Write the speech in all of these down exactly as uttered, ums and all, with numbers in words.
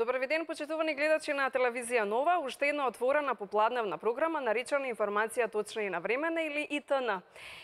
Добар ви ден, почитувани гледачи на телевизија Нова, уште една отворена попладневна програма наречена Информација точна и навремена или И Т Н.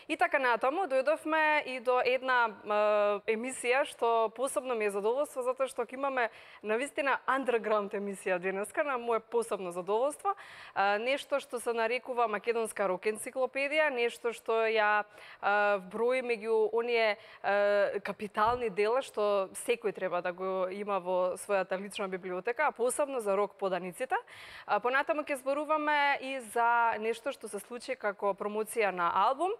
И така натаму дојдовме и до една е, емисија што посебно ми е задоволство затоа што ќе имаме навистина underground емисија денеска, на моје посебно задоволство. Е, нешто што се нарекува македонска рок енциклопедија, нешто што ја е, вброи меѓу оние е, капитални дела што секој треба да го има во својата лична библиотека, а посебно за рок поданиците. Понатаму ќе зборуваме и за нешто што се случи како промоција на албум.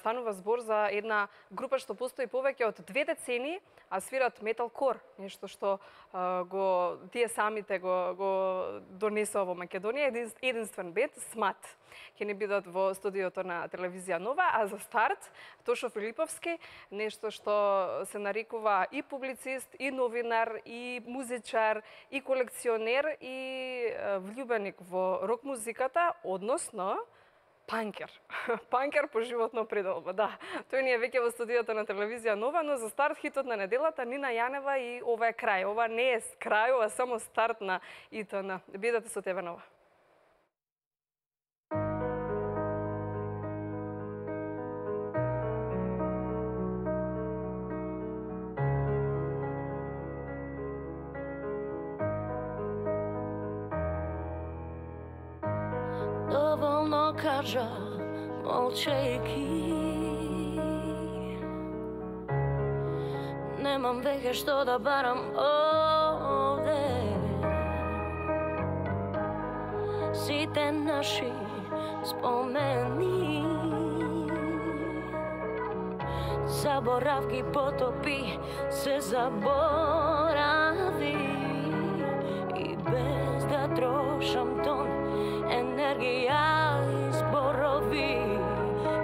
Станува збор за една група што постои повеќе од две децении, а свират металкор, нешто што го тие самите го го донесоа во Македонија, единствен бенд Смат. Ќе не бидат во студиото на телевизија Нова, а за старт Тошо Филиповски, нешто што се нарекува и публицист, и новинар, и музичар, и колекционер, и влюбеник во рок музиката, односно панкер. Панкер по животно пределба, да. Тој ни е веќе во студиото на телевизија Нова, но за старт хитот на неделата Нина Јанева и ова е крај. Ова не е крај, ова е само старт на И Т Н. Бидете со тебе, Нова. Доволно кажа, молчејки. Немам веќе што да барам овде. Сите наши спомени заборавки потопи, се заборави. И без да трошам тон енергија и зборови,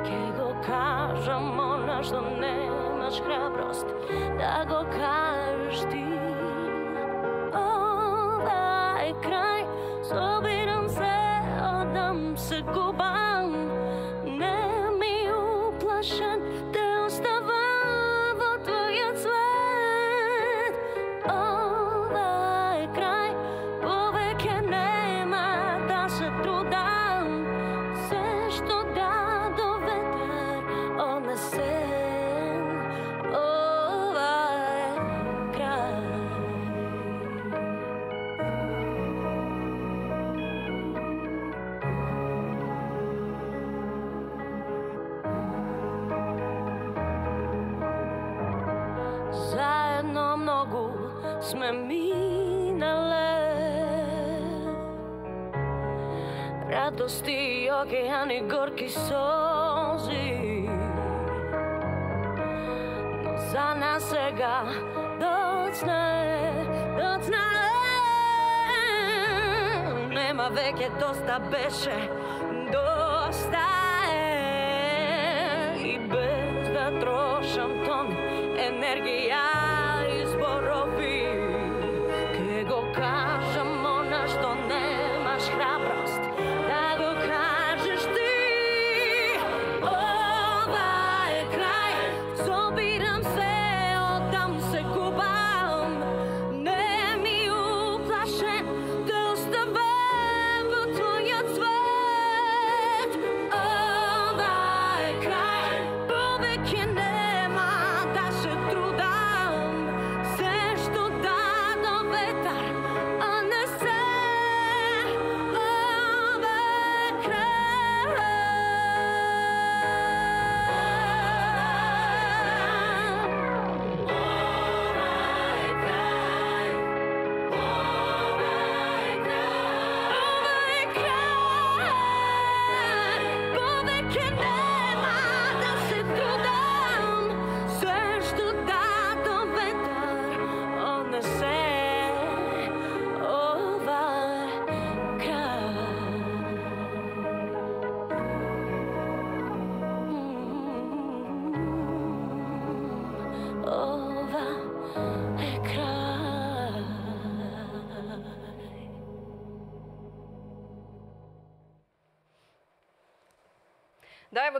ке го кажам она што немаш храброст да го кажеш ти. Ова е крај, собирам се, одам се губам, не ми уплашен, те оставам во твојот свет. Ова е крај, повеќе нема да се трудам, се што даде ветер однесен. Ова е крај. Заедно многу сме минале, радости и океани, горки солзи, но за нас сега доцна е, доцна е. Нема веќе доста, беше доста е. И без да трошам тон енергија и зборови, ке го кажам она што немаш храброст да го кажеш ти. Ова е крај, собирам се, одам се губам, не ми уплашен, да оставам во твојот свет. Ова е крај, повеќе нема да се трудам,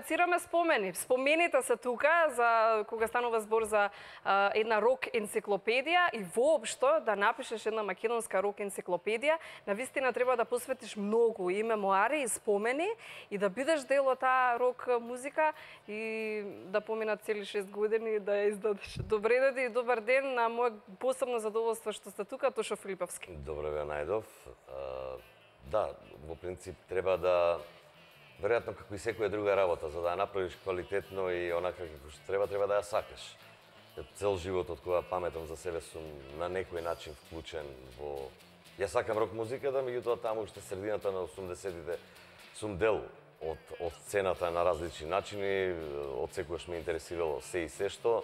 лансираме спомени. Спомените се тука за кога станува збор за а, една рок енциклопедија и воопшто да напишеш една македонска рок енциклопедија, навистина треба да посветиш многу и мемуари и спомени и да бидеш дел од таа рок музика и да поминат цели шест години да ја издадеш. Добре дојде и добар ден, на моје посебно задоволство што сте тука, Тошо Филиповски. Добро ве најдов. Да, во принцип треба да, веројатно како и секоја друга работа, за да ја направиш квалитетно и онака како што треба, треба да ја сакаш. Цел живот од кога паметам за себе сум на некој начин вклучен во... Ја сакам рок музиката, меѓутоа таму уште средината на осумдесетите сум дел од, од сцената на различни начини, од секојаш ме интересирало се и се што.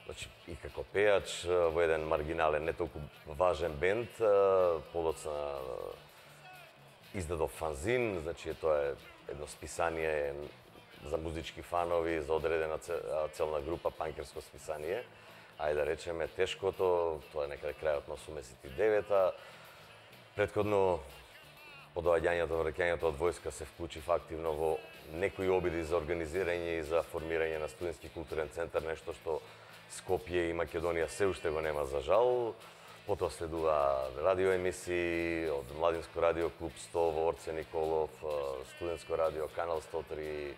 Значи, и како пејач во еден маргинален, не толку важен бенд, подоцна издадов фанзин, значи тоа е едно списание за музички фанови, за одредена целна група, панкерско списание. Ајде да речеме Тешкото, тоа е некаде крајот на осумдесет и девета. Претходно, по доаѓањето, враќањето од војска се вклучив активно во некои обиди за организирање и за формирање на студентски културен центар, нешто што Скопје и Македонија се уште го нема за жал. Потоа следува радиоемисии од Младинско радио Клуб сто во Орце Николов, студентско радио Канал сто три,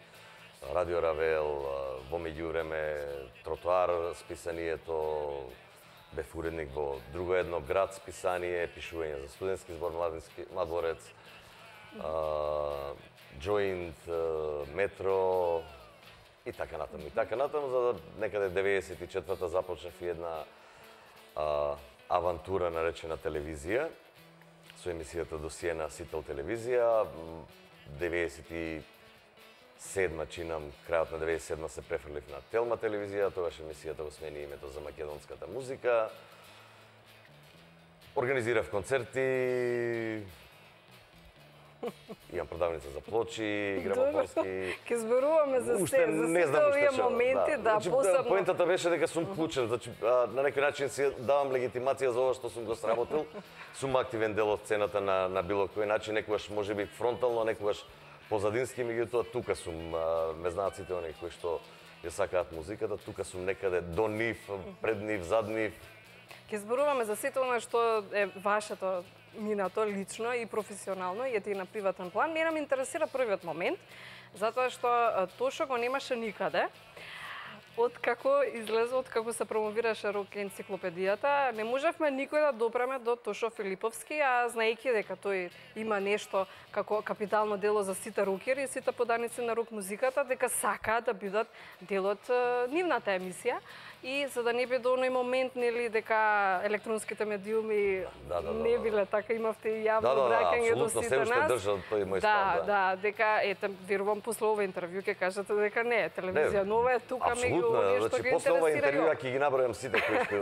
Радио Равел, во меѓувреме Тротоар списанието, бев уредник во друго едно град списание, пишување за студентски збор Младински Младворец, Joint, Метро и така натаму. И така натаму, за да некаде деветдесет и четврта започнав и една а, авантура наречена телевизија, со емисијата Досие на Сител телевизија. деветдесет и седма чинам, крајот на деветдесет и седма се префрлив на Телма телевизија, тогаш емисијата го смени името за македонската музика. Организирав концерти, имам продавница за плочи, грамофонски. Ке зборуваме за се, за сите овие моменти, да, значи, посебно. Поентата беше дека сум вклучен, значи на некој начин си давам легитимација за ова што сум го сработил. Сум активен дел од сцената на на било кој начин, некогаш можеби фронтално, некогаш позадински, меѓутоа тука сум, ме знаат сите оние кои што ја сакаат музиката, тука сум некаде до нив, пред нив, зад нив. Ке зборуваме за сите она што е вашето минато лично и професионално и ете и на приватен план. Мене ме интересира првиот момент, затоа што Тошо го немаше никаде. Од како излезе, од како се промовираше рок енциклопедијата, не можевме никој да допреме до Тошо Филиповски, а знаејќи дека тој има нешто како капитално дело за сите рокери и сите поданици на рок музиката, дека сакаат да бидат дел од нивната емисија. И за да не би до оној момент, нели, дека електронските медиуми да, да, да, не биле така, имавте и јавно да, да, обраќање да, до сите се уште нас. држат тој мој да, став, да. да, дека ете верувам после ова интервју ќе кажете дека не, телевизија нова е тука меѓу оние што значи, ги после ова интересира. интервју ќе ги набројам сите кои што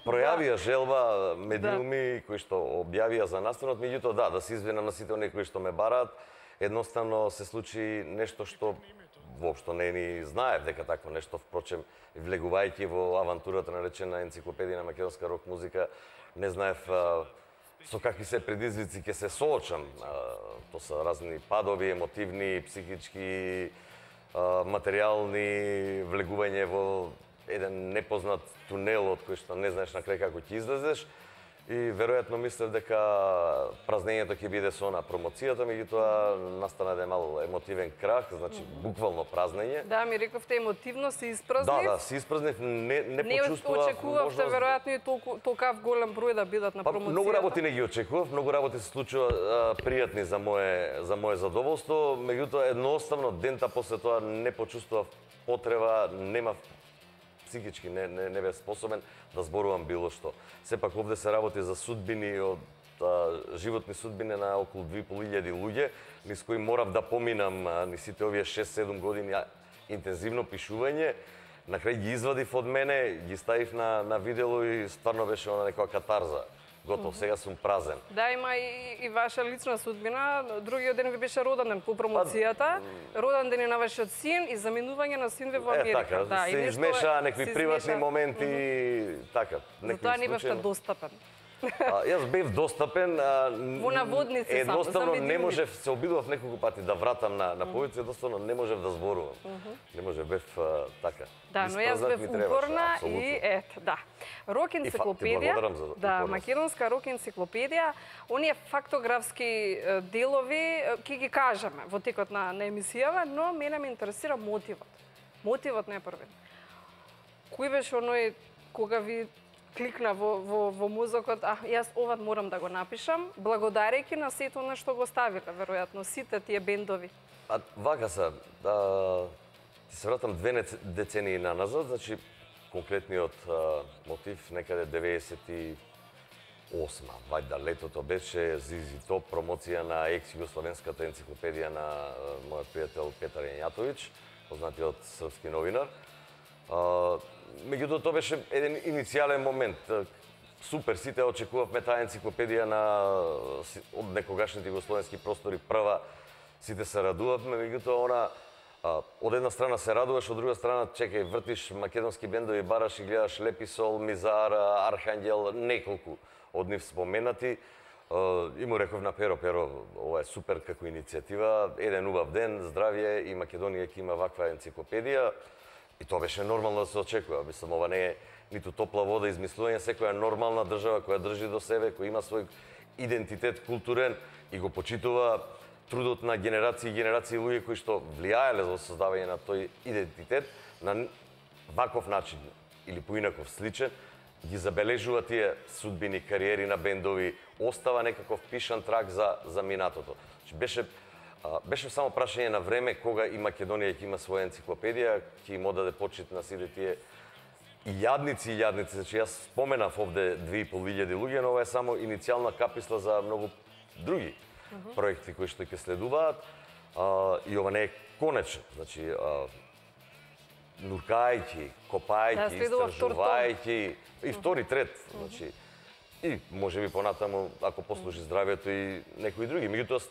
пројавија желба медиуми кои што објавија за настанот, меѓутоа да, да се извинам на сите оние кои што ме бараат, едноставно се случи нешто што воопшто не ни знаев дека такво нешто, впрочем, влегувајќи во авантурата наречена енциклопедија на македонска рок музика, не знаев а, со какви се предизвици ќе се соочам. А, то се разни падови, емотивни, психички, а, материјални, влегување во еден непознат тунел од кој што не знаеш на крај како ќе излезеш. И веројатно мислев дека празнењето ќе биде со на промоцијата, меѓутоа настана да е мал емотивен крах, значи буквално празнење. Да, ми рековте емотивно се испразнив. Да, да, се испразнив, не не не почувствував. Не очекувавте веројатно и толку толкав голем број да бидат на па, промоцијата. Многу работи не ги очекував, многу работи се случува а, пријатни за мое за мое задоволство, меѓутоа едноставно дента после тоа не почувствував потреба, немав психички не, не, не бев способен да зборувам било што. Сепак овде се работи за судбини од а, животни судбини на околу две и пол илјади луѓе, низ кои морав да поминам а, ни сите овие шест-седум години а, интензивно пишување. На крај ги извадив од мене, ги ставив на, на видео и стварно беше она некоја катарза. Готов, сега сум празен. Да, има и, и ваша лична судбина. Другиот ден ви беше роден ден по промоцијата. Роден ден е на вашиот син и заминување на син ви во Америка. Е, така, да, се и измеша некои се приватни измеша. моменти, mm -hmm. така. Затоа не бевте достапен. А, јас бев достапен, а, Во наводници само, едноставно за не видими. можев, се обидував неколку пати да вратам на на повици, едноставно не можев да зборувам. Не можев, бев а, така. Да, но јас Испразнат бев ми требаше, упорна апсолутно. и ето, да. Рок ти енциклопедија. благодарам за Да, упорност. македонска рок енциклопедија, оние фактографски е, делови е, ќе ги кажеме во текот на, на емисијава, но мене ме интересира мотивот. Мотивот не е првен. Кој беше оној кога ви кликна во, во, во мозокот, а јас ова морам да го напишам, благодарејќи на сето на што го ставиле, веројатно, сите тие бендови. А вака се, да, ти се вратам две нец- децении на назад, значи конкретниот а, мотив некаде деветдесет и осма, вајда летото беше Зизи Топ, промоција на екс-југословенската енциклопедија на а, мојот пријател Петар Јањатовиќ, познатиот српски новинар. А, меѓутоа тоа беше еден иницијален момент. Супер, сите очекувавме таа енциклопедија на од некогашните југословенски простори прва. Сите се радувавме, меѓутоа она а, од една страна се радуваш, од друга страна чекај, вртиш македонски бендови, бараш и гледаш Леписол, Мизар, Архангел, неколку од нив споменати. А, и му реков на Перо, Перо, ова е супер како иницијатива, еден убав ден, здравје и Македонија ќе има ваква енциклопедија. И тоа беше нормално да се очекува. Мислам, ова не е ниту топла вода измислување, секоја нормална држава која држи до себе, која има свој идентитет културен и го почитува трудот на генерации и генерации луѓе кои што влијаеле за создавање на тој идентитет на ваков начин или поинаков сличен, ги забележува тие судбини, кариери на бендови, остава некаков пишан трак за за минатото. Значи беше а, беше само прашање на време кога и Македонија ќе има своја енциклопедија, ќе им одаде почит на сите тие и јадници и јадници. Значи јас споменав овде две и пол илјади луѓе, но ова е само иницијална каписла за многу други проекти кои што ќе следуваат. А, и ова не е конечно. Значи, а, нуркајќи, копајќи, Да, следува втор том. истражувајќи и втори, трет, значи и можеби понатаму ако послужи здравјето и некои други. Меѓутоа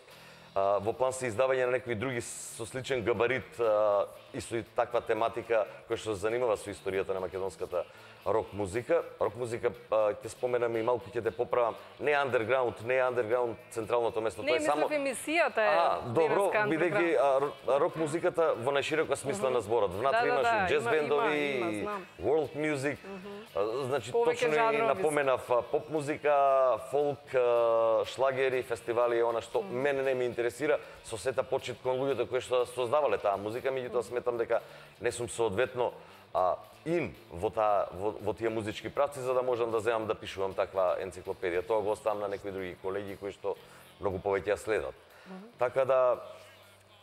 а, во план се издавање на некои други со сличен габарит а, и со таква тематика која што се занимава со историјата на македонската рок музика. Рок музика а, ќе споменам и малку ќе те поправам. Не андерграунд, не андерграунд централното место, Не, тоа е мислев само емисијата е А, добро, денеска бидејќи андерграунд. а, р- рок музиката во најширока смисла на зборот. Внатре Да, да, имаш да, и джез има- бендови, има, има, и знам. world music. А, Значи Повеќе точно и жанрови. напоменав а, поп музика, фолк, а, шлагери, фестивали, она што мене не ме интересира, со сета почит кон луѓето кои што создавале таа музика, меѓутоа сметам дека не сум соодветно а, им во, таа, во, во тие музички правци, за да можам да земам да пишувам таква енциклопедија. Тоа го оставам на некои други колеги кои што многу повеќе ја следат. Така да,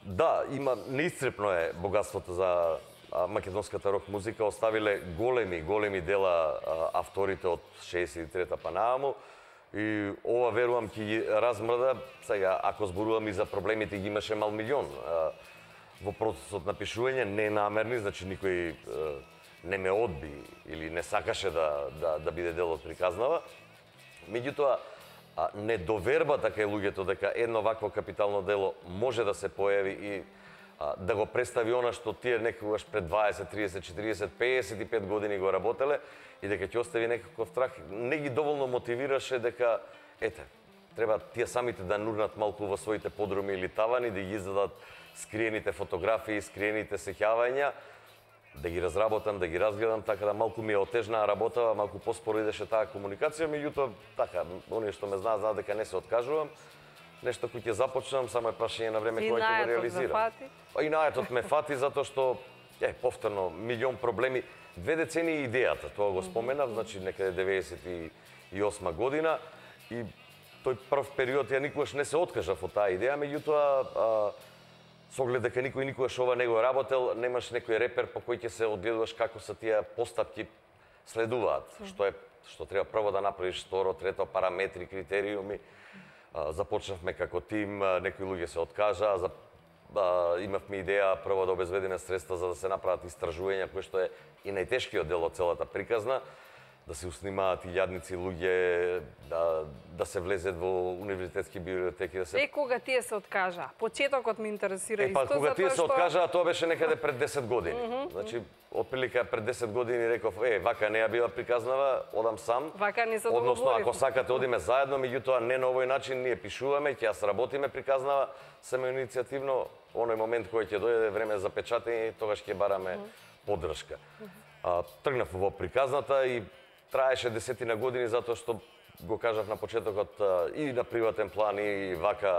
да, има, неисцрпно е богатството за а, македонската рок музика. Оставиле големи, големи дела а, авторите од шеесет и трета па нааму. И ова верувам ќе ги размрда. Сега, ако зборувам и за проблемите, ги имаше мал милион. А, во процесот на пишување, не намерни, значи никој е, не ме одби или не сакаше да, да, да биде дел од приказнава. Меѓутоа, а, недовербата кај луѓето дека едно вакво капитално дело може да се појави и а, да го представи она што тие некогаш пред дваесет, тридесет, четириесет, пеесет и пет години го работеле и дека ќе остави некаков трах, не ги доволно мотивираше дека, ете, треба тие самите да нурнат малку во своите подруми или тавани, да ги издадат скриените фотографии, скриените сеќавања, да ги разработам, да ги разгледам, така да малку ми е отежнаа работа, малку поспоро идеше таа комуникација, меѓутоа, така, оние што ме знаат, знаат дека не се откажувам. Нешто кој ќе започнам, само е прашање на време И кога ќе го наетот ме реализирам. фати? Па и наетот ме фати затоа што, е, повторно, милион проблеми. Две децении идејата, тоа го споменав, значи некаде деветдесет и осма година и тој прв период ја никогаш не се откажав од таа идеја, меѓутоа, а, со оглед дека никој никогаш ова не го работел, немаш некој репер по кој ќе се одгледуваш како се тие постапки следуваат, што е што треба прво да направиш, второ, трето, параметри, критериуми. А, започнавме како тим, а, некои луѓе се откажаа, за, а, имавме идеја прво да обезбедиме средства за да се направат истражувања, кој што е и најтешкиот дел од целата приказна. да се уснимаат илјадници луѓе, да, да се влезет во универзитетски библиотеки, да се... Е, кога тие се откажа? Почетокот ме интересира Е, па, исто, кога тие се што... откажаа, тоа беше некаде пред десет години. Mm -hmm. Значи, отприлика пред десет години реков, е, вака не ја била приказнава, одам сам. Вака не се Односно, договорив. ако сакате, одиме заедно, меѓутоа не на овој начин, ние пишуваме, ќе ја сработиме приказнава, самоиницијативно, оној момент кој ќе дојде време за печатење, тогаш ќе бараме mm -hmm. поддршка. Mm -hmm. а, тргнав во приказната и траеше десетина години затоа што го кажав на почетокот и на приватен план и вака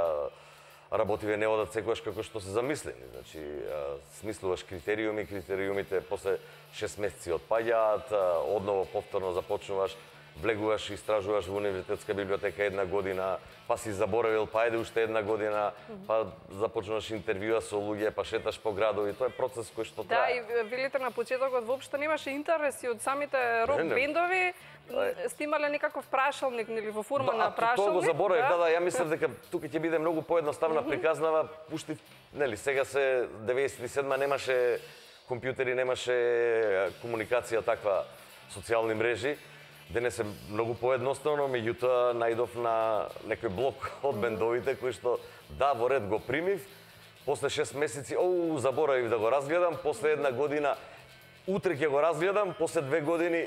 работиве не одат секогаш како што се замислени. Значи, смислуваш критериуми, критериумите после шест месеци отпаѓаат, одново повторно започнуваш, влегуваш, истражуваш во универзитетска библиотека една година, па си заборавил, па еде уште една година, па започнуваш интервјуа со луѓе, па шеташ по градови, тоа е процес кој што трае. Да, и велите на почетокот воопшто немаше интереси од самите рок бендови. Сте имале некаков прашалник нели во форма да, на прашалник? Тоа го заборавив, да, да, ја мислев дека тука ќе биде многу поедноставна mm -hmm. приказнава, пушти, нели, сега се деветдесет и седма немаше компјутери, немаше комуникација таква, социјални мрежи. Денес е многу поедноставно, меѓутоа најдов на некој блок од бендовите кои што да, во ред го примив, после шест месеци, оу, заборавив да го разгледам, после една година, утре ќе го разгледам, после две години,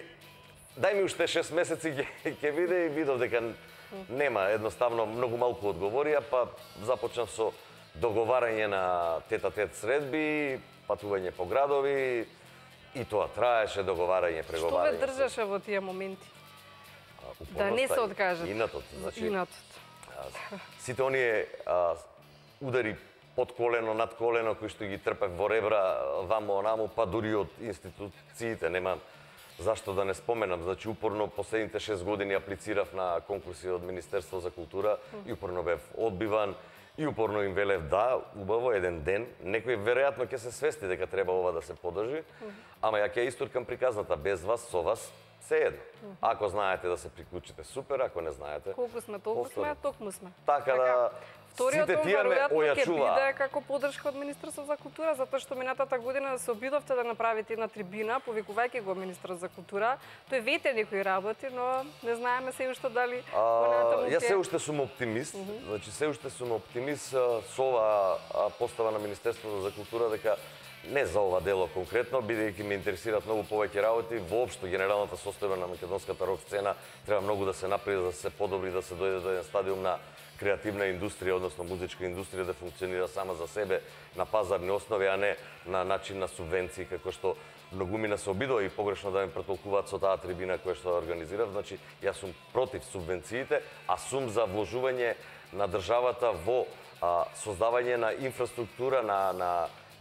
дај ми уште шест месеци ќе ќе биде и видов дека нема, едноставно многу малку одговорија, па започнав со договарање на тета-тет средби, патување по градови, и тоа траеше, договарање, преговарање. Што ве држеше во тие моменти? Да не се откажат. Инатот, значи. Инатот. Сите оние а, удари под колено, над колено, кои што ги трпев во ребра, вамо, онаму, па дури од институциите, нема зашто да не споменам. Значи, упорно последните шест години аплицирав на конкурси од Министерство за култура и упорно бев одбиван. И упорно им велев да, убаво, еден ден, некој веројатно ќе се свести дека треба ова да се подржи, ама ја ќе истуркам приказната без вас, со вас, се едно. Ако знаете да се приклучите, супер, ако не знаете... Колку сме, толку сме, токму сме. Така да... Вториот сите тие ме веројатно ќе ојачува. биде како поддршка од Министерство за култура, затоа што минатата година се обидовте да направите една трибина, повикувајќи го министер за култура. Тој вете некои работи, но не знаеме се уште дали а, Јас се уште сум оптимист, mm -hmm. значи се уште сум оптимист со ова постава на Министерството за култура дека не за ова дело конкретно, бидејќи ме интересираат многу повеќе работи, воопшто генералната состојба на македонската рок сцена треба многу да се направи, да се подобри, да се дојде до еден стадиум на креативна индустрија, односно музичка индустрија да функционира сама за себе на пазарни основи, а не на начин на субвенции, како што многумина се обидува и погрешно да ме претолкуваат со таа трибина која што организирав. Значи, јас сум против субвенциите, а сум за вложување на државата во а, создавање на инфраструктура, на, на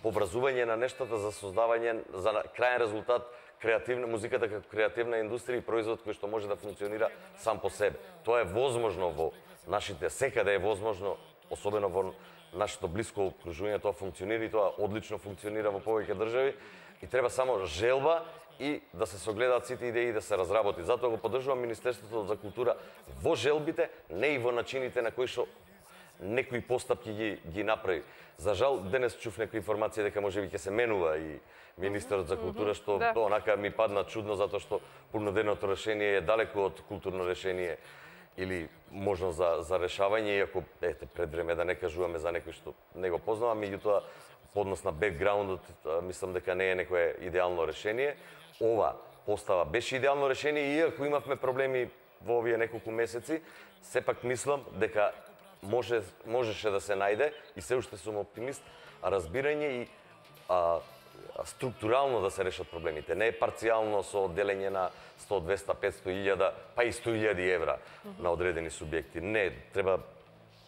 поврзување на нештата за создавање, за крајен резултат, креативна музиката како креативна индустрија и производ кој што може да функционира сам по себе. Тоа е возможно во нашите, секаде е возможно, особено во нашето блиско окружување, тоа функционира и тоа одлично функционира во повеќе држави и треба само желба и да се согледаат сите идеи и да се разработи. Затоа го поддржувам Министерството за култура во желбите, не и во начините на кои што некои постапки ги, ги направи. За жал, денес чув некои информации дека можеби ќе се менува и министерот за култура, што да. онака ми падна чудно, затоа што понуденото решение е далеку од културно решение или можност за, за решавање, иако, ете, пред време да не кажуваме за некој што не го познавам, меѓутоа, по однос на бекграундот, мислам дека не е некое идеално решение. Ова постава беше идеално решение, иако имавме проблеми во овие неколку месеци, сепак мислам дека може, можеше да се најде, и се уште сум оптимист, разбирање и а, структурално да се решат проблемите. Не е парцијално со делење на сто, двеста, петсто илјада, па и сто илјади евра mm -hmm. на одредени субјекти. Не, треба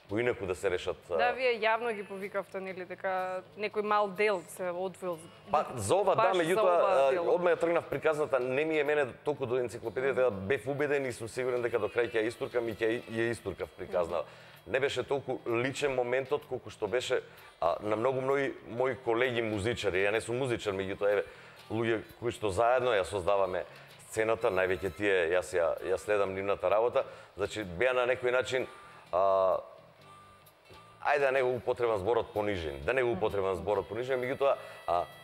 поинаку да се решат. Да, вие јавно ги повикавте, нели, дека некој мал дел се одвил. Па за ова да, меѓутоа одма ја тргнав приказната, не ми е мене толку до енциклопедијата, бев убеден и сум сигурен дека до крај ќе ја истуркам и ќе ја истуркав приказна. Не беше толку личен моментот колку што беше а, на многу мои мои колеги музичари. Ја не сум музичар, меѓутоа еве луѓе кои што заедно ја создаваме сцената, највеќе тие јас ја ја следам нивната работа, значи беа на некој начин а, ајде да не го употребам зборот понижен, да не го употребам зборот понижен, меѓутоа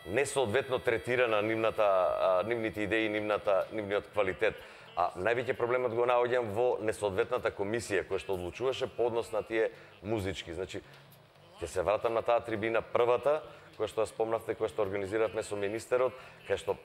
несоодветно третирана нивната а, нивните идеи, нивната нивниот квалитет. А највеќе проблемот го наоѓам во несоодветната комисија која што одлучуваше по однос на тие музички. Значи, ќе се вратам на таа трибина првата, која што ја спомнавте, која што организиравме со министерот, кај што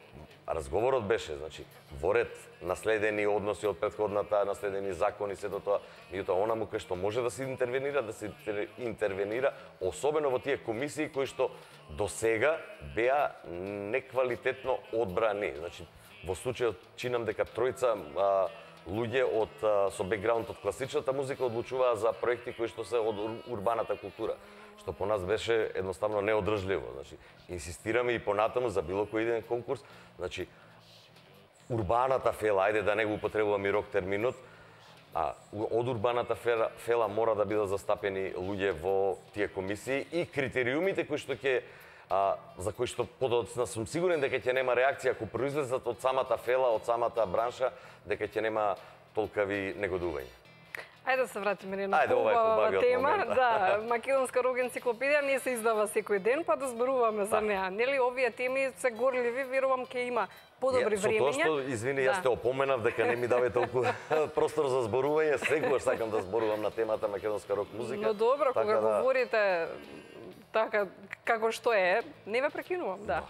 разговорот беше, значи, во ред наследени односи од претходната, наследени закони, сето тоа, меѓутоа онаму кај што може да се интервенира, да се интервенира, особено во тие комисии кои што досега беа неквалитетно одбрани. Значи, во случајот чинам дека тројца а, луѓе од а, со бекграунд од класичната музика одлучуваа за проекти кои што се од урбаната култура, што по нас беше едноставно неодржливо. Значи, инсистираме и понатаму за било кој еден конкурс, значи урбаната фела, ајде да не го употребувам и рок терминот, а од урбаната фела, фела мора да бидат застапени луѓе во тие комисии и критериумите кои што ќе а, за кои што подоцна сум сигурен дека ќе нема реакција ако произлезат од самата фела, од самата бранша, дека ќе нема толкави негодување. Ајде да се вратиме на една хубава тема. Да, Македонска рок енциклопедија не се издава секој ден, па да зборуваме за неа. Нели овие теми се горливи, верувам ќе има подобри времења. Со тоа што, извини, јас те опоменав дека не ми даве толку простор за зборување, секогаш сакам да зборувам на темата македонска рок музика. Но добро, кога говорите така како што е, не ве прекинувам, да.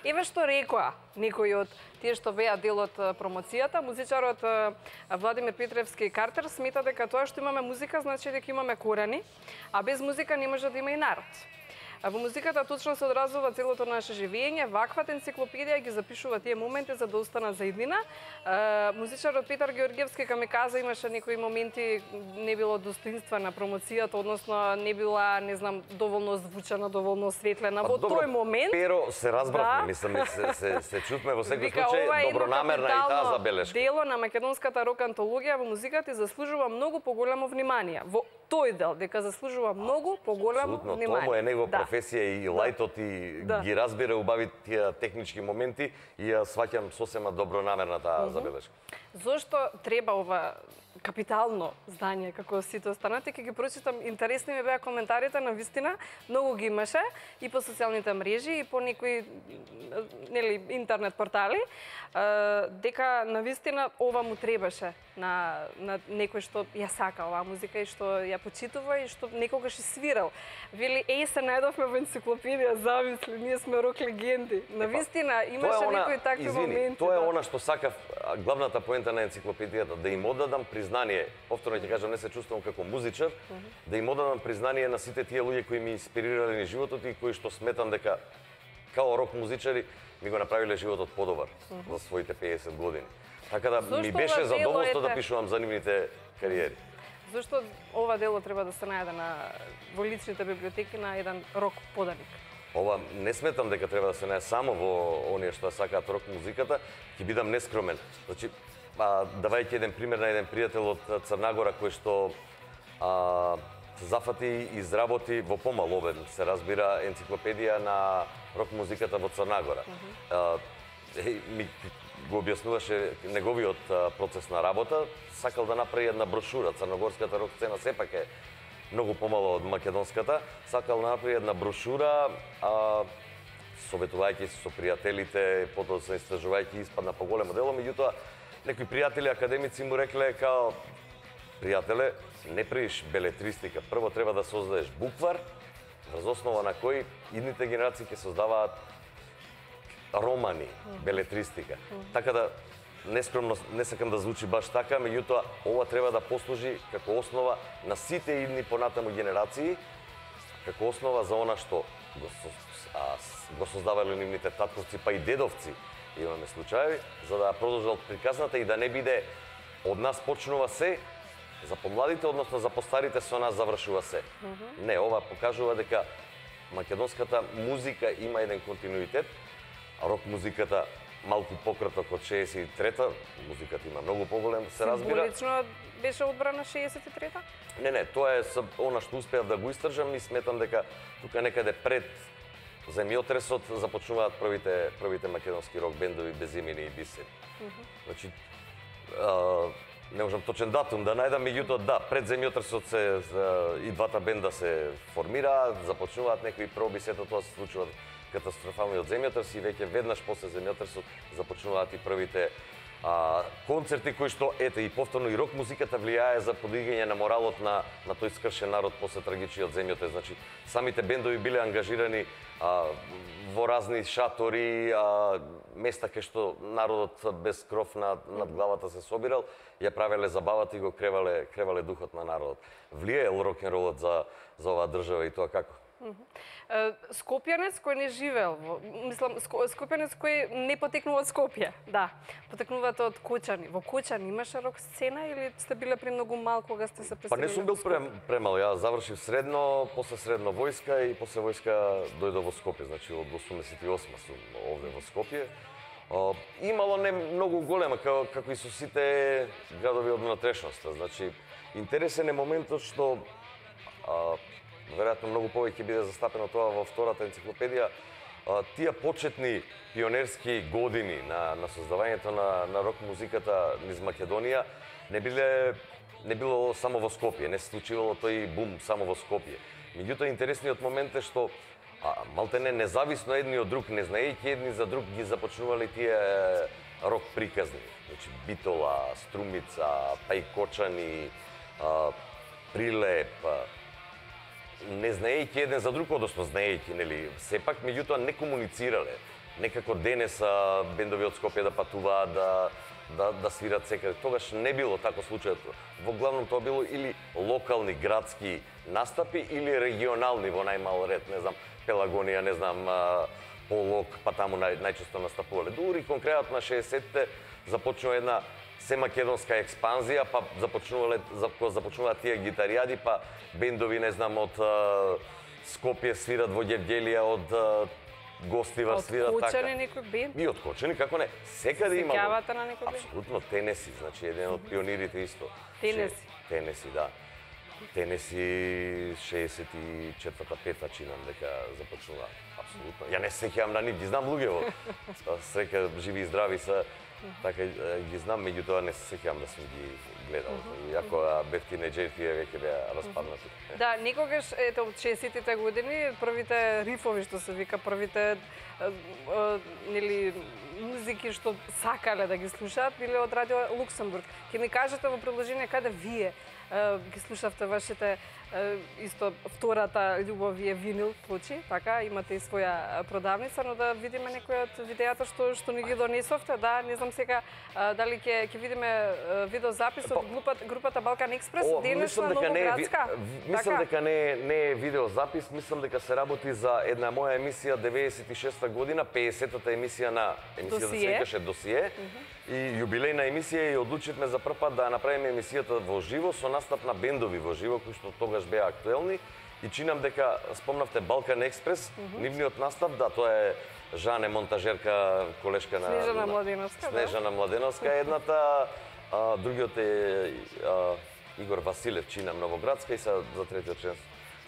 Еве што рекоа некои од тие што беа дел од промоцијата, музичарот Владимир Петревски Картер смета дека тоа што имаме музика значи дека имаме корени, а без музика не може да има и народ. Во музиката точно се одразува целото наше живење, ваквата енциклопедија ги запишува тие моменти за да останат за иднина. Музичарот Петар Георгиевски ка ми каза имаше некои моменти не било достоинствена промоцијата, односно не била, не знам, доволно звучана, доволно светлена. Во тој момент Pero се разбравме, мислам, се се се чутме во секој случај добронамерна и таа забелешка. Дело на македонската рок антологија во музиката заслужува многу поголемо внимание. Во тој дел дека заслужува многу поголемо внимание. Тоа е негова професија и лајтот и да. ги разбира убави тие технички моменти и ја сваќам сосема добронамерна таа забелешка. Зошто треба ова капитално здание како сите останати? Ќе ги прочитам, интересни ми беа коментарите, на вистина многу ги имаше и по социјалните мрежи и по некои нели интернет портали, дека на вистина ова му требаше на на некој што ја сака оваа музика и што ја почитува и што некогаш и свирал. Вели, еј, се најдовме во енциклопедија, замисли, ние сме рок легенди. На вистина имаше некои такви извини, моменти. Тоа е она што сакав, главната поента на енциклопедијата, да им оддадам признание, повторно ќе кажам, не се чувствувам како музичар, uh -huh. да им оддадам признание на сите тие луѓе кои ми инспирирале ни животот и кои што сметам дека као рок музичари ми го направиле животот подобар uh -huh. во своите пеесет години. Така да Зошто ми беше задоволство ете... да пишувам за нивните кариери. Зошто ова дело треба да се најде на во личните библиотеки на еден рок поданик? Ова не сметам дека треба да се најде само во оние што сакаат рок музиката, ќе бидам нескромен. Значи, а, давајќи еден пример на еден пријател од Црнагора кој што а, зафати и изработи во помал обем, се разбира, енциклопедија на рок музиката во Црнагора. Uh -huh. а, е, ми го објаснуваше неговиот процес на работа, сакал да направи една брошура. Црногорската рок сцена сепак е многу помало од македонската, сакал да направи една брошура, а, советувајќи се со пријателите, потоа се истражувајќи испадна поголемо дело, меѓутоа некои пријатели академици му рекле као пријателе, не правиш белетристика, прво треба да создадеш буквар, врз основа на кој идните генерации ќе создаваат романи, белетристика. Така да, нескромно, не сакам да звучи баш така, меѓутоа, ова треба да послужи како основа на сите идни понатаму генерации, како основа за она што го, а, го создавале нивните татковци, па и дедовци, имаме случаи, за да продолжат приказната и да не биде од нас почнува се, за помладите, односно за постарите со нас завршува се. Mm -hmm. Не, ова покажува дека македонската музика има еден континуитет, а рок музиката малку пократок од шеесет и трета, музиката има многу поголем, се разбира. Символично беше одбрана шеесет и трета? Не, не, тоа е она што успеав да го истражам и сметам дека тука некаде пред земјотресот започнуваат првите првите македонски рок бендови Безимени и Бисери. Mm -hmm. Значи, а, не можам точен датум да најдам, меѓутоа да, пред земјотресот се и двата бенда се формираат, започнуваат некои проби, сето тоа се случува катастрофалниот земјотрес и веќе веднаш после земјотресот започнуваат и првите А, концерти кои што, ете, и повторно и рок музиката влијае за подигање на моралот на, на тој скршен народ после трагичниот земјотрес. Значи, самите бендови биле ангажирани а, во разни шатори, а, места кај што народот без кров над, над главата се собирал, ја правеле забавата и го кревале, кревале духот на народот. Влијаел рок-н-ролот за, за оваа држава и тоа како? Скопјанец кој не живеел, во, мислам, Скопјанец кој не потекнува од Скопје, да, потекнувате од Кочани. Во Кочани имаше рок сцена или сте биле премногу мал кога сте се преселили? Па не сум бил прем, премал, ја завршив средно, после средно војска и после војска дојдов во Скопје, значи од осумдесет и осма сум овде во Скопје. Uh, имало не многу голема, како, како и со сите градови од внатрешноста. Значи, интересен е моментот што uh, веројатно многу повеќе биде застапено тоа во втората енциклопедија, uh, тие почетни пионерски години на, на создавањето на, на рок музиката низ Македонија не биле не било само во Скопје, не се случивало тој бум само во Скопје. Меѓутоа интересниот момент е што а, малтене независно едни од друг, не знаејќи едни за друг, ги започнувале тие рок приказни. Значи Битола, Струмица, па и Кочани, а, Прилеп, а, не знаејќи еден за друг, односно знаејќи, нели, сепак, меѓутоа не комуницирале. Некако денес а, бендови од Скопје да патуваат, да, да, да свират секаде. Тогаш не било тако случајот. Во главном тоа било или локални, градски настапи, или регионални во најмал ред, не знам, Пелагонија, не знам, Полок, па таму нај, најчесто настапувале. Дури конкретно на шеесеттите започнува една семакедонска експанзија, па започнувале, започнуваат тие гитаријади, па бендови, не знам, од Скопје свират во Гевгелија, од Гостивар свират така. Од Кочани некој бенд? И од Кочани, како не, секаде имало. Сеќавате на некој бенд? Апсолутно, Тенеси, значи еден од пионирите исто. Тенеси? Тенеси, да. Тенеси шеесет и четврта пета чинам дека започнува. Апсолутно. Ја не се сеќавам на нив, ги знам луѓе, среќа живи и здрави се, така ги знам, меѓутоа не се сеќавам да сум ги гледал. Иако бев тинеџер, тие веќе беа распаднати. Да, некогаш, ете, од шеесеттите години, првите рифови, што се вика, првите нели музики што сакале да ги слушаат, биле од Радио Луксембург. Ке ми кажете во приложение каде вие ги слушавте вашите исто втората љубов е винил плочи, така, имате и своја продавница, но да видиме некои од видеата што што ни ги донесовте, да, не знам сега дали ќе ќе видиме видеозапис од групата групата Балкан Експрес денес на Новоградска. Мислам дека не не е видеозапис, мислам дека се работи за една моја емисија деветдесет и шеста година, пеесеттата емисија на емисијата се викаше Досие. И јубилејна емисија и одлучивме за прв пат да направиме емисијата во живо со настап на бендови во живо кои што тогаш беа актуелни и чинам дека спомнавте Балкан Експрес, mm -hmm. нивниот настап, да, тоа е Жане монтажерка, колешка на Снежана Младеновска, Снежана да? Младеновска едната, а, другиот е а, Игор Василев, чинам Новоградска и са за третиот член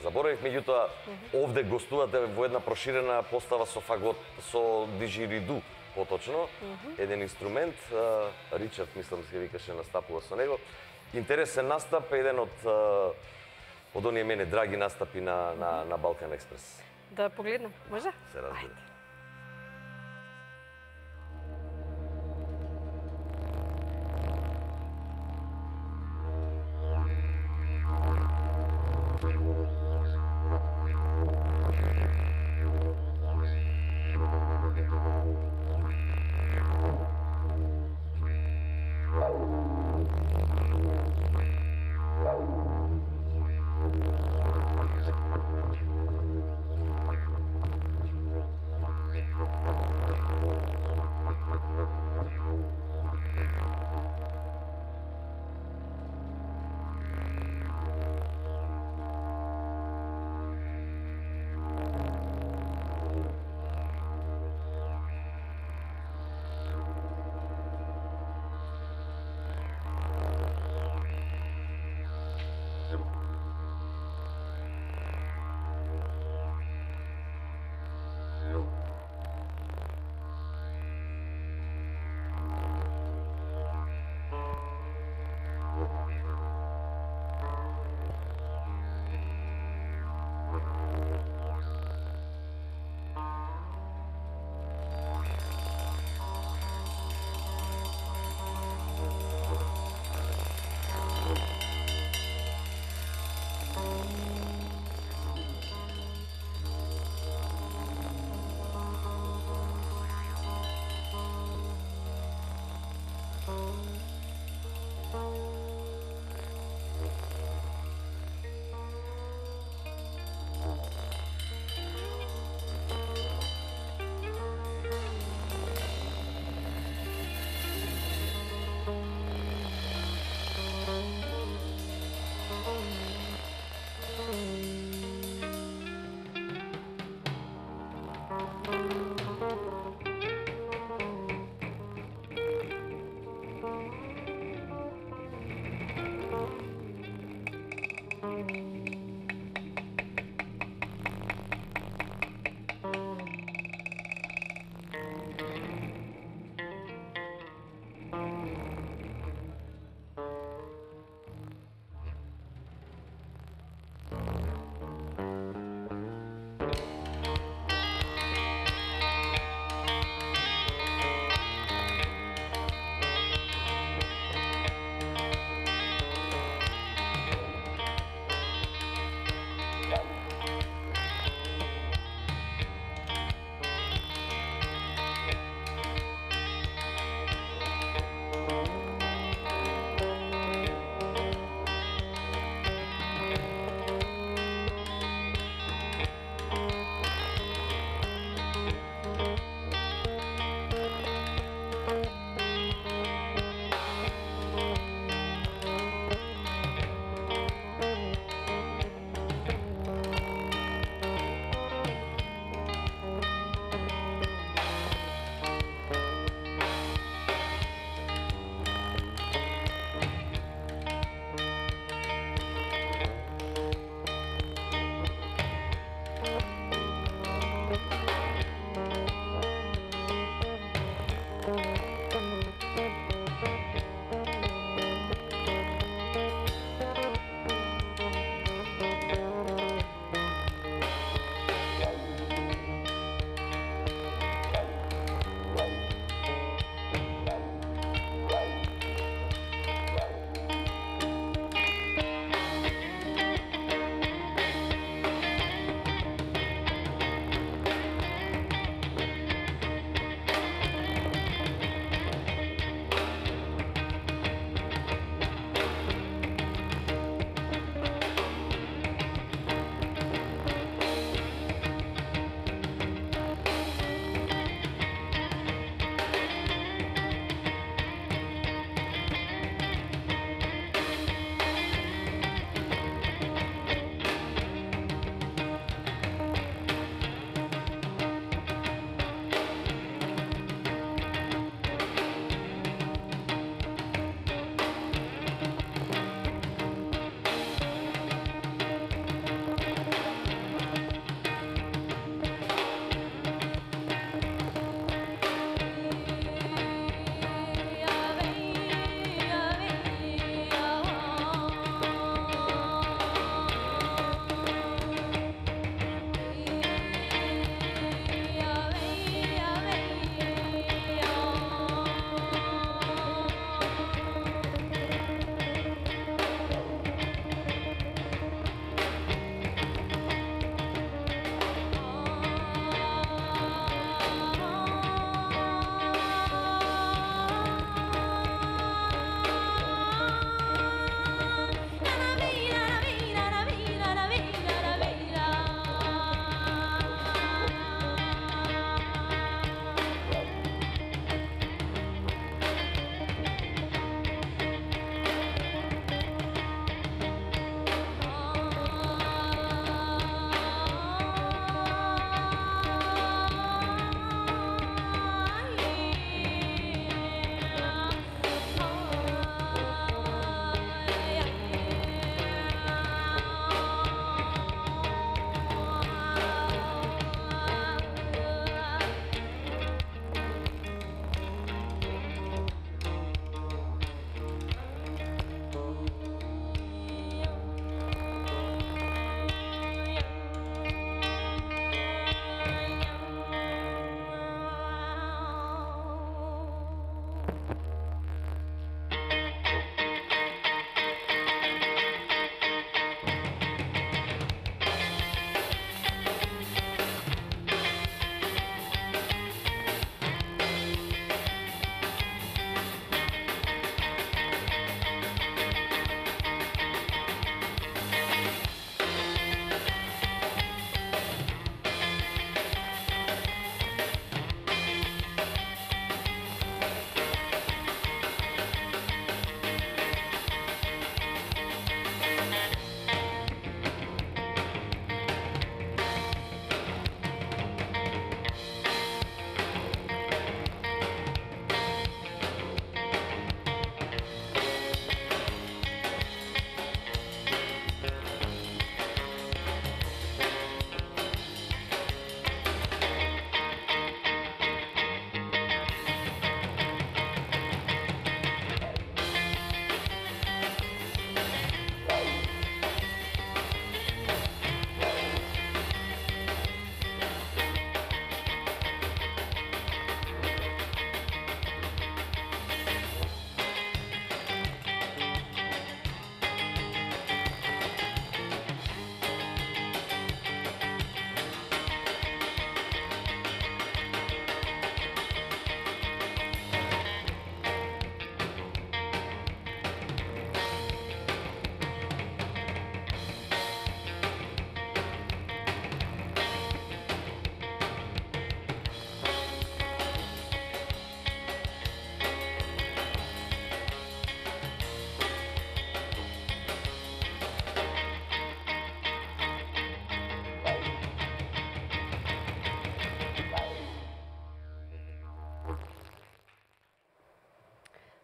заборавив, меѓутоа mm -hmm. овде гостувате во една проширена постава со фагот, со диджириду. Поточно, mm -hmm. еден инструмент, а, Ричард, мислам, се викаше, настапува со него. Интересен настап, еден од од оние мене драги настапи на, на, на Балкан Експрес. Да погледнем, може? Се разбира.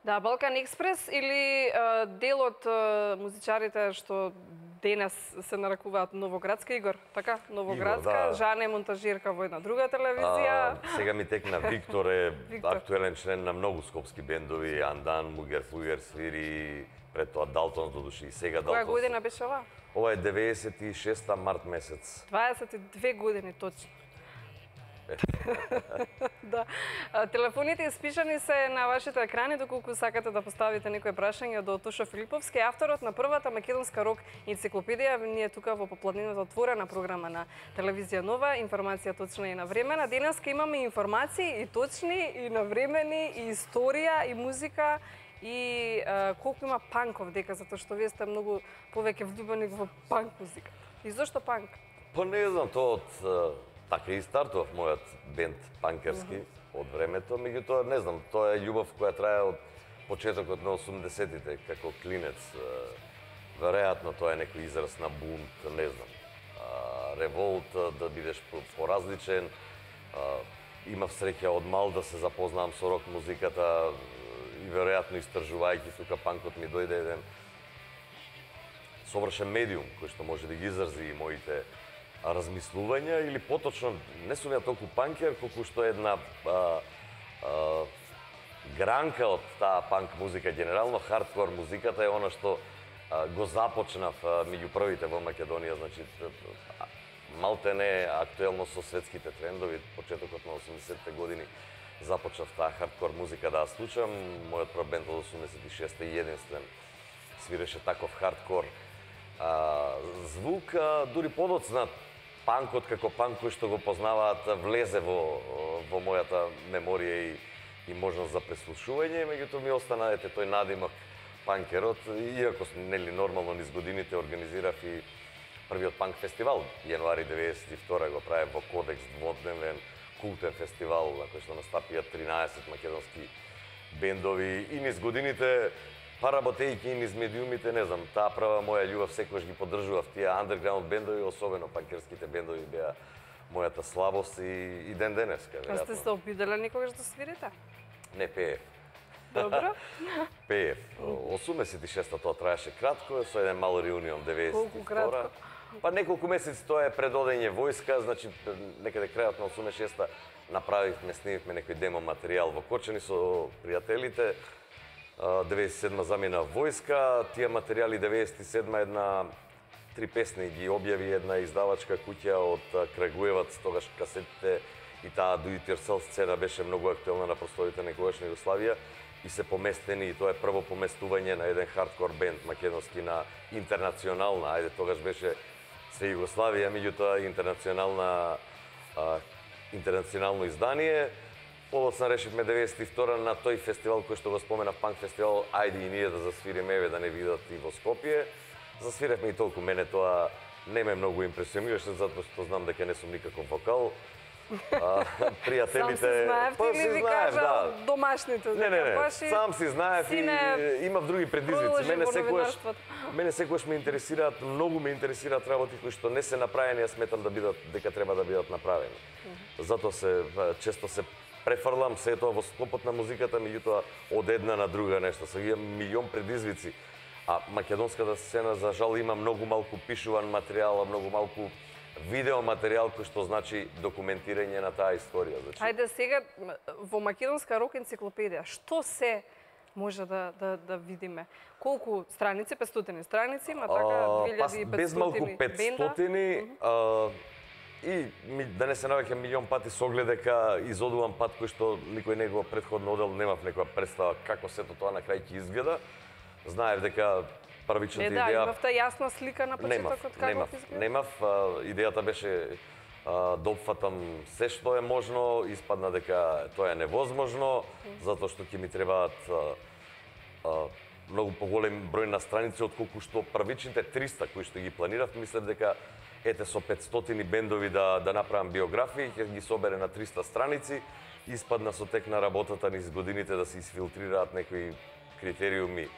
Да, Балкан Експрес или а, дел од а, музичарите што денес се нарекуваат Новоградска, Игор, така? Новоградска, Игор, да. Жана е монтажирка во една друга телевизија. А, сега ми текна Виктор е Виктор. актуелен член на многу скопски бендови, Андан, Мугер, Фугер, свири, пред тоа Далтонс до души и сега Која Далтонс. година беше ова? Ова е деветдесет и шеста март месец. дваесет и две години точно. Да. А, телефоните испишани се на вашите екрани доколку сакате да поставите некој прашање до Тошо Филиповски, авторот на првата македонска рок енциклопедија. Ние тука во попладнината отворена програма на телевизија Нова, информација точна и навремена. Денеска имаме информации и точни и навремени и историја и музика и а, колку има панков дека, затоа што вие сте многу повеќе влюбени во панк музика. И зошто панк? Па не знам, тоа од така и стартував мојот бенд панкерски од времето, меѓутоа не знам, тоа е љубов која трае од почетокот на осумдесетите како клинец. Веројатно тоа е некој израз на бунт, не знам. Револт, да бидеш поразличен. Имав среќа од мал да се запознавам со рок музиката и веројатно истражувајќи тука панкот ми дојде еден совршен медиум кој што може да ги изрази и моите размислувања, или поточно не сум ја толку панкер, колку што една а, а, гранка од таа панк музика, генерално хардкор музиката е она што а, го започнав а, меѓу првите во Македонија, значи малте не актуелно со светските трендови, почетокот на осумдесетте години започнав таа хардкор музика да ја слушам. Мојот прв бенд од осумдесет и шеста и единствен свиреше таков хардкор а, звук, а, дури подоцна панкот како панк кој што го познаваат влезе во, во мојата меморија и, и можност за преслушување, меѓутоа ми остана ете тој надимок панкерот, иако нели нормално низ годините организирав и првиот панк фестивал, јануари деветдесет и втора го правев во Кодекс, дводневен култен фестивал на кој што настапија тринаесет македонски бендови и низ годините, па работејќи низ медиумите, не знам, таа прва моја љубов секогаш ги поддржував тие андерграунд бендови, особено панкерските бендови беа мојата слабост и, и ден денеска, А сте се обиделе никогаш да свирите? Не, пеев. Добро. Пеев. осумдесет и шеста тоа траеше кратко, со еден мал реунион деветдесет и втора. Колку кратко? Па неколку месеци тоа е пред одење војска, значи некаде крајот на осумдесет и шеста направивме, снимивме некој демо материјал во Кочани со пријателите. деветдесет и седма замина војска, тие материјали деветдесет и седма една три песни ги објави една издавачка куќа од Крагуевац, тогаш касетите и таа Do It Yourself сцена беше многу актуелна на просторите на тогашна Југославија и се поместени, и тоа е прво поместување на еден хардкор бенд македонски на интернационална, ајде тогаш беше се Југославија, меѓутоа интернационална а, интернационално издание. Подоцна решивме деветдесет и втора на тој фестивал кој што го спомена, панк фестивал, ајде и ние да засвириме, еве да не видат и во Скопје. Засвиревме и толку, мене тоа не ме многу импресионираше, затоа што знам дека не сум никаков вокал. А, пријателите... Сам си знаев, па, ти си ли ви знаев, кажа да. домашните? Не, не, не, баш и сам си знаев сине и имав други предизвици. продолжи Мене во секогаш, новинарството. мене секогаш ме интересираат, многу ме интересираат работи кои што не се направени, ја сметам да бидат, дека треба да бидат направени. Затоа се, често се префрлам се тоа во склопот на музиката, меѓутоа од една на друга нешто. Сега имам милион предизвици, а македонската сцена за жал има многу малку пишуван материјал, многу малку видео материјал кој што значи документирање на таа историја. Значи, Ајде сега во македонска рок енциклопедија, што се може да да да видиме? Колку страници, петстотини страници, има така две илјади и петстотини без малку петстотини, бенда? и ми, да не се навеќе милион пати со оглед дека изодувам пат кој што никој не го претходно одел, немав некоја представа како сето тоа на крај ќе изгледа. Знаев дека првичната Е, да, идеја... имавте јасна слика на почетокот како немав, ќе изгледа? немав, а, идејата беше а, да опфатам се што е можно, испадна дека тоа е невозможно, затоа што ќе ми требаат а, а, многу поголем број на страници од колку што првичните триста кои што ги планирав, мислев дека ете со петстотини бендови да да направам биографии, ќе ги собере на триста страници, испадна со тек на работата низ годините да се изфилтрираат некои критериуми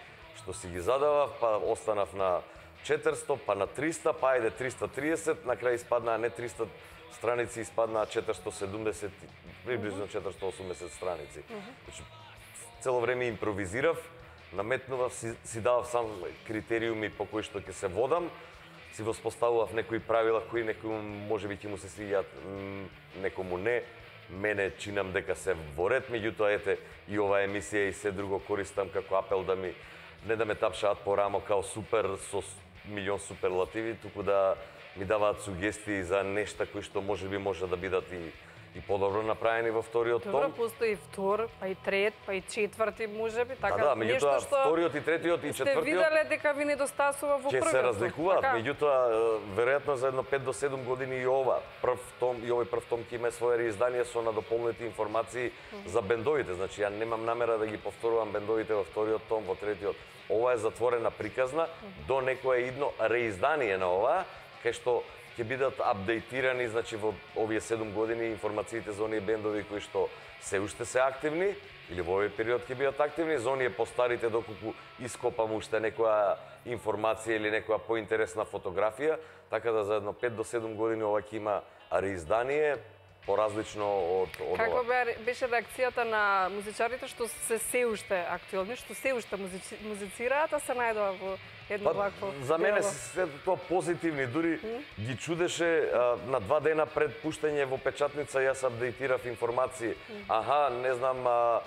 што си ги задавав, па останав на четиристо, па на триста, па ајде триста и тридесет, на крај испаднаа не триста страници, испаднаа четиристо и седумдесет, приближно четиристо и осумдесет страници. Значи, цело време импровизирав, наметнував, си, си давав сам критериуми по кои што ќе се водам, си воспоставував некои правила кои некој можеби ќе му се свиѓаат, некому не. Мене чинам дека се во ред, меѓутоа ете и оваа емисија и се друго користам како апел да ми не да ме тапшаат по рамо као супер со милион суперлативи, туку да ми даваат сугестии за нешта кои што можеби може да бидат и и подобро направени во вториот том. Добро, постои втор, па и трет, па и четврти можеби, така да, да, нешто меѓутоа што вториот и третиот и четвртиот сте виделе дека ви недостасува во првиот. Ќе се разликуваат, така? меѓутоа веројатно за едно пет до седум години и ова прв том и овој прв том ќе има свое реиздание со надополнети информации mm -hmm. за бендовите. Значи ја немам намера да ги повторувам бендовите во вториот том, во третиот. Ова е затворена приказна, mm -hmm. до некое идно реиздание на ова, кај што ќе бидат апдейтирани, значи во овие седум години информациите за оние бендови кои што се уште се активни или во овој период ќе бидат активни, за оние постарите доколку ископам уште некоја информација или некоја поинтересна фотографија, така да за едно пет до седум години ова ќе има реиздание поразлично од од Како беше реакцијата на музичарите што се се уште актуелни, што се уште музици, музицираат, а се најдува во едно вакво? За мене се тоа позитивни, дури mm? ги чудеше а, на два дена пред пуштање во печатница јас апдейтирав информации. Mm. Аха, не знам, а,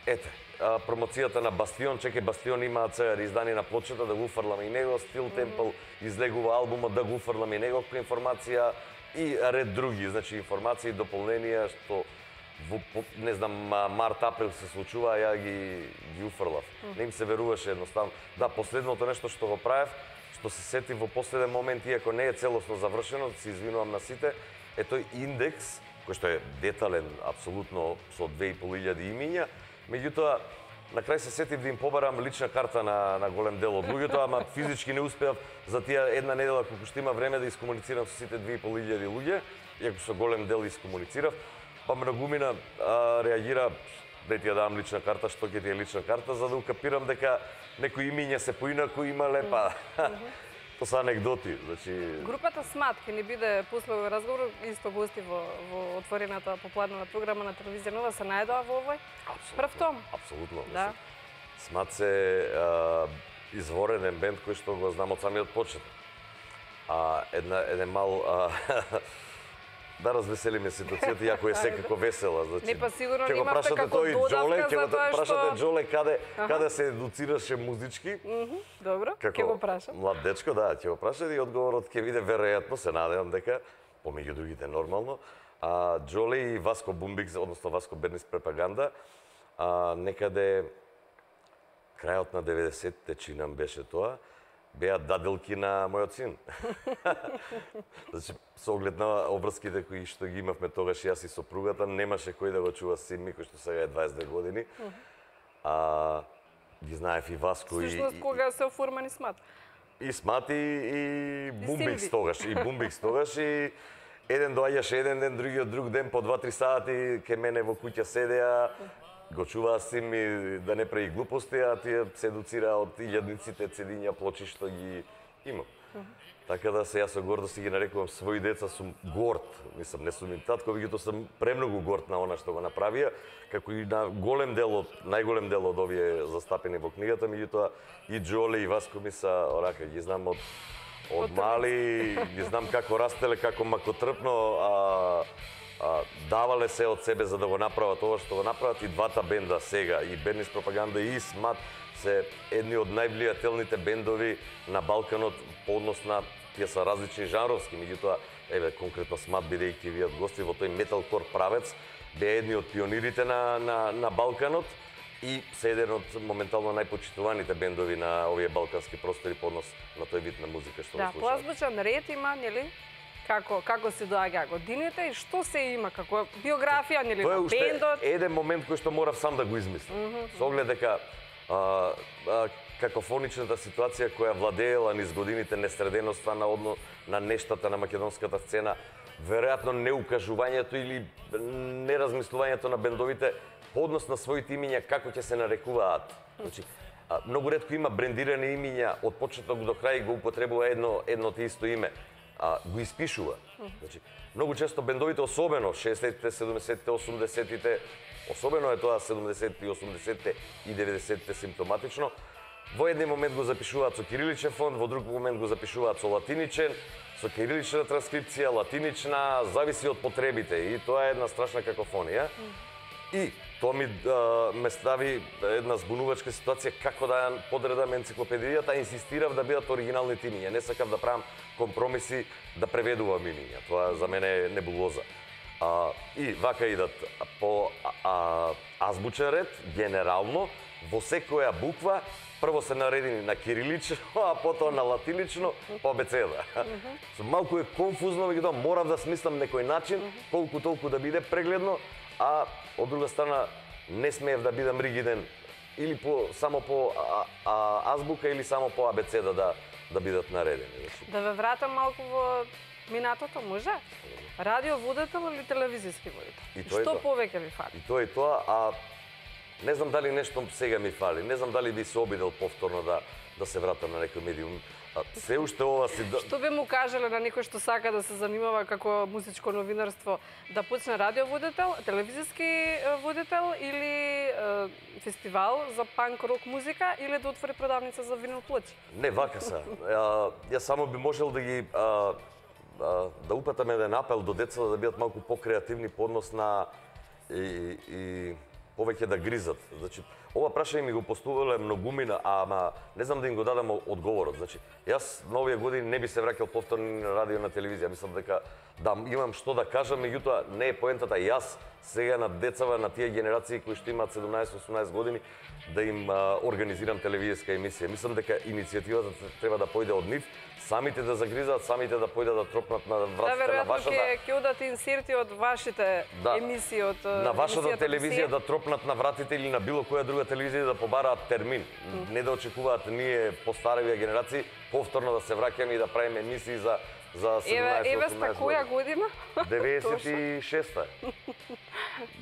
ете, а, промоцијата на Бастион, чеке Бастион има сега издание на плочата, да го уфрлам и него, Steel Temple mm. излегува албумот, да го уфрлам и него информација и ред други, значи информации и дополненија што во, не знам, март-април се случува, ја ги, ги уфрлав. Mm. Не им се веруваше едноставно. Да, последното нешто што го правев, што се сетив во последен момент, иако не е целосно завршено, се извинувам на сите, е тој индекс, кој што е детален, апсолутно со две и пол илјади имиња, меѓутоа, на крај се сетив да им побарам лична карта на, на голем дел од луѓето, ама физички не успеав за тие една недела колку што има време да искомуницирам со сите две и пол илјади луѓе, иако со голем дел искомуницирав. Па многумина а, реагира, да ти ја дам лична карта, што ќе ти е лична карта, за да укапирам дека некои имиња се поинаку има лепа. Mm -hmm. Тоа се анегдоти, значи. Групата Смат ќе ни биде после овој разговор исто гости во во отворената попладнена програма на телевизија Нова, се најдоа во овој прв том. Апсолутно. Да. Смат се а, изворен бенд кој што го знам од самиот почеток. А една еден мал а, да развеселиме ситуацијата, иако е секако весела. Значи, не, па сигурно ќе го немавте прашате како тој Джоле, додавка ќе за го тоа што... прашате Джоле каде, каде се едуцираше музички. Mm -hmm. Добро, како ќе го прашам. Млад дечко, да, ќе го прашате и одговорот ќе биде веројатно, се надевам дека, помеѓу другите нормално, а Джоле и Васко Бумбикс, односно Васко Бернис Пропаганда, а, некаде крајот на деветдесетте чинам беше тоа, беа даделки на мојот син. Значи, со оглед на обврските кои што ги имавме тогаш јас и сопругата, немаше кој да го чува син ми, кој што сега е дваесет две години. А, ги знаев и Васко и... Всушност, кога се оформени Смат? И Смат и, и Бумбикс тогаш, и Бумбикс тогаш, и еден доаѓаше еден ден, другиот друг ден, по два-три сати, ке мене во куќа седеа, го чуваа син ми да не прави глупости, а тие се едуцира од илјадниците цедиња плочи што ги имам. Uh -huh. Така да се јас со гордост ги нарекувам своји деца, сум горд, мислам, не сум им татко, меѓутоа сум премногу горд на она што го направија, како и на голем дел од, најголем дел од овие застапени во книгата, меѓутоа и Джоле и Васко ми са, орака, ги знам од од мали, ги знам како растеле, како макотрпно, а А, давале се од себе за да го направат ова што го направат и двата бенда сега, и Бернис Пропаганда и Смат се едни од највлијателните бендови на Балканот по однос на тие се различни жанровски, меѓутоа еве конкретно Смат бидејќи вие гости во тој металкор правец беа едни од пионирите на на на Балканот и се еден од моментално најпочитуваните бендови на овие балкански простори по однос на тој вид на музика што да, го слушаме. Да, поазбучен ред има, нели? Како како се доаѓа годините и што се има како биографија, нели, тоа е на уште бендот? Еден момент кој што морав сам да го измислам. Mm -hmm. Со оглед дека а, а, какофоничната ситуација која владеела низ годините, несреденоста на одно на нештата на македонската сцена, веројатно неукажувањето или неразмислувањето на бендовите по однос на своите имиња како ќе се нарекуваат. Значи, а, многу ретко има брендирани имиња од почеток до крај го употребува едно едно те исто име. А, го испишува. Значи, многу често бендовите, особено шеесеттите, седумдесеттите, осумдесеттите, особено е тоа седумдесеттите, осумдесеттите и деветдесеттите симптоматично, во еден момент го запишуваат со кириличен фонд, во друг момент го запишуваат со латиничен, со кирилична транскрипција, латинична, зависи од потребите и тоа е една страшна какофонија. И тоа ми а, ме стави една збунувачка ситуација како да ја подредам енциклопедијата, инсистирав да бидат оригиналните имиња, не сакав да правам компромиси да преведувам имиња. Тоа за мене е небулоза. А, и вака идат по а, азбучен ред, генерално, во секоја буква, прво се наредени на кирилично, а потоа на латинично, по абецеда. So, малку е конфузно, меѓутоа морав да смислам некој начин, колку толку да биде прегледно, а од друга страна не смеев да бидам ригиден или по само по а, а, азбука или само по абецеда да да бидат наредени. Да ве вратам малку во минатото, може? Радио водител или телевизиски водител? И тоа Што тоа. повеќе ви фали? И тоа и тоа, а не знам дали нешто сега ми фали, не знам дали би се обидел повторно да да се вратам на некој медиум. А, се уште ова си да... Што би му кажале на некој што сака да се занимава како музичко новинарство, да почне радио водител, телевизиски е, водител или е, фестивал за панк рок музика или да отвори продавница за винил плочи? Не, вака са. А, јас само би можел да ги а, а, да упатам еден апел до децата да бидат малку покреативни по однос на и, и повеќе да гризат. Значи, ова прашање ми го поставиле многумина, ама не знам да им го дадам одговорот. Значи, јас на овие години не би се враќал повторно на радио на телевизија. Мислам дека да имам што да кажам, меѓутоа не е поентата јас сега на децава, на тие генерации кои што имаат седумнаесет-осумнаесет години, да им а, организирам телевизиска емисија. Мислам дека иницијативата треба да појде од нив, самите да загризат, самите да појдат да тропнат на вратите да, на вашата... Да, веројатно ќе одат инсерти од вашите да, емисии, од на вашата емисијата телевизија да тропнат на вратите или на било која друга телевизија да побараат термин. Mm. Не да очекуваат ние постареви генерации повторно да се враќаме и да правиме емисии за за седумнаесет-осумнаесет години. Еве, која година? деветдесет и шеста.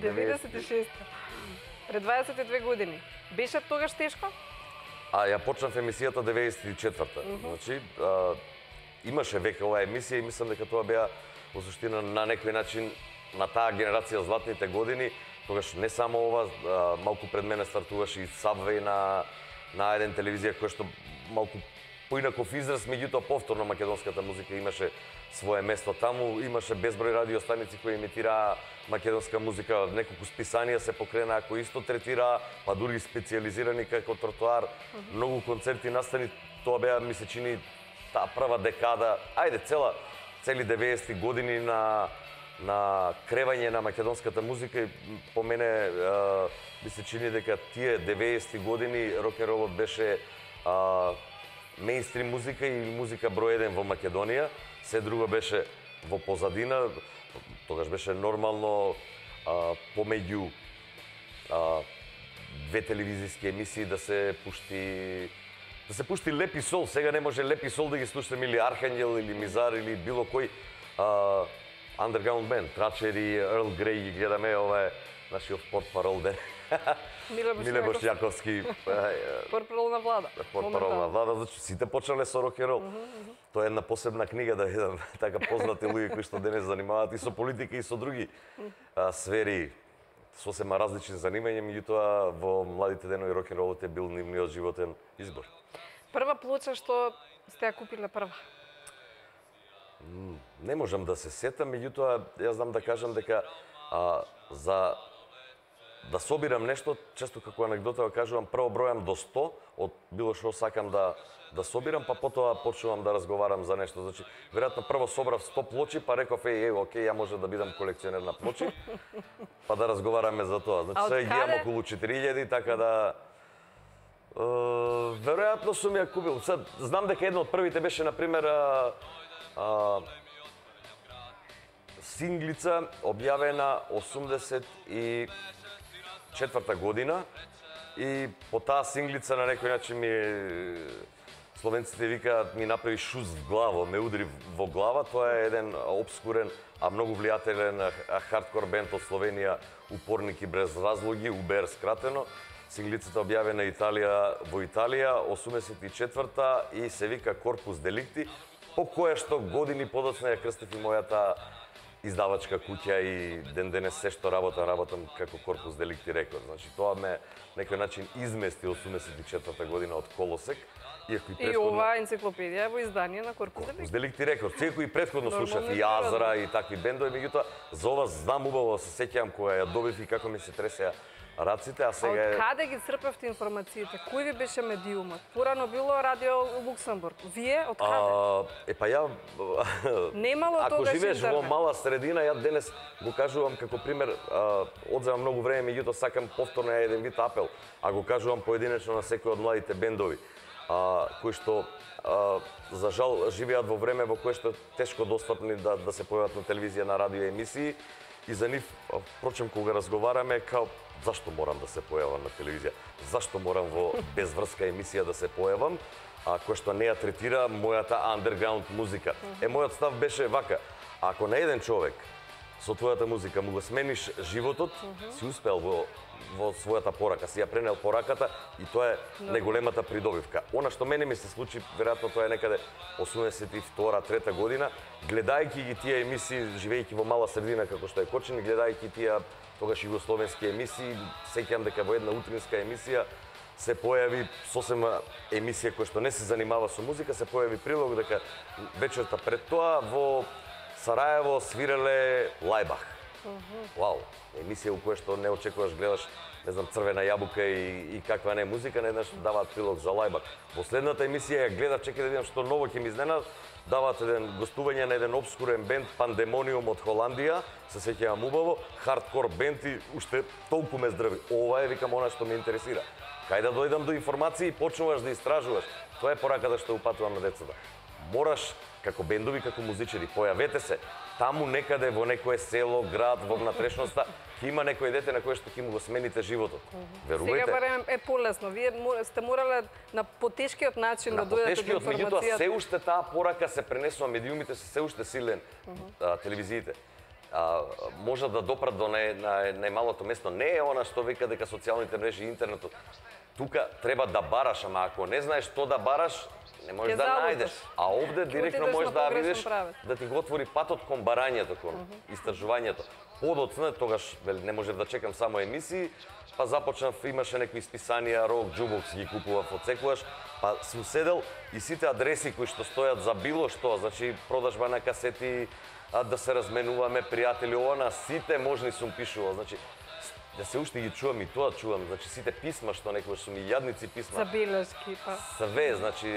деветдесет и шеста. Пред дваесет и две години. Беше тогаш тешко? А ја почнав емисијата деветдесет и четврта. Mm -hmm. Значи, а, имаше веќе оваа емисија и мислам дека тоа беа во суштина на некој начин на таа генерација златните години, тогаш не само ова, а, малку пред мене стартуваше и Subway на на еден телевизија која што малку поинаков израз, меѓутоа повторно македонската музика имаше свое место таму, имаше безброј радиостаници кои емитираа македонска музика, неколку списанија се покренаа кои исто третираа, па дури специјализирани како тротоар, uh -huh. многу концерти настани, тоа беа ми се чини таа прва декада, ајде цела цели деветдесетти години на на кревање на македонската музика и по мене а, ми се чини дека тие деветдесетти години рок-н-ролот беше а, мејнстрим музика и музика број еден во Македонија, се друго беше во позадина, тогаш беше нормално а, помеѓу а, две телевизиски емисии да се пушти да се пушти Леп и Сол. Сега не може Леп и Сол да ги слушаме или Архангел или Мизар или било кој а, underground band, Трачери, Ерл Греј ги гледаме, ова е нашиот портпарол ден. Миле Бошјаковски. Портпарол на влада. Портпарол на влада, значи сите почнале со рок-н-рол. Тоа е една посебна книга да видам така познати луѓе кои што денес занимаваат и со политика и со други а, сфери, сосема различни занимања, меѓутоа во младите денови рок-н-ролот е бил нивниот животен избор. Прва плоча што сте ја купиле прва? Не можам да се сетам, меѓутоа јас знам да кажам дека а, за да собирам нешто, често како анегдота кажувам, прво бројам до сто од било што сакам да да собирам, па потоа почнувам да разговарам за нешто. Значи, веројатно прво собрав сто плочи, па реков еј, еј, окей, ја може да бидам колекционер на плочи, па да разговараме за тоа. Значи, сега ги имам околу четири илјади, така да е, веројатно сум ја купил. Сад, знам дека едно од првите беше на пример а, а, синглица објавена осумдесет и четврта година и по таа синглица на некој начин ми словенците викаат ми направи шуз в главо, ме удри во глава. Тоа е еден обскурен, а многу влијателен хардкор бенд од Словенија, Упорник и без разлоги, У Б Р скратено. Синглицата објавена Италија во Италија осумдесет и четврта и се вика Корпус Деликти. по која што години подоцна ја крстив и мојата издавачка куќа и ден денес се што работам, работам како Корпус Деликти Рекорд. Значи тоа ме некој начин измести осумдесет и четврта година од колосек. Иако и предходно... И оваа енциклопедија во издание на Корпус Деликти. Корпус Деликти Рекорд. Секој и предходно слушав и Азра и такви бендови, меѓутоа за ова знам убаво, се сеќавам кога ја добив и како ми се тресеа раците, а сега е... А од каде ги црпевте информациите? Кој ви беше медиумот? Порано било Радио Луксембург. Вие од каде? А, е па ја немало ако тогаш живееш интернет. во мала средина, ја денес го кажувам како пример, а, одземам многу време, меѓутоа сакам повторно еден вид апел, а го кажувам поединечно на секој од младите бендови, а, кои што а, за жал живеат во време во кое што тешко достапни да да се појават на телевизија, на радио емисии, и за нив, впрочем, кога разговараме, као зашто морам да се појавам на телевизија? Зашто морам во безврска емисија да се појавам, а која што не ја третира мојата андерграунд музика? Е, мојот став беше вака: ако на еден човек со твојата музика му го смениш животот, си успел во во својата порака, си ја пренел пораката и тоа е најголемата придобивка. Она што мене ми се случи, веројатно тоа е некаде осумдесет и втора трета година, гледајќи ги тие емисии, живејќи во мала средина како што е Кочани, гледајќи тие тогаш југословенски емисии, сеќавам дека во една утринска емисија се појави сосема емисија која што не се занимава со музика, се појави прилог дека вечерта пред тоа во Сараево свиреле Лајбах. Вау, емисија во која што не очекуваш, гледаш, не знам, Црвена јабука и, и каква не музика, не еднаш даваат прилог за Лајбах. Во следната емисија ја гледав, чекај да видам што ново ќе ми изненад, даваат еден гостување на еден обскурен бенд Пандемониум од Холандија, се сеќавам убаво, хардкор бенд и уште толку ме здрави. Ова е, викам, она што ме интересира. Кај да дојдам до информации и почнуваш да истражуваш. Тоа е пораката што упатувам на децата. Мораш, како бендови, како музичари, појавете се таму некаде во некое село, град, во внатрешноста, ќе има некој дете на кое што ќе му го смените животот. Верувајте. Сега барем е полесно. Вие сте морале на потешкиот начин да дојдете до информацијата. Меѓутоа се уште таа порака се пренесува, медиумите се се уште силен, а, телевизиите. А, може да допрат до нај, нај, најмалото место. Не е она што вика дека социјалните мрежи и интернетот. Тука треба да бараш, ама ако не знаеш што да бараш, не можеш да најдеш. А овде директно можеш да видиш да ти го отвори патот кон барањето, кон истражувањето. Подоцна, тогаш не можев да чекам само емисии, па започнав, имаше некои списанија, рок, джубокс ги купував од секогаш, па сум седел и сите адреси кои што стојат за било што, значи продажба на касети, да се разменуваме пријатели, ова на сите можни сум пишувал, значи да се уште ги чувам и тоа чувам, значи сите писма што некогаш сум и јадници писма. Забелешки, па. Све, значи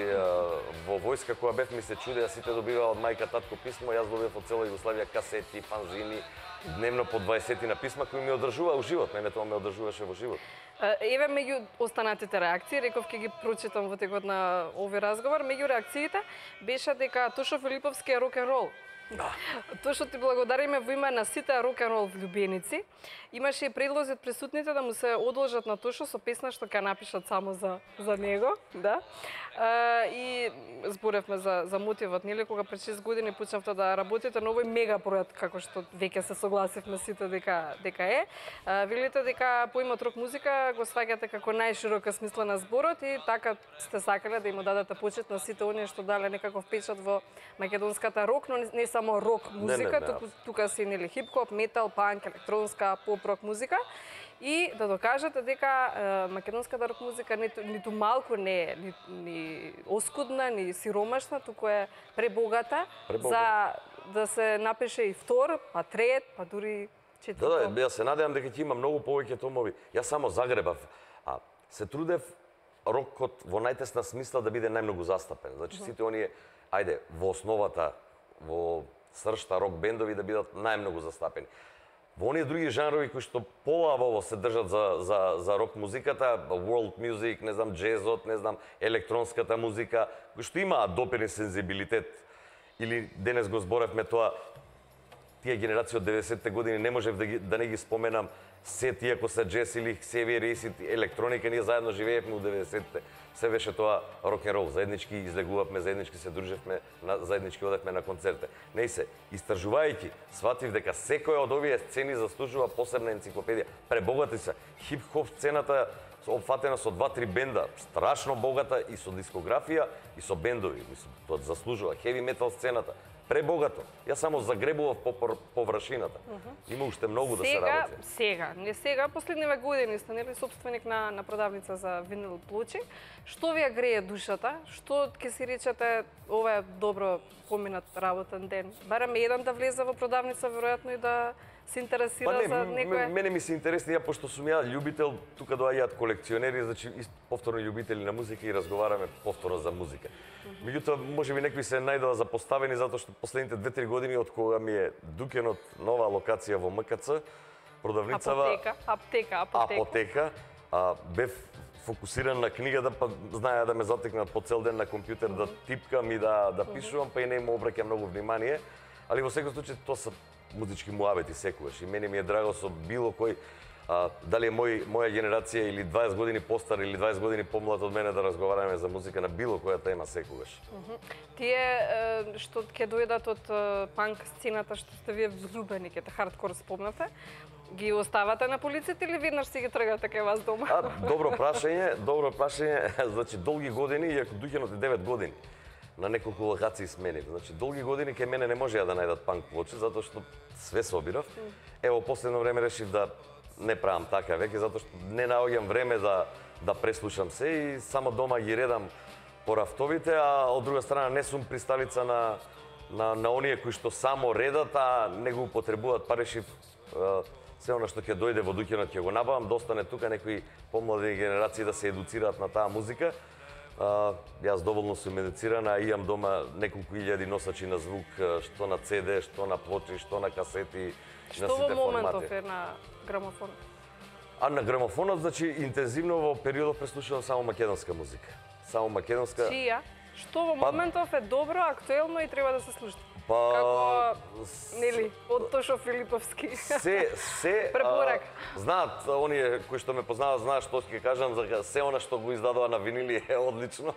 во војска кога бев ми се чудеа, сите добиваа од мајка татко писмо, јас добивав од цела Југославија касети, фанзини, дневно по дваесет на писма кои ми одржуваа во живот, мене тоа ме одржуваше во живот. Еве меѓу останатите реакции, реков ќе ги прочитам во текот на овој разговор, меѓу реакциите беше дека Тошо Филиповски е рок-н-рол. Да. Тоа што ти благодариме во име на сите рок-н-рол влюбеници. Имаше и предлози од присутните да му се одложат на Тошо со песна што ќе напишат само за за него, да. А, и зборевме за за мотивот, нели, кога пред шест години почнавте да работите на овој мега проект, како што веќе се согласивме сите дека дека е. А, велите дека поимот рок музика го сваќате како најширока смисла на зборот и така сте сакале да им дадете почит на сите оние што дале некаков печат во македонската рок, но не само рок музика, не, не, туку тука се нели хип-хоп, метал, панк, електронска, поп-рок музика. И да докажете дека е, македонската рок музика ниту, ниту малку не е ни, ни оскудна, ни сиромашна, туку е пребогата, пребогата за да се напише и втор, па трет, па дури четврт. Да, да, јас се надевам дека ќе има многу повеќе томови. Јас само загребав, а се трудев рокот во најтесна смисла да биде најмногу застапен. Значи сите оние, ајде, во основата, во сршта рок бендови да бидат најмногу застапени. Во оние други жанрови кои што полабаво се држат за, за, за рок музиката, world music, не знам, джезот, не знам, електронската музика, кои што имаат доперен сензибилитет, или денес го зборевме тоа, тие генерации од деветдесетте години не можев да, ги, да не ги споменам се тие, ако се джез или Ксевиер Рейс, електроника, ние заедно живеевме у деветдесетте. Се беше тоа рок-н-рол, заеднички излегувавме, заеднички се дружевме, заеднички одевме на концерте. Не се, истражувајќи, сватив дека секоја од овие сцени заслужува посебна енциклопедија. Пребогати се. Хип-хоп сцената опфатена со два-три бенда, страшно богата и со дискографија и со бендови. Мислам, тоа заслужува. Хеви метал сцената пребогато. Јас само загребував по површината. Има уште многу да се работи. Сега, не сега, последниве години сте нели собственик на на продавница за винил плочи. Што ви ја грее душата? Што ќе си речете ова е добро поминат работен ден? Барем еден да влезе во продавница веројатно и да се интересира па не, за некој. Мене ми се интересни, ја пошто сум ја љубител, тука доаѓаат колекционери, значи повторно љубители на музика и разговараме повторно за музика. Меѓутоа, можеби некои се најдоа запоставени затоа што последните две-три години од кога ми е дукенот нова локација во М К Ц, продавницава Апотека, аптека, апотека. Апотека, а, бев фокусиран на книгата, па знаеа да ме затекнат по цел ден на компјутер да типкам и да да пишувам, па и не им обраќам многу внимание, али во секој случај тоа се музички муабети секогаш и мене ми е драго со било кој а, дали е мој моја генерација или дваесет години постар или дваесет години помлад од мене да разговараме за музика на било која тема секогаш. Тие што ќе дојдат од панк сцената што сте вие влюбени ке хардкор спомнате, ги оставате на полиците или веднаш си ги тргате кај вас дома? А, добро прашање, добро прашање, значи долги години, иако духенот е девет години. На неколку локации сменив. Значи, долги години кај мене не можеа да најдат панк плочи, затоа што све собирав. Ево, последно време решив да не правам така веќе, затоа што не наоѓам време да да преслушам се и само дома ги редам по рафтовите, а од друга страна не сум присталица на на на оние кои што само редат, а не го употребуваат, па решив се она што ќе дојде во духенот ќе го набавам, да остане тука некои помлади генерации да се едуцираат на таа музика. Uh, јас доволно сум едуцирана, имам дома неколку илјади носачи на звук, што на Це Де, што на плочи, што на касети, што на сите формати. Што во моментов е на грамофон? А на грамофонот, значи, интензивно во периодот преслушувам само македонска музика. Само македонска. Чија? Што во моментов е добро, актуелно и треба да се слуша? Па... Како, нели, од Тошо Филиповски. Се, се... Препорак. А, знаат, оние кои што ме познаваат, знаат што ќе кажам, за се она што го издадува на винили е одлично.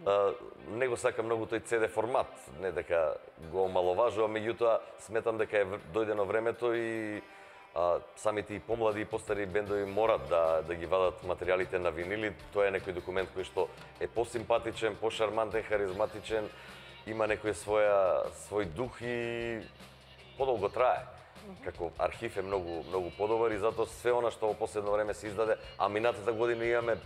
А, не го сакам многу тој Це Де формат, не дека го омаловажувам, меѓутоа сметам дека е дојдено времето и а, самите и помлади и постари бендови морат да да ги вадат материјалите на винили. Тоа е некој документ кој што е посимпатичен, пошармантен, харизматичен, има некој своја свој дух и подолго трае. Како архив е многу многу подобар и затоа све она што во последно време се издаде, а минатата година имаме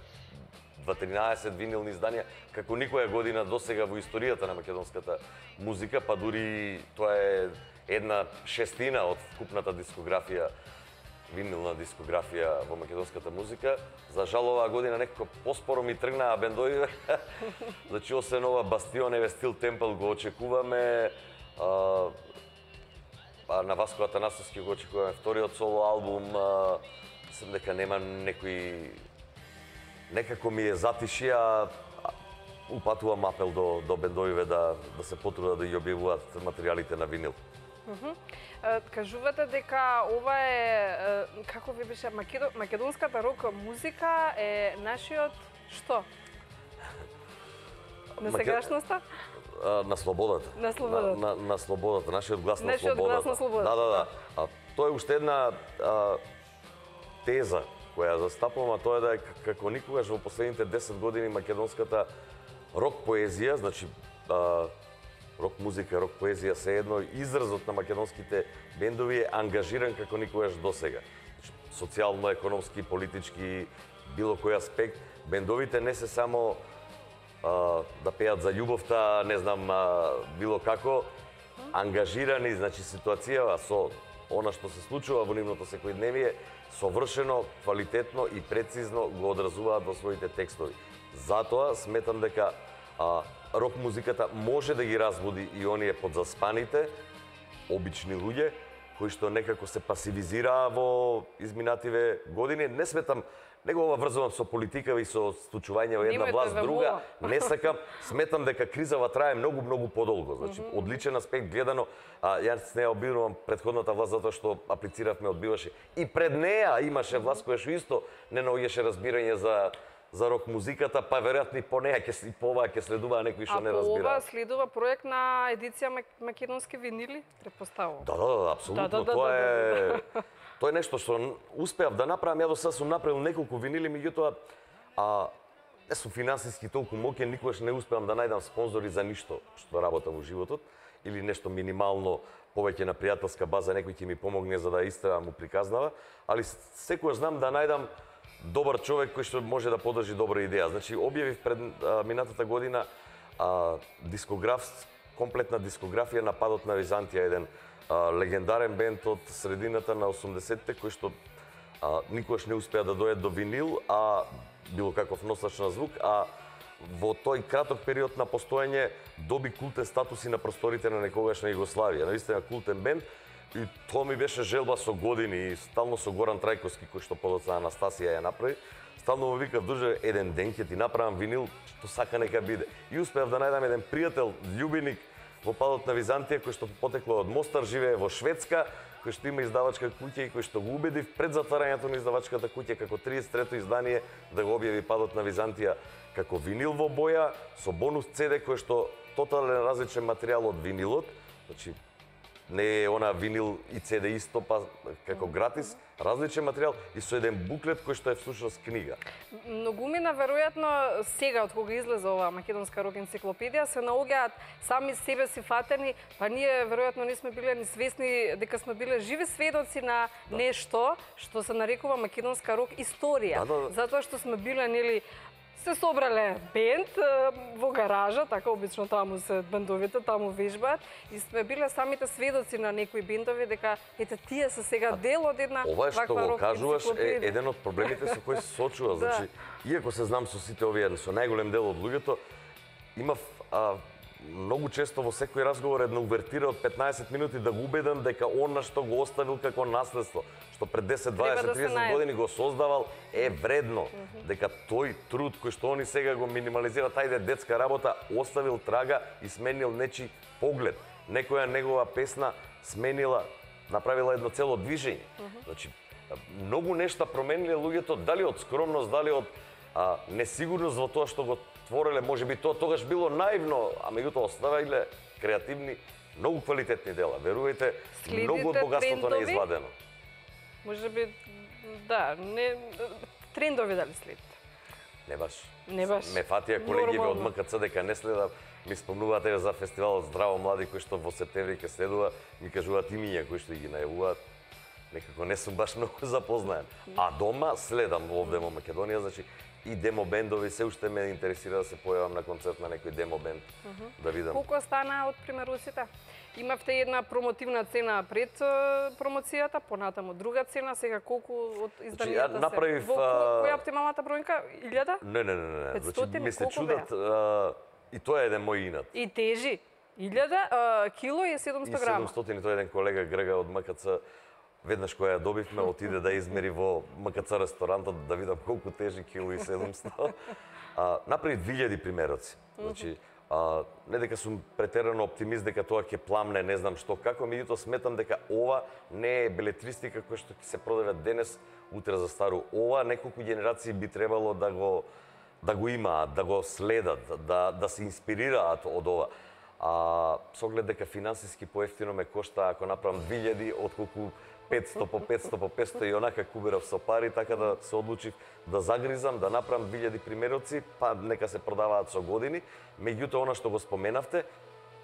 дваесет винилни изданија, како никоја година досега во историјата на македонската музика, па дури тоа е една шестина од вкупната дискографија, винилна дискографија во македонската музика. За жал оваа година некако поспоро ми тргнаа бендови. Значи, освен ова Бастион, еве Стил Темпл го очекуваме. А, а на Васко Атанасовски го очекуваме вториот соло албум. Мислам дека нема некои... Некако ми е затиши, а упатувам апел до, до бендовиве да, да се потрудат да ја објавуваат материјалите на винил. Uh-huh. Кажувате дека ова е, како ви беше, Македо... македонската рок музика е нашиот што? На сегашноста? На слободата. На слободата. На, на, на слободата, нашиот глас на нашиот слободата. Глас на слободата. Да, да, да. А, тоа е уште една а, теза која застапувам, а тоа е да како никогаш во последните десет години македонската рок поезија, значи а, рок музика, рок поезија се едно изразот на македонските бендови е ангажиран како никогаш досега. Значи, социјално, економски, политички, било кој аспект, бендовите не се само а, да пеат за љубовта, не знам, а, било како, ангажирани, значи ситуацијава со она што се случува во нивното секојдневие, совршено, квалитетно и прецизно го одразуваат во своите текстови. Затоа сметам дека а, рок музиката може да ги разбуди и оние подзаспаните, обични луѓе, кои што некако се пасивизираа во изминативе години. Не сметам, не го врзувам со политика и со случување во една власт друга. Не сакам, сметам дека кризава трае многу, многу подолго. Значи, mm -hmm. одличен аспект гледано. А, јас не обвинувам претходната власт затоа што аплициравме одбиваше. И пред неа имаше власт која што исто не наоѓаше разбирање за за рок музиката, па веројатно и по неа ќе и по оваа ќе следуваа некои што не разбираат. А по ова следува проект на едиција македонски винили, претпоставувам. Да, да, да, апсолутно. Да, да, да, тоа да, е да, да. тоа е нешто што успеав да направам, ја до сега сум направил неколку винили, меѓутоа а не сум финансиски толку моќен, никогаш не успеам да најдам спонзори за ништо што работам во животот или нешто минимално повеќе на пријателска база, некој ќе ми помогне за да истребам, му приказнава, али секогаш знам да најдам добар човек кој што може да подржи добра идеја. Значи, објавив пред а, минатата година а, дискограф, комплетна дискографија на Падот на Византија, еден а, легендарен бенд од средината на осумдесеттите, кој што а, никогаш не успеа да дојде до винил, а било каков носач на звук, а во тој краток период на постоење доби култен статус и на просторите на некогашна Југославија. Наистина култен бенд, и тоа ми беше желба со години, и стално со Горан Трајковски, кој што подоцна Анастасија ја направи, стално му викав, друже, еден ден ќе ти направам винил, што сака нека биде. И успеав да најдам еден пријател, љубеник во Падот на Византија, кој што потекло од Мостар, живее во Шведска, кој што има издавачка куќа и кој што го убедив пред затварањето на издавачката куќа како триесет и трето издание да го објави Падот на Византија како винил во боја со бонус Це Де кој што тотален различен материјал од винилот, значи не е она винил и Це Де исто па како гратис, различен материјал и со еден буклет кој што е всушност книга. Многумина веројатно сега од кога излезе оваа македонска рок енциклопедија се наоѓаат сами себе си фатени, па ние веројатно не сме биле ни свесни дека сме биле живи сведоци на да. Нешто што се нарекува македонска рок историја. Да, да, да. Затоа што сме биле нели се собрале бенд во гаража, така обично таму се бендовите, таму вежбаат и сме биле самите сведоци на некои бендови дека ете тие се сега дел од една ова што го кажуваш е еден од проблемите со кои се сочува, да. Значи иако се знам со сите овие со најголем дел од луѓето, имав а, многу често во секој разговор една увертира од петнаесет минути да го убедам дека она што го оставил како наследство, што пред десет, дваесет, триесет години го создавал е вредно, дека тој труд кој што они сега го минимализира, тајде детска работа, оставил трага и сменил нечи поглед. Некоја негова песна сменила, направила едно цело движење. Значи, многу нешта промениле луѓето, дали од скромност, дали од а, несигурност во тоа што го твореле, може би тоа тогаш било наивно, а меѓутоа оставиле креативни, многу квалитетни дела. Верувајте, многу од богатството не е извадено. Може би, да, не, трендови дали следите? Не баш. Не баш. Ме фатија колегиве од М К Ц дека не следам, ми спомнуваат за фестивалот Здраво млади кој што во септември ќе следува, ми кажуваат имиња кои што ги најавуваат. Некако не сум баш многу запознаен. А дома следам овде во Македонија, значи и демо бендови, се уште ме интересира да се појавам на концерт на некој демо бенд, uh -huh. да видам. Колку стана од примеруците? Имавте една промотивна цена пред промоцијата, понатаму друга цена, сега колку од изданијата значи, направив, се? Во која е оптималната бројка? илјада? Не, не, не, не. петстотини, значи, ми се чудат, а, и тоа е еден мој инат. И тежи? илјада кило и седумстотини грама? И седумстотини, тој е еден колега Грга од М К Ц, веднаш која ја добивме, отиде да измери во М К Ц ресторантот да видам колку тежи кило и седумстотини. А, направи две илјади примероци. Значи, а, не дека сум претерано оптимист дека тоа ќе пламне, не знам што како, меѓутоа сметам дека ова не е белетристика која што ќе се продава денес, утре за стару. Ова неколку генерации би требало да го да го имаат, да го следат, да да се инспирираат од ова. А со оглед дека финансиски поевтино ме кошта ако направам две илјади отколку петсто по петсто по петсто и онака куберав со пари, така да се одлучив да загризам, да направам две илјади примероци, па нека се продаваат со години. Меѓутоа, она што го споменавте,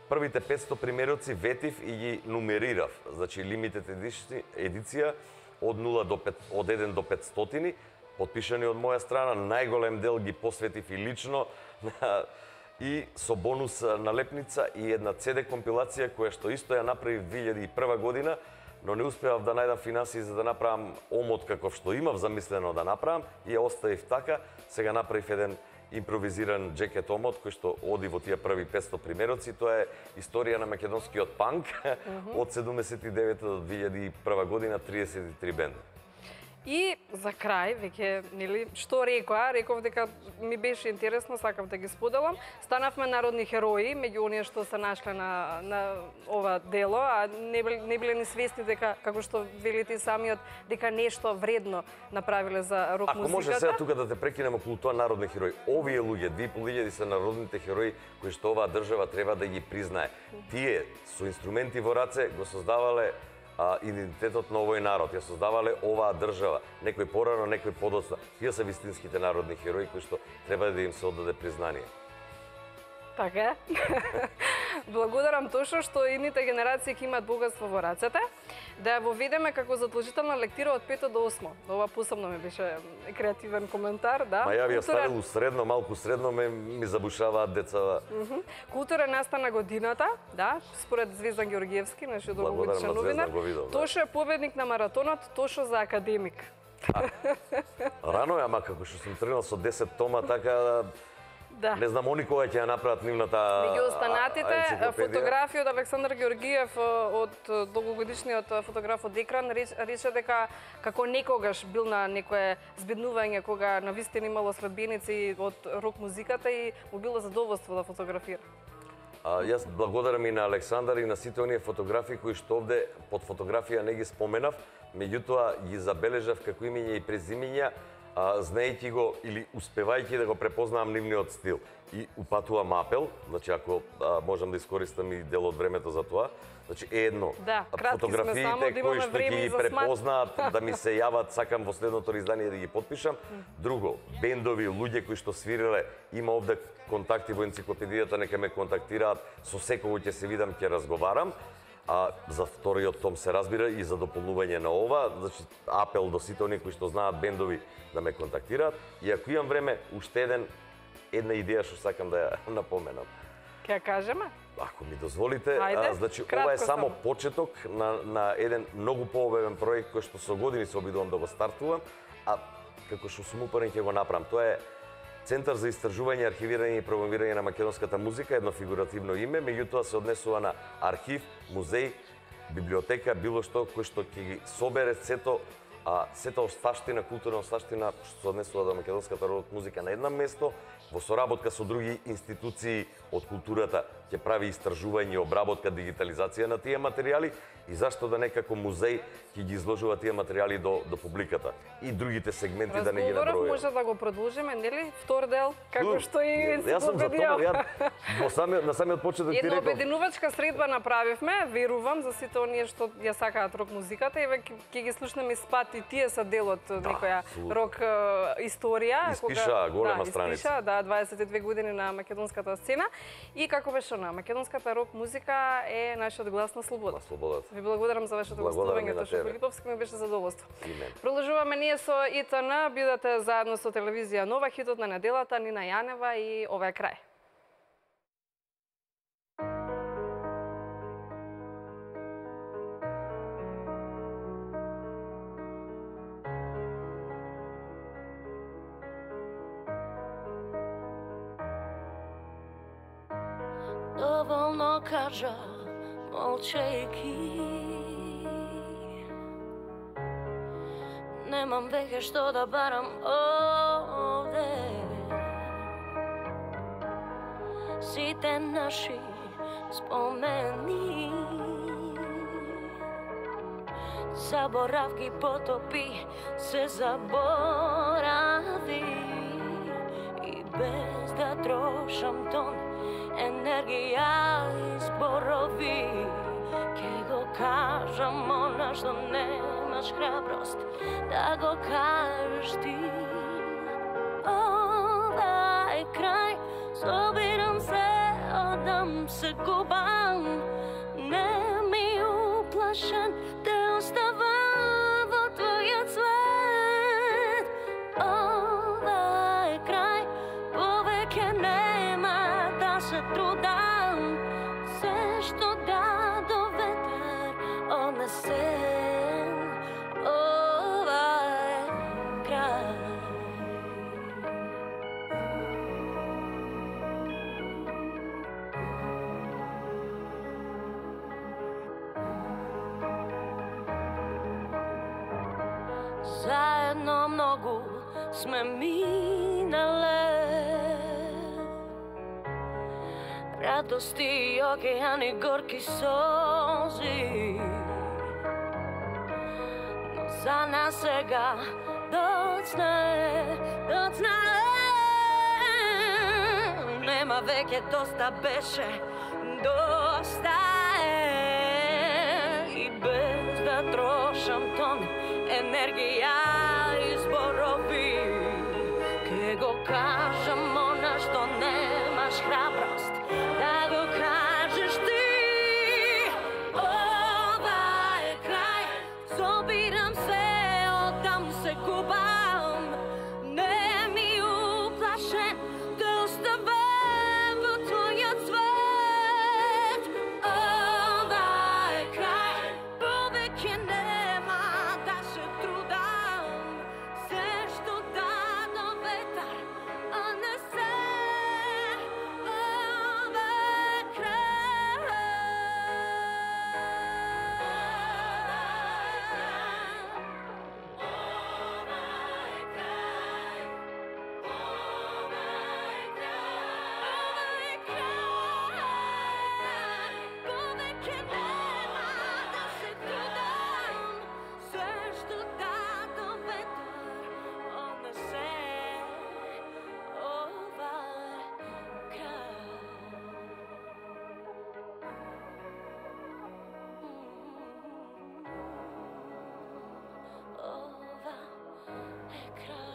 првите петсто примероци ветив и ги нумерирав. Значи, лимитет едиција од нула до пет, од еден до петстотини, потпишани од моја страна, најголем дел ги посветив и лично, и со бонус налепница и една Це Де компилација која што исто ја направив две илјади и прва година, но не успеав да најдам финансии за да направам омот каков што имав замислено да направам и ја оставив така. Сега направив еден импровизиран джекет омот кој што оди во тие први петсто примероци. Тоа е историја на македонскиот панк uh -huh. од седумдесет и девета до две илјади и прва година, триесет и три бенда. И за крај, веќе, нели, што рекоа, реков дека ми беше интересно, сакав да ги споделам. Станавме народни херои меѓу оние што се нашле на, на ова дело, а не, не биле ни свесни дека, како што велите и самиот, дека нешто вредно направиле за рок музиката. Ако може сега тука да те прекинем околу тоа народни херои. Овие луѓе, две и пол илјади се народните херои кои што оваа држава треба да ги признае. Тие со инструменти во раце го создавале а, идентитетот на овој народ. Ја создавале оваа држава, некој порано, некој подоцна. Тие се вистинските народни херои кои што треба да им се оддаде признание. Така е. Благодарам Тошо што идните генерации ќе имаат богатство во рацете, да ја воведеме како задолжителна лектира од пето до осмо. Ова посебно ми беше креативен коментар, да. Ма ја ви ја Култура... ставил средно, малку средно ме ми забушаваат децава. Mm -hmm. Култура настана годината, да, според Звездан Георгиевски, нашиот долгогодишен новинар. да. Тошо е победник на маратонот, Тошо за академик. Рано е, ама како што сум тренал со десет тома, така да. Не знам они кога ќе ја направат нивната меѓу останатите фотографија од Александар Георгиев од долгогодишниот фотограф од Екран рече дека како некогаш бил на некое збеднување кога навистина имало следбеници од рок музиката и му било задоволство да фотографира. А, јас благодарам и на Александар и на сите оние фотографии кои што овде под фотографија не ги споменав, меѓутоа ги забележав како имења и презимења, а, знаејќи го или успевајќи да го препознавам нивниот стил. И упатувам апел, значи ако а, можам да искористам и дел од времето за тоа, значи едно, да, фотографиите само, да кои што ги препознаат да ми се јават, сакам во следното издание да ги потпишам. Друго, бендови, луѓе кои што свириле, има овде контакти во енциклопедијата, нека ме контактираат, со секого ќе се видам, ќе разговарам. А за вториот том се разбира и за дополнување на ова, значи апел до сите оние кои што знаат бендови да ме контактираат. И ако имам време, уште еден една идеја што сакам да ја напоменам. Ќе ја кажеме? Ако ми дозволите, Ајде, а, значи кратко ова е само само. почеток на, на еден многу пообемен проект кој што со години се обидувам да го стартувам, а како што сум упорен ќе го направам. Тоа е Центар за истражување, архивирање и промовирање на македонската музика, едно фигуративно име, меѓутоа се однесува на архив, музеј, библиотека, било што кој што ќе ги собере сето а сета осташтина, културна осташтина што се однесува до македонската рок музика на едно место, во соработка со други институции од културата ќе прави истражување, обработка, дигитализација на тие материјали и зашто да некако музеј ќе ги изложува тие материјали до до публиката и другите сегменти да не ги набројувам. Разговоров може да го продолжиме, нели? Втор дел, како што и јас сум за тоа, ја во самиот на самиот почеток ти реков. реков. Една обединувачка средба направивме, верувам за сите оние што ја сакаат рок музиката и веќе ќе ги слушнеме спат и тие се дел од некоја рок историја. Испиша голема страница. Испиша, да, дваесет и две години на македонската сцена и како беше на македонската рок музика е нашиот глас на слобода. На слободата. Ви благодарам за вашето гостување, Тошо Филиповски, ми беше задоволство. Продолжуваме ние со И Т Н, бидете заедно со телевизија Нова, хитот на неделата, Нина Јанева и ова е крај. Доволно кажа, молчејќи. Немам веќе што да барам овде. Сите наши спомени заборавки потопи, се заборави. И без да трошам тон енергија и зборови, ке го кажам она што немаш храброст да го кажеш ти. Ова е крај, собирам се, одам се губам, не ми уплашен, те оставам во твојот свет. Ова е крај, повеќе нема да се трудам, се што даде ветер однесен. Ова е крај. Заедно многу сме минале, радости и океани, горки сози, но за нас сега доцна е, доцна е. Нема веќе доста беше, доста е. И без да да трошам тон енергија и зборови. Ке го кажам она што немаш храброст да го кажеш ти. Ова е крај, собирам се, одам се купам. Не ми уплашен да оставам во твојот свет. Ова е крај, повеќе нема да се трудам. Се што дадо ветар, а не се. Ова е крај. Повеќе нема да се трудам. Се што дадо ветар, а не се. Ова е крај. Ова е крај.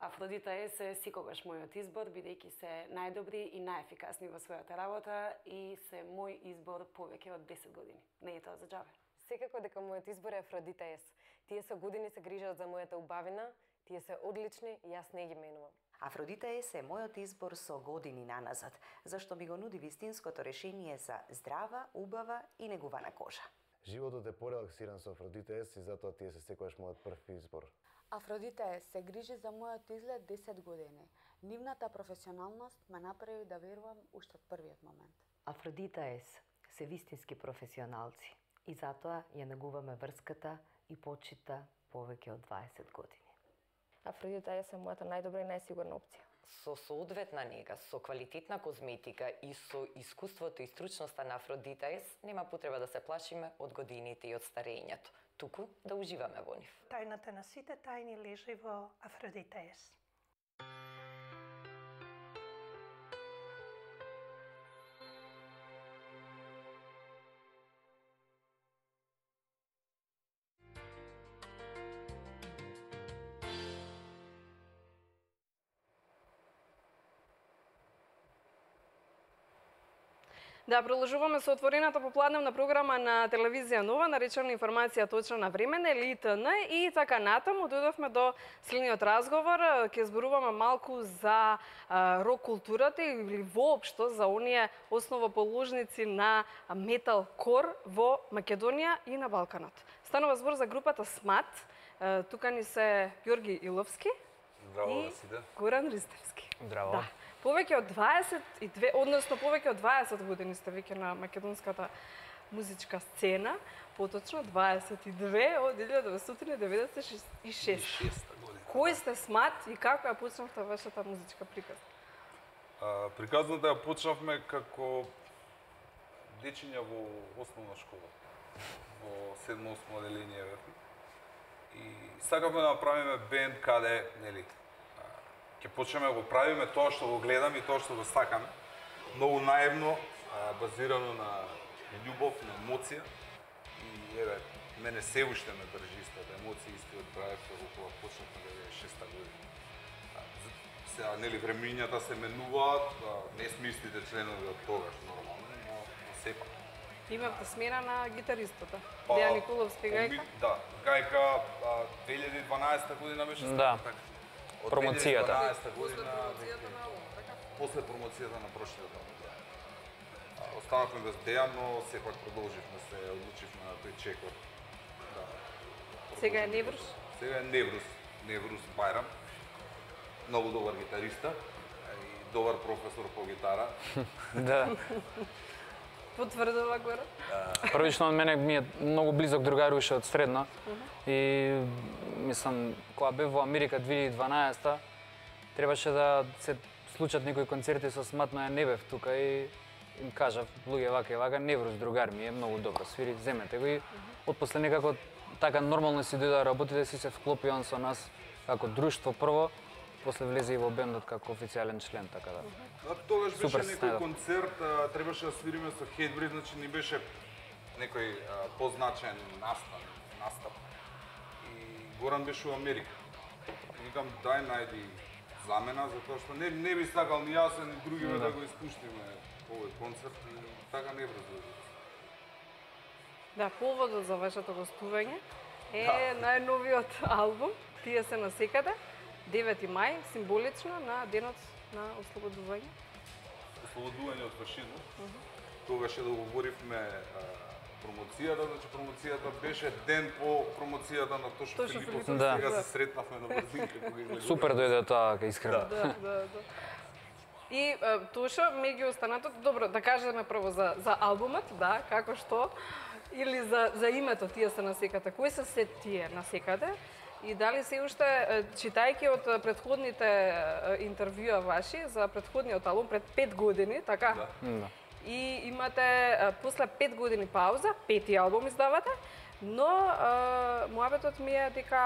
Афродита Ес е секогаш мојот избор, бидејќи се најдобри и најефикасни во својата работа и се мој избор повеќе од десет години. Не е тоа за џабе. Секако дека мојот избор е Афродита Ес. Тие со години се грижат за мојата убавина, тие се одлични и јас не ги менувам. Афродита Ес е мојот избор со години наназад, зашто ми го нуди вистинското решение за здрава, убава и негувана кожа. Животот е порелаксиран со Афродита Ес и затоа тие се секогаш мојот прв избор. Афродита Ес се грижи за мојот изглед десет години. Нивната професионалност ме направи да верувам уште од првиот момент. Афродита Ес се вистински професионалци и затоа ја негуваме врската и почита повеќе од дваесет години. Афродита Ес е мојата најдобра и најсигурна опција. Со соодветна нега, со квалитетна козметика и со искуството и стручноста на Афродита Ес нема потреба да се плашиме од годините и од старењето, туку да уживаме во нив. Тајната на сите тајни лежи во Афродита Ес. Да, продолжуваме со отворената попладневна програма на телевизија Нова, наречена информација точна на времене, или И Т Н, и така натаму дојдовме до следниот разговор. Ќе зборуваме малку за а, рок културата или воопшто за оние основоположници на метал кор во Македонија и на Балканот. Станува збор за групата СМАТ. А, тука ни се Ѓорги Иловски Здраво и да сите. Горан Ристевски. Здраво. Да. Повеќе од дваесет и две, односно повеќе од дваесет години сте веќе на македонската музичка сцена, поточно дваесет и две од илјада деветстотини деветдесет и шеста година. Кој сте СМАТ и како ја почнавте вашата музичка приказна? А, приказната ја почнавме како дечиња во основна школа, во седмо-осмо оделение бевме. И сакавме да направиме бенд каде, нели, ќе почнеме да го правиме тоа што го гледаме и тоа што го сакаме. Многу наивно, базирано на љубов, на емоција. И еве, мене се уште ме држи истата емоција, истиот проект кога почнавме деветдесет и шеста година. Сега, нели, времињата се менуваат, не сме истите членови од тогаш, нормално, но, но сепак. Имавте смена на гитаристата. Дејан Николовски гајка? Да, гајка две илјади и дванаесета година беше Да. така. Промоцијата. две илјади и дванаесета година, после промоцијата на прошлиот албум. Останавме без Дејан, но сепак продолживме се, одлучивме на тој чекор. Да. Сега е Неврус? Сега е Неврус, Неврус Бајрам. Многу добар гитариста и добар професор по гитара. Да. Потврдува Гора? Првично од мене ми е многу близок другар уште од средна. И мислам, кога бев во Америка две илјади и дванаесета, требаше да се случат некои концерти со Смат, но ја не бев тука и им кажав, луѓе вака и вака, Неврус другар ми е многу добро свири, земете го и отпосле некако така нормално си дојде да работите, си се вклопи он со нас како друштво прво, после влезе и во бендот како официјален член, така да. Да, тогаш беше Супер, некој снајдов. концерт, а, требаше да свириме со Хейтбрид, значи ни беше некој а, позначен настап, настап. И Горан беше у Америка. И викам, дај најди замена, затоа што не, не би сакал ни јас, ни другиве Да. да го испуштиме овој концерт и така не врзува. Да, поводот за вашето гостување е Да. најновиот албум Тие се насекаде, девети мај, символично на денот на ослободување. Ослободување од фашизмот. Тогаш ја договоривме а, промоцијата, значи промоцијата беше ден по промоцијата на Тошо Тошо Филипов, Филипов, Да. сега да. се сретнавме на брзинка кога излегуваме. Супер дојде тоа, искрено. Да, да, да. И е, Тошо, меѓу останатото, добро, да кажеме прво за, за албумот, да, како што, или за, за името Тие се насекате. Кои се се тие насекаде? И дали се уште, е, читајќи од предходните е, интервјуа ваши за предходниот албум пред пет години, така? Да. Да. И имате е, после пет години пауза, пети албум издавате, но е, муабетот ми е дека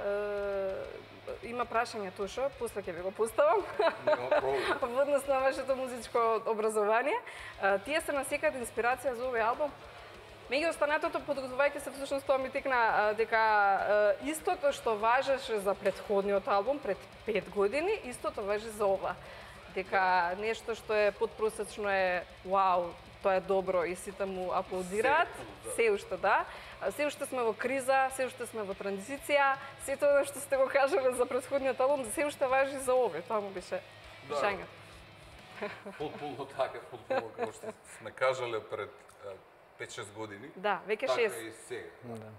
е, има прашање Тошо, после ќе ви го поставам. Нема проблем. Во однос на вашето музичко образование. Е, Тие се насекаде инспирација за овој албум. Меѓу останатото, подготвувајќи се, всушност тоа ми текна дека е, истото што важеше за предходниот албум пред пет години, истото важи за ова. Дека нешто што е подпросечно е вау, тоа е добро и сите му аплодираат, се уште да. Се уште сме во криза, се уште сме во транзиција, се тоа што сте го кажале за предходниот албум, се уште важи за овој, тоа му беше прашањето. Потполно така, потполно како што сме кажале пред пет-шест години. Да, веќе така шест. и сега. Да.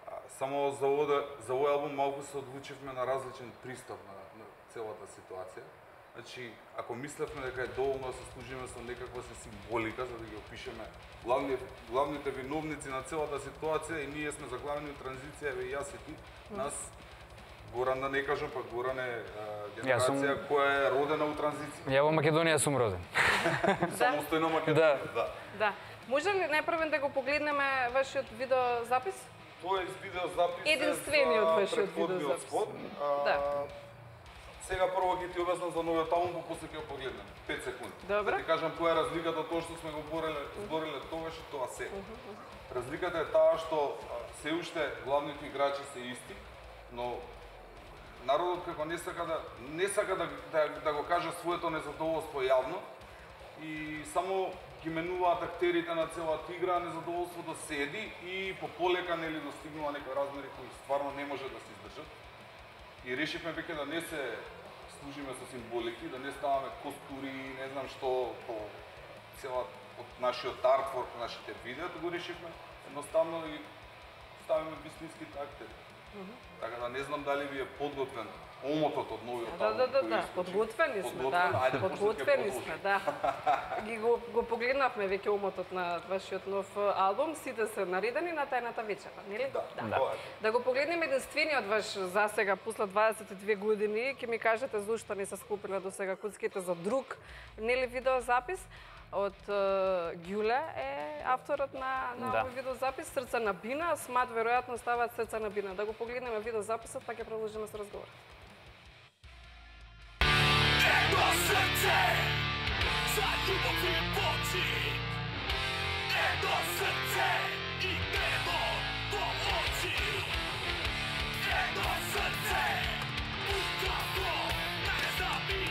А, само за овој за овој албум малку се одлучивме на различен пристап на, на целата ситуација. Значи, ако мислевме дека е доволно да се служиме со некаква се символика за да ги опишеме главни, главните виновници на целата ситуација и ние сме заглавени у транзиција, еве јас и ти, нас Горан да не кажам, па Горан е а, генерација сум- која е родена у транзиција. Ја во Македонија сум роден. Самостојна Македонија, да. Да. Може ли најпрво да го погледнеме вашиот видеозапис? Тоа е видеозапис Единствениот за беше од претходниот видеозапис. спот. А, Да. Сега прво ќе ти објаснам за новиот албум, па после ќе го погледнеме. пет секунди. Добро. Да ти кажам која е разликата од тоа што сме го бореле, збореле тогаш и тоа сега. Разликата е таа што а, се уште главните играчи се исти, но народот како не сака да не сака да, да, да го каже своето незадоволство јавно и само ги менуваат актерите на целата игра, незадоволството седи и по полека нели достигнува некои размери кои стварно не може да се издржат. И решивме веќе да не се служиме со символики, да не ставаме костури, не знам што по цела од нашиот артворк, нашите видеа, го решивме едноставно да ги ставиме вистинските актери. Така да не знам дали ви е подготвен омотот од новиот Да, албум. да, да, кој да, искаш. подготвени сме, Подготвен? да, Ајде, после ќе подготвени продолжиме. сме, да. Ги го, го погледнавме веќе омотот на вашиот нов албум, сите се наредени на тајната вечера, нели? Да, да. тоа е. Да го погледнеме единствениот ваш засега, после дваесет и две години, ќе ми кажете зошто не се скупиле до сега куцките за друг, нели, видеозапис? Од uh, Ѓуле е авторот на, на Да. овој видеозапис, Срца на Бина, Смат веројатно ставаат Срца на Бина. Да го погледнеме видеозаписот, па ќе продолжиме со разговор. Едно срце за љубов и почит, едно срце и небо во очи, едно срце, устраво не забива.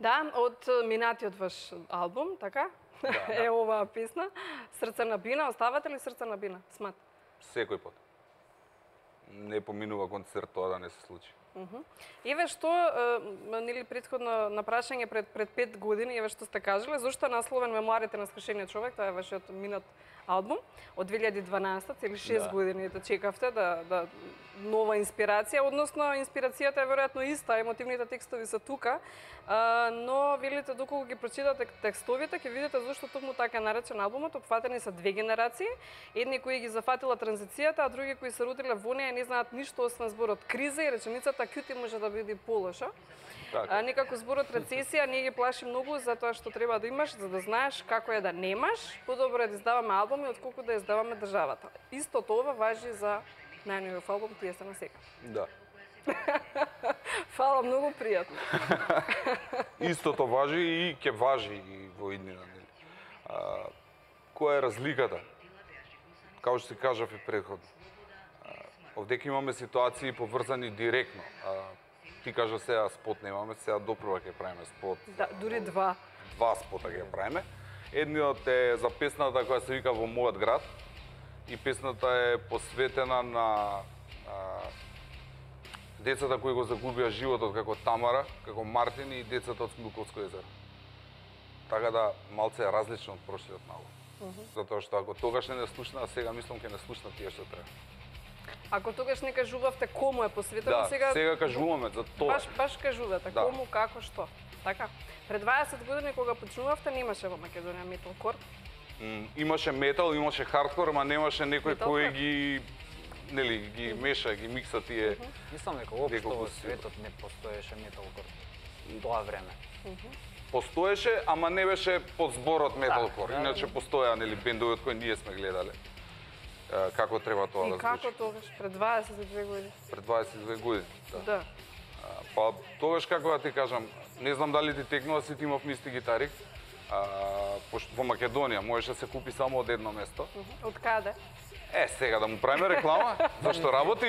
Да, од минатиот ваш албум, така? Да, да. Е оваа песна. Срце на бина, оставате ли Срце на бина? Смат. Секој пат. Не поминува концерт тоа да не се случи. Uh -huh. Еве што, нели претходно на прашање пред пред пет години, еве што сте кажале, зошто е насловен Мемуарите на скршениот човек, тоа е вашиот минат албум од две илјади и дванаесета, цели шест да. години да чекавте да да нова инспирација, односно инспирацијата е веројатно иста, емотивните текстови се тука, а, но велите доколку ги прочитате текстовите, ќе видите зошто токму така наречен албумот. Опфатени се две генерации, едни кои ги зафатила транзицијата, а други кои се родиле во неа и не знаат ништо освен зборот криза и реченицата кјути може да биде полоша. А, некако зборот рецесија не ги плаши многу, затоа што треба да имаш, за да знаеш како е да немаш, подобро е да издаваме албуми отколку да издаваме државата. Исто тоа важи за најновиот албум Тие се на сега. Да. Фала, многу пријатно. Истото важи и ќе важи и во иднина. А, која е разликата? Као што си кажав и претходно. Овде ќе имаме ситуации поврзани директно. А, ти кажа сега спот немаме, сега допрва ќе правиме спот. Да, дури два. Два спота ќе правиме. Едниот е за песната која се вика Во мојот град. И песната е посветена на а, децата кои го загубија животот како Тамара, како Мартин и децата од Смилковско езеро. Така да малце е различно од прошлиот албум. Uh -huh. Затоа што ако тогаш не не слушна, сега мислам ќе не слушна тие што треба. Ако тогаш не кажувавте кому е посветено, да, сега сега кажуваме за тоа. Баш баш кажувате да. Кому, како, што. Така. Пред дваесет години кога почнувавте немаше во Македонија металкор. Mm, имаше метал, имаше хардкор, ама немаше некој кој ги нели ги меша, ги микса тие. Uh -huh. Мислам дека општо во светот не постоеше металкор тоа време. Uh -huh. Постоеше, ама не беше под зборот металкор. Да, Иначе да. Постоја нели бендови од кои ние сме гледале. како треба тоа И да како звучи. тогаш, пред дваесет и две години? Пред дваесет и две години, да. Да. Па тогаш како да ти кажам, не знам дали ти текнува, сите имавме исти гитари. А, пошто во Македонија можеше да се купи само од едно место. Од каде? Е, сега да му правиме реклама, зашто работи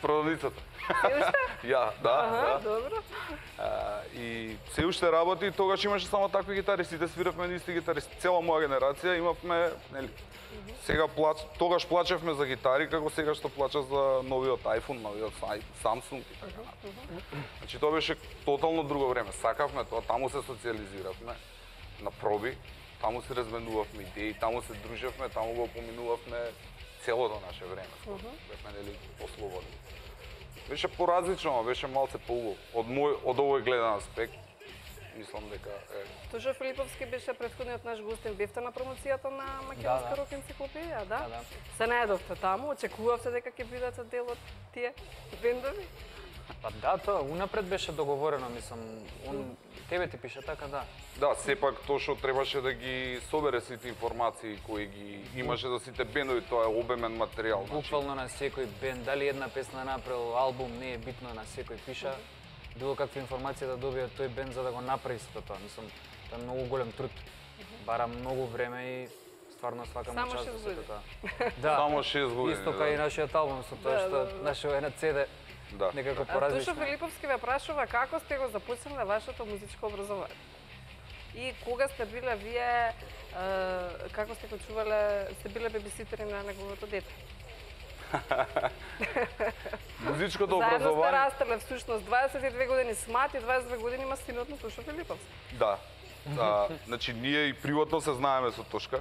продавницата. Се уште? Ја, да, Аха, да. добро. А, и се уште работи, тогаш имаше само такви гитари, сите свиравме исти гитари, цела моја генерација имавме, нели. Сега плач, тогаш плачевме за гитари како сега што плача за новиот iPhone, новиот Samsung и така натаму. Значи тоа беше тотално друго време. Сакавме тоа, таму се социализиравме на проби, таму се разменувавме идеи, таму се дружевме, таму го поминувавме целото наше време. Бевме нели послободни. Беше поразлично, беше малце поубаво. Од мој од овој гледан аспект, мислам дека е. Тошо Филиповски беше претходниот наш гостин. Бевте на промоцијата на Македонска Да, да. рок енциклопедија, да? Да, да. Се наедовте таму, очекувавте дека ќе бидете дел од тие бендови? Па да, тоа унапред беше договорено, мислам, он тебе ти пише така, да. Да, сепак тоа што требаше да ги собере сите информации кои ги имаше за сите бендови, тоа е обемен материјал. Буквално на секој бенд, дали една песна направил албум, не е битно, на секој пиша. Било каква информација да добие тој бенд за да го направи сето тоа. Мислам, тоа е многу голем труд. Бара многу време и стварно свака му Само част за шест сето години. тоа. Да. Само шест години, Исто да. кај и нашиот албум со тоа Да, што да, да. нашиот е на си ди. Да. Некако А Тошо поразлично. Филиповски ве прашува како сте го започнале вашето музичко образование? И кога сте биле вие, е, како сте го чувале, сте биле бебиситери на неговото дете? Музичкото Заедно сте образование. растеле всушност дваесет и две години смат и дваесет и две години има синот на Тошо Филиповски. Да. А, значи ние и приватно се знаеме со Тошка.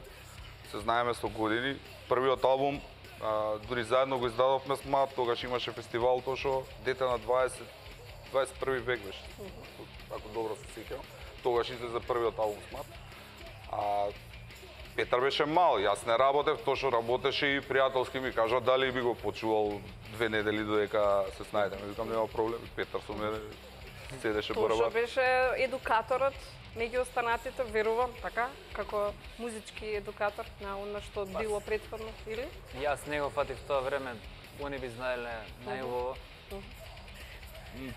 Се знаеме со години. Првиот албум а, дури заедно го издадовме с Мат, тогаш имаше фестивал Тошо, дете на дваесет дваесет и први век беше. Ако добро се сеќавам. Тогаш излезе првиот албум с Мат. А Петар беше мал, јас не работев, Тошо работеше и пријателски ми кажа дали би го почувал две недели додека се снајдеме. Викам нема проблем, Петар со мене седеше Тошо барабан. беше едукаторот меѓу останатите, верувам, така, како музички едукатор на она што било претходно, или? Јас не го фатив тоа време, они би знаеле најубаво.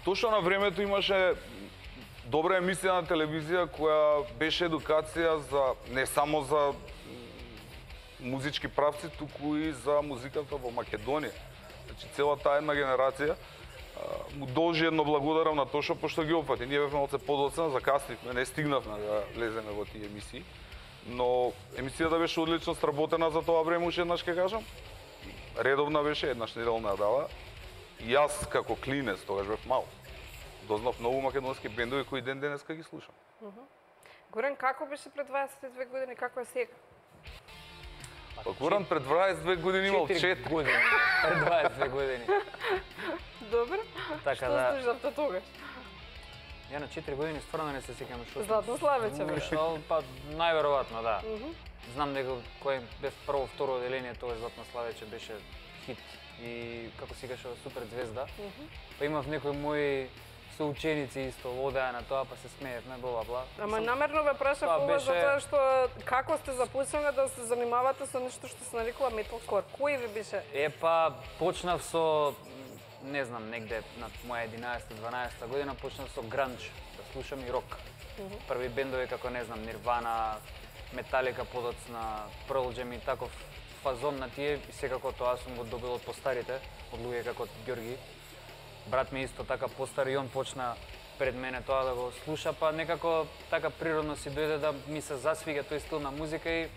Точно на времето имаше добра емисија на телевизија која беше едукација за не само за музички правци, туку и за музиката во Македонија. Значи целата една генерација а, му должи едно благодарам на Тошо пошто ги опфати. Ние бевме малце подоцна, закаснивме, не стигнавме да влеземе во тие емисии. Но емисијата беше одлично сработена за тоа време, уште еднаш ќе кажам. Редовна беше, еднаш неделна дава. И јас како клинец, тогаш бев мал, дознав многу македонски бендови кои ден денеска ги слушам. Горан, како беше пред дваесет и две години, како е сега? Па Горан пред дваесет и две години имал четири години. Пред дваесет и две години. Добро. Така Што да. слушавте тогаш? Ја на четири години стварно не се сеќам што. Златно славече беше. Што, па најверојатно, да. Мгм. Знам дека кој бев прво, второ оделение, тоа Златно славече беше хит и како си кажа супер звезда. Па имав некои мои соученици исто одеа на тоа, па се смеевме, бла бла. Ама Сам- намерно ве прашав Тоа ова беше- затоа што како сте започнале да се занимавате со нешто што се нарекува металкор? Кој ви беше? Е, па, почнав со, не знам, негде на моја единаесета-дванаесета година, почнав со гранч, да слушам и рок. Мгм. Први бендови како, не знам, Нирвана, Металика, подоцна, Pearl Jam и таков фазон на тие, и секако тоа сум го добил од постарите, од луѓе како Ѓорги. Брат ми исто така постар и он почна пред мене тоа да го слуша, па некако така природно си дојде да ми се засвига тој стил на музика и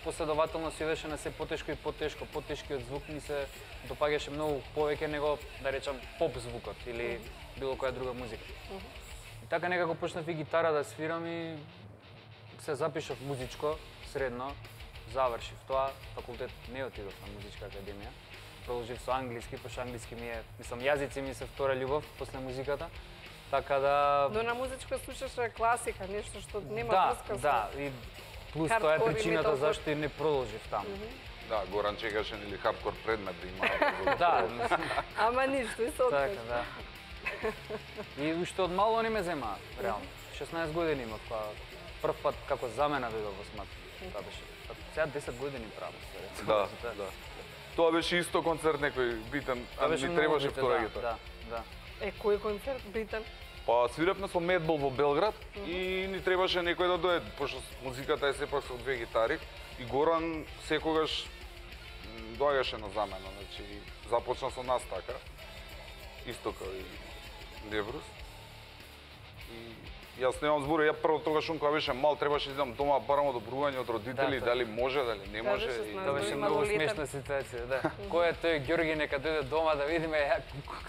последователно си идеше на се потешко и потешко, потешкиот звук ми се допаѓаше многу повеќе него, да речам, поп звукот или било која друга музика. И така некако почнав и гитара да свирам и се запишав музичко, средно, завршив тоа, факултет не отидов на музичка академија. Продолжив со англиски, пошто англиски ми е, мислам, јазици ми се втора љубов после музиката. Така да... Но на музичка слушаше класика, нешто што нема да, врска со... да, и плюс тоа е хардкор и причината металкор. зашто и не продолжив таму. Да, Горан чекаше нели хардкор предмет да има. Да. Ама ништо, и се откажа. Така, да. И уште од мало не ме зема, реално. шеснаесет години имав, па прв пат како замена дојдов во СМАТ. Тоа беше. Па сега десет години правам, се рече. Да, да. Тоа беше исто концерт некој битен, а Тоа беше ни многу требаше битен, втора да, гитара. Да, да. Е, кој концерт битен? Па свиревме со Медбол во Белград и ни требаше некој да дојде, пошто музиката е сепак со две гитари и Горан секогаш м, доаѓаше на замена, значи започна со нас така, исто како и Леврус. И јас немам збор, ја прво тогаш он кога беше мал требаше да идам дома барам одобрување од родители, Да, дали може, дали не може. Кажеше и- с Тоа беше многу смешна ситуација, да. Кој е тој Ѓорги, нека дојде дома да видиме ја,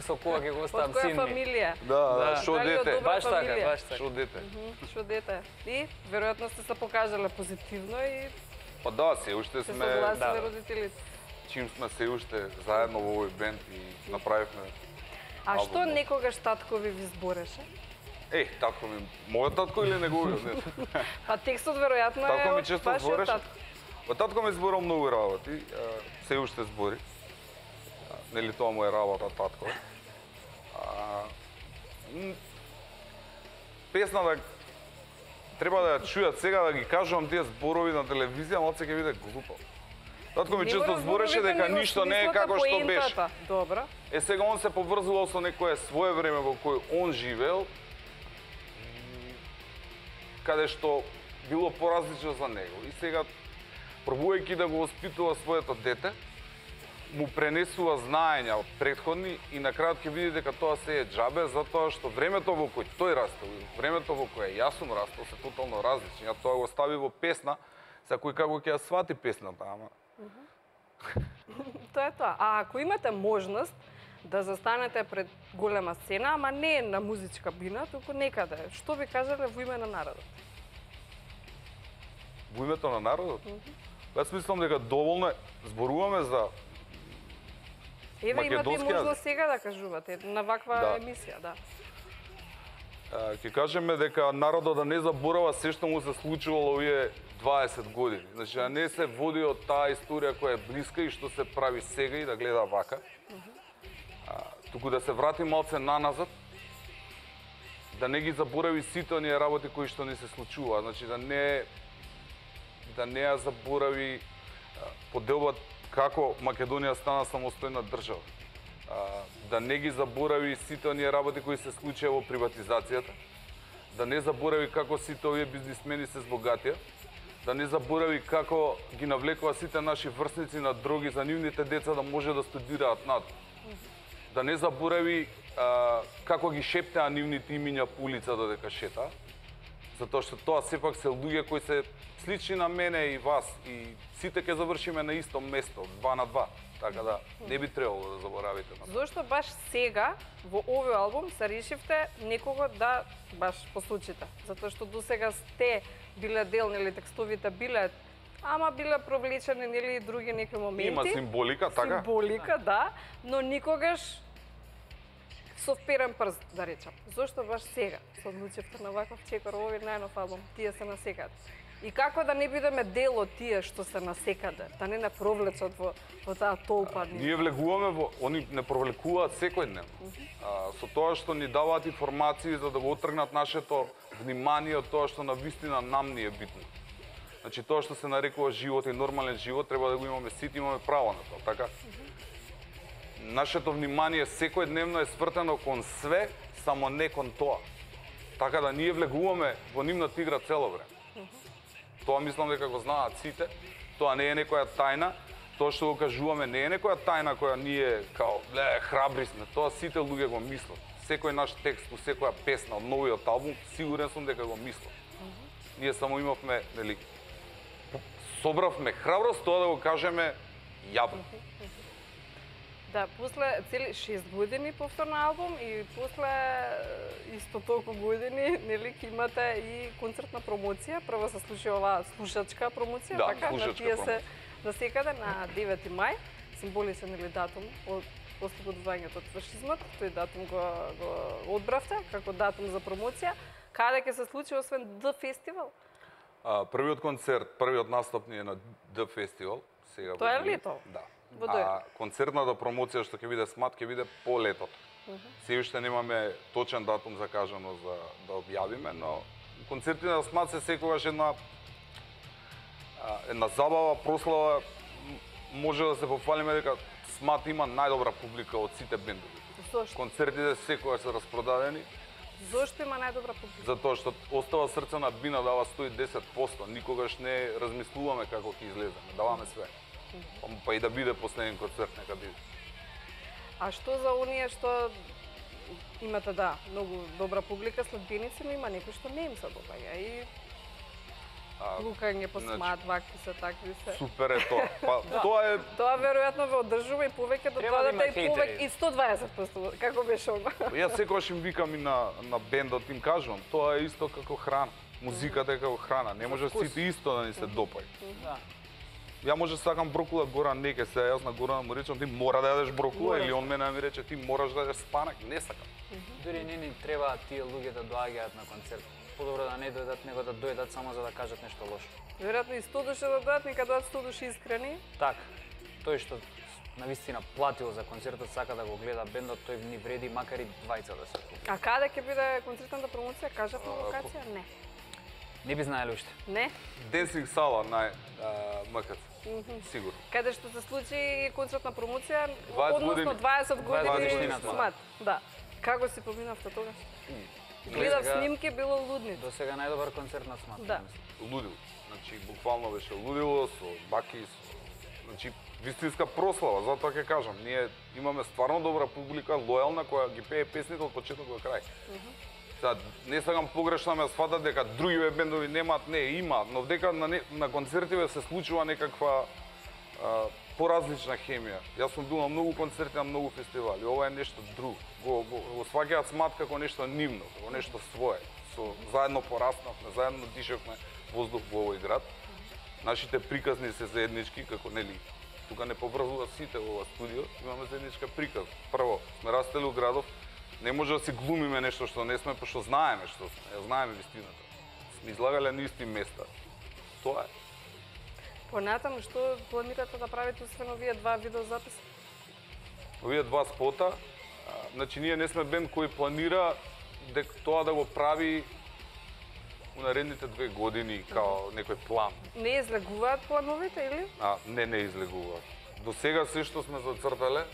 со кога ќе го оставам Од која син ми. фамилија? Да, да, шо Дали од дете. добра Баш така, фамилија? баш така. Шо дете. Мгм, Шо дете? И веројатно сте се покажале позитивно и Па да, се уште се сме, согласиле да, родителите. чим сме се уште заедно во овој бенд и направивме. А албум. што некогаш таткови ви збореше? Е, татко ми, мојот татко или неговиот? Не. Па текстот веројатно е Татко ми од често вашиот збореше. татко. Па татко ми зборал многу работи, а, се уште збори. А, нели тоа му е работа татко. А, м, песна да треба да ја чујат сега да ги кажувам тие зборови на телевизија, малце ќе биде глупо. Татко ми Не често мора збореше зборовите, дека него ништо не е смислата, како што беше. поентата. Добро. Е, сега он се поврзувал со некое свое време во кој он живеел, каде што било поразлично за него. И сега, пробувајќи да го воспитува своето дете, му пренесува знаења од претходни и на крајот ќе видите дека тоа се е џабе, затоа што времето во кој тој растел и времето во кое јас сум растел се тотално различни. Ја тоа го стави во песна, за кој како ќе ја свати песната, ама Тоа е тоа. А ако имате можност да застанете пред голема сцена, ама не на музичка бина, туку некаде, што би кажале во име на народот? во името на народот. Јас мислам дека доволно е, зборуваме за Еве имате и македонски можност јазик. сега да кажувате на ваква Да. емисија, да. А, ќе кажеме дека народот да не заборава се што му се случувало овие дваесет години. Значи, да не се води од таа историја која е блиска и што се прави сега и да гледа вака. А, туку да се врати малце наназад, да не ги заборави сите оние работи кои што ни се случува. Значи, да не да не ја заборави а, поделбата како Македонија стана самостојна држава. А, да не ги заборави сите оние работи кои се случија во приватизацијата, да не заборави како сите овие бизнисмени се збогатија, да не заборави како ги навлекува сите наши врсници на дроги за нивните деца да може да студираат надвор. Да не заборави а, како ги шептеа нивните имиња по улица додека шетаа, затоа што тоа сепак се луѓе кои се слични на мене и вас и сите ќе завршиме на исто место, два на два. Така да не би требало да заборавите на тоа. Зошто баш сега во овој албум се решивте некого да баш послучите? Затоа што досега сте биле дел, нели текстовите биле, ама биле провлечени нели и други некои моменти. Има символика, така? Символика, да, но никогаш со вперен прст, да речам. Зошто баш сега се одлучивте на ваков чекор, овој најнов албум, тие се насекаде? И како да не бидеме дел од тие што се насекаде, да не не провлечат во, во таа толпа? Ние влегуваме во, они не провлекуваат секојдневно. А, со тоа што ни даваат информации за да го отргнат нашето внимание од тоа што на вистина нам ни е битно. Значи тоа што се нарекува живот и нормален живот треба да го имаме сите, имаме право на тоа, така? Нашето внимание секојдневно е свртено кон све, само не кон тоа. Така да ние влегуваме во нивната игра цело време. Тоа мислам дека го знаат сите. Тоа не е некоја тајна. Тоа што го кажуваме не е некоја тајна која ние као ле храбри сме. Тоа сите луѓе го мислат. Секој наш текст, секоја песна од новиот албум, сигурен сум дека го мислат. Ние само имавме, нели, собравме храброст тоа да го кажеме јавно. Да, после цели шест години повторно албум и после исто толку години, нели, ќе имате и концертна промоција. Прво се случи оваа слушачка промоција, Да, така, на слушачка тие се промоција. насекаде на девети мај, символичен или датум од ослободувањето од фашизмот. Тој датум го, го одбравте како датум за промоција. Каде ќе се случи освен Д фестивал? А, првиот концерт, првиот настап ни е на Д фестивал, сега Тоа е во јули. лето? Да. Во А дојде. концертната промоција што ќе биде СМАТ ќе биде по летото. Се уште немаме точен датум закажано за да објавиме, но концертите на СМАТ се секогаш една а, една забава, прослава, може да се пофалиме дека Смат има најдобра публика од сите бендови. Зошто? Концертите секогаш се распродадени. Зошто има најдобра публика? Затоа што остава срце на бина дава сто и десет проценти. Никогаш не размислуваме како ќе излеземе, даваме све. Па и да биде последен концерт, нека биде. А што за оние што имате, да, многу добра публика, следбеници, но има некои што не им се допаѓа и лукање по Смат, вакви се, такви се. Супер е тоа. Па тоа е Тоа веројатно ве одржува и повеќе да Треба да има додадете и повеќе хейтери. и сто дваесет проценти, како беше ова? Јас секогаш им викам и на на бендот им кажувам, тоа е исто како храна. Музиката е како храна, не може Вкус. сите исто да ни се допаѓа. Да. Ја може сакам брокула, Горан не ке се, јас на Горан му речам ти мора да јадеш брокула Мораш. или он мене ми рече ти мораш да јадеш спанак, не сакам. Дури не ни треба тие луѓе да доаѓаат на концерт. Подобро да не дојдат, него да дојдат само за да кажат нешто лошо. Веројатно и сто души да дадат, нека дадат сто души искрени. Така, тој што навистина платил за концертот, сака да го гледа бендот, тој ни вреди макар и двајца да се купи. А каде ќе биде концертната промоција? Кажавме локација? Не. Не би знаеле уште. Не? Денсинг сала на МКЦ. Мгм. Сигурно. Каде што се случи концертна промоција, дваесет односно години. дваесет години годишнината, да. Смат. Да. Како си поминавте тогаш? До Гледав сега- снимки, било лудница. До сега најдобар концерт на Смат. Да. Лудило. Значи буквално беше лудило со баки со значи вистинска прослава, затоа ќе кажам, ние имаме стварно добра публика, лојална која ги пее песните од почеток до крај. Сега, не сакам погрешно ме сватат дека други бендови немаат, не, има, но дека на, не, на концертиве се случува некаква а, поразлична хемија. Јас сум бил на многу концерти, на многу фестивали, ова е нешто друго. Го, го, го сваќаат Смат како нешто нивно, како нешто свое. Со, заедно пораснавме, заедно дишевме воздух во овој град. Нашите приказни се заеднички, како нели, тука не поврзува сите во ова студио, имаме заедничка приказ. Прво, сме растели у градов, не може да си глумиме нешто што не сме, пошто знаеме што сме, ја знаеме вистината. Сме излагале на исти места. Тоа е. Понатаму, што планирате да правите освен овие два видеозаписи? Овие два спота, а, значи ние не сме бенд кој планира дека тоа да го прави у наредните две години као некој план. Не излегуваат плановите, или? А, не, не излегува. До сега се што сме зацртале,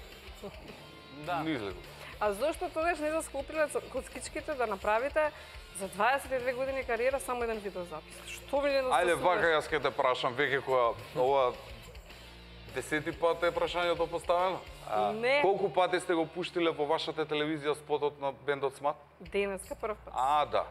Да. не излегува. А зошто тогаш не заскупиле коцкичките да направите за дваесет и две години кариера само еден видеозапис? Што ви недостасува? Ајде вака јас ќе те прашам веќе која ова десети пат е прашањето поставено. А, Не. Колку пати сте го пуштиле во вашата телевизија спотот на бендот Смат? Денеска прв пат. А, да.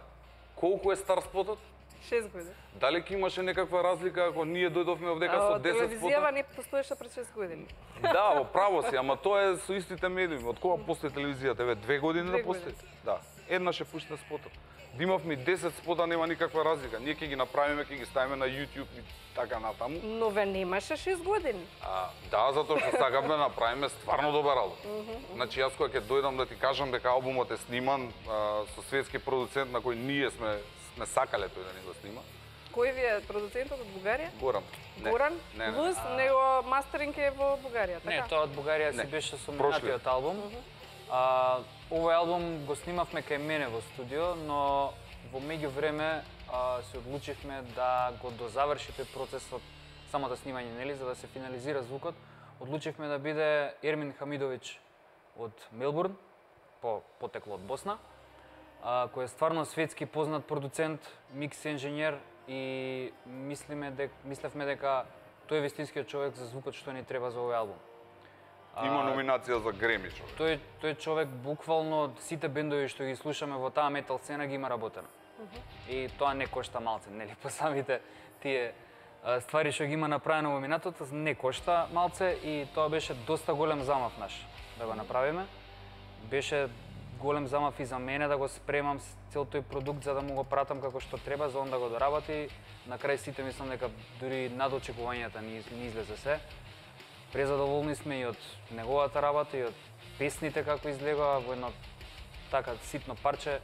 Колку е стар спотот? шест години. Дали ќе имаше некаква разлика ако ние дојдовме овдека со А, десет телевизијава спота? не постоеше пред шест години. Да, во право си, ама тоа е со истите медиуми. Од кога постои телевизијата? Еве, две години Две да постои? Да. Еднаш е пуштен спотот. Да имавме и десет спота, нема никаква разлика. Ние ќе ги направиме, ќе ги ставиме на YouTube и така натаму. Но ве немаше шест години. А, да, затоа што сакаме да направиме стварно добар албум. Значи јас кога ќе дојдам да ти кажам дека албумот е сниман а, со светски продуцент на кој ние сме сме сакале тој да ни го снима. Кој ви е продуцентот од Бугарија? Горан. Не. Горан? Не, не. Плюс него мастеринг е во Бугарија, така? Не, тоа од Бугарија си Не. беше со Прошли. минатиот албум. А, овој албум го снимавме кај мене во студио, но во меѓувреме а, се одлучивме да го дозаврши тој процесот, самото снимање, нели, за да се финализира звукот. Одлучивме да биде Ермин Хамидовиќ од Мелбурн, по потекло од Босна, а, кој е стварно светски познат продуцент, микс инженер и мислиме дека мислевме дека тој е вистинскиот човек за звукот што ни треба за овој албум. Има А, номинација за Греми човек. Тој тој човек буквално сите бендови што ги слушаме во таа метал сцена ги има работено. И тоа не кошта малце, нели, по самите тие а, ствари што ги има направено во минатото, не кошта малце и тоа беше доста голем замав наш да го направиме. Беше голем замав и за мене да го спремам с цел тој продукт за да му го пратам како што треба, за он да го доработи. На крај сите мислам дека дури над очекувањата ни, ни излезе се. Презадоволни сме и од неговата работа и од песните како излегоа во едно така ситно парче.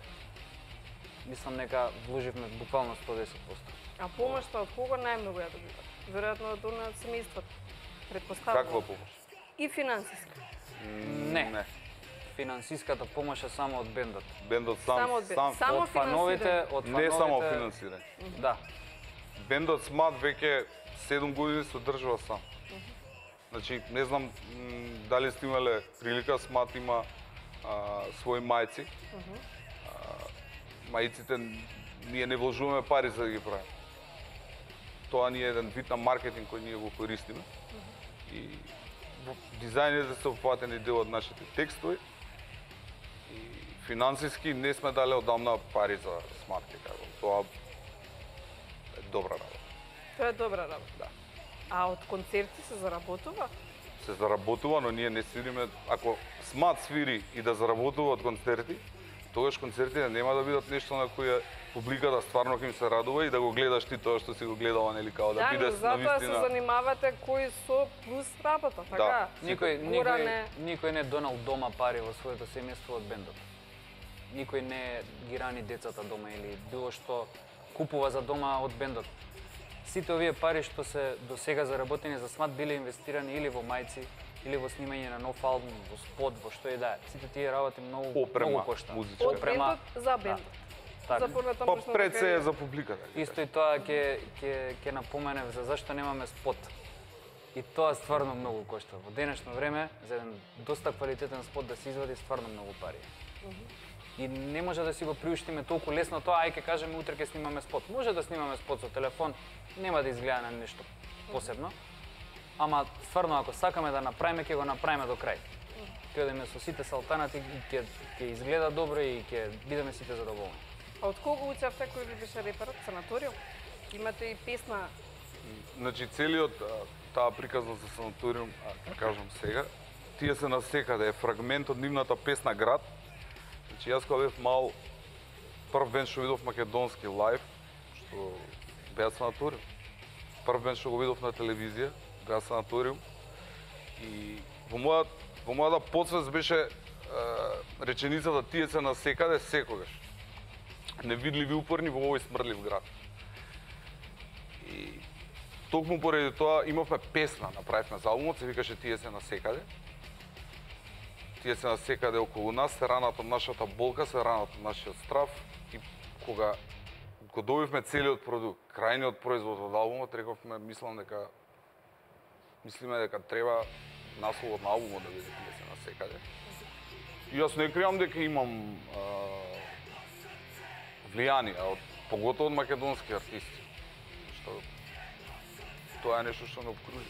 Мислам дека вложивме буквално сто и десет проценти. А помошта од кого најмногу ја добивате? Веројатно од она семејството. Предпоставувам. Каква помош? И финансиска. Не. Не. Финансиската помош е само од бендот. Бендот сам, Само од бен- сам, само од фановите, финансирање. од не фановите. само финансирање. Да. Бендот Смат веќе седум години се одржува сам. Значи, не знам м, дали сте имале прилика, СМАТ има а, свои мајци. А, мајците, ние не вложуваме пари за да ги правиме. Тоа ни е еден вид на маркетинг кој ние го користиме. И во дизајните се опфатени дел од нашите текстови. И финансиски не сме дали одамна пари за СМАТ, кажам. Тоа е добра работа. Тоа е добра работа. Да. А од концерти се заработува? Се заработува, но ние не свириме. Ако СМАТ свири и да заработува од концерти, тогаш концертите нема да бидат нешто на кое публиката стварно ќе им се радува и да го гледаш ти тоа што си го гледала, нели, као да, да биде навистина. Да, но затоа се занимавате кои со плюс работа, така? Да. Никој, никој, никој не донал дома пари во своето семејство од бендот. Никој не ги рани децата дома или било што купува за дома од бендот. Сите овие пари што се до сега заработени за СМАТ биле инвестирани или во мајци, или во снимање на нов албум, во спот, во што и да е. Сите тие работи многу, Опрема, многу кошта. музичка. Од бендот за бендот. Да. За Па пред се е за публиката. Исто и тоа ќе ќе ќе напоменев за зашто немаме спот. И тоа стварно многу кошта. Во денешно време за еден доста квалитетен спот да се извади стварно многу пари. Uh -huh. И не може да си го приуштиме толку лесно тоа, ај ќе кажеме утре ќе снимаме спот. Може да снимаме спот со телефон, нема да изгледа на нешто посебно. Ама стварно ако сакаме да направиме, ќе го направиме до крај. Ќе одиме со сите салтанати и ќе ќе изгледа добро и ќе бидеме сите задоволни. А од кого учевте, кој ви беше реперот? Санаториум? Имате и песна? Значи целиот таа приказна за Санаториум, а кажам сега, тие се насекаде, е фрагмент од нивната песна Град. Значи јас кога бев мал, прв бенд што видов македонски лайв, што беа Санаториум. Прв бенд што го видов на телевизија, беа Санаториум. И во мојата во мојата подсвест беше е, реченицата тие се насекаде секогаш. Невидливи упорни во овој смрдлив град. И токму поради тоа имавме песна, направивме за албумот, се викаше Тие се насекаде. Тие се насекаде околу нас, се ранат од нашата болка, се ранат од нашиот страв. И кога го добивме целиот продукт, крајниот производ од албумот, рековме, мислам дека мислиме дека треба насловот на албумот да биде Тие се насекаде. И јас не кријам дека имам а, влијание, од поготово од македонски артисти. Што тоа е нешто што не обкружи.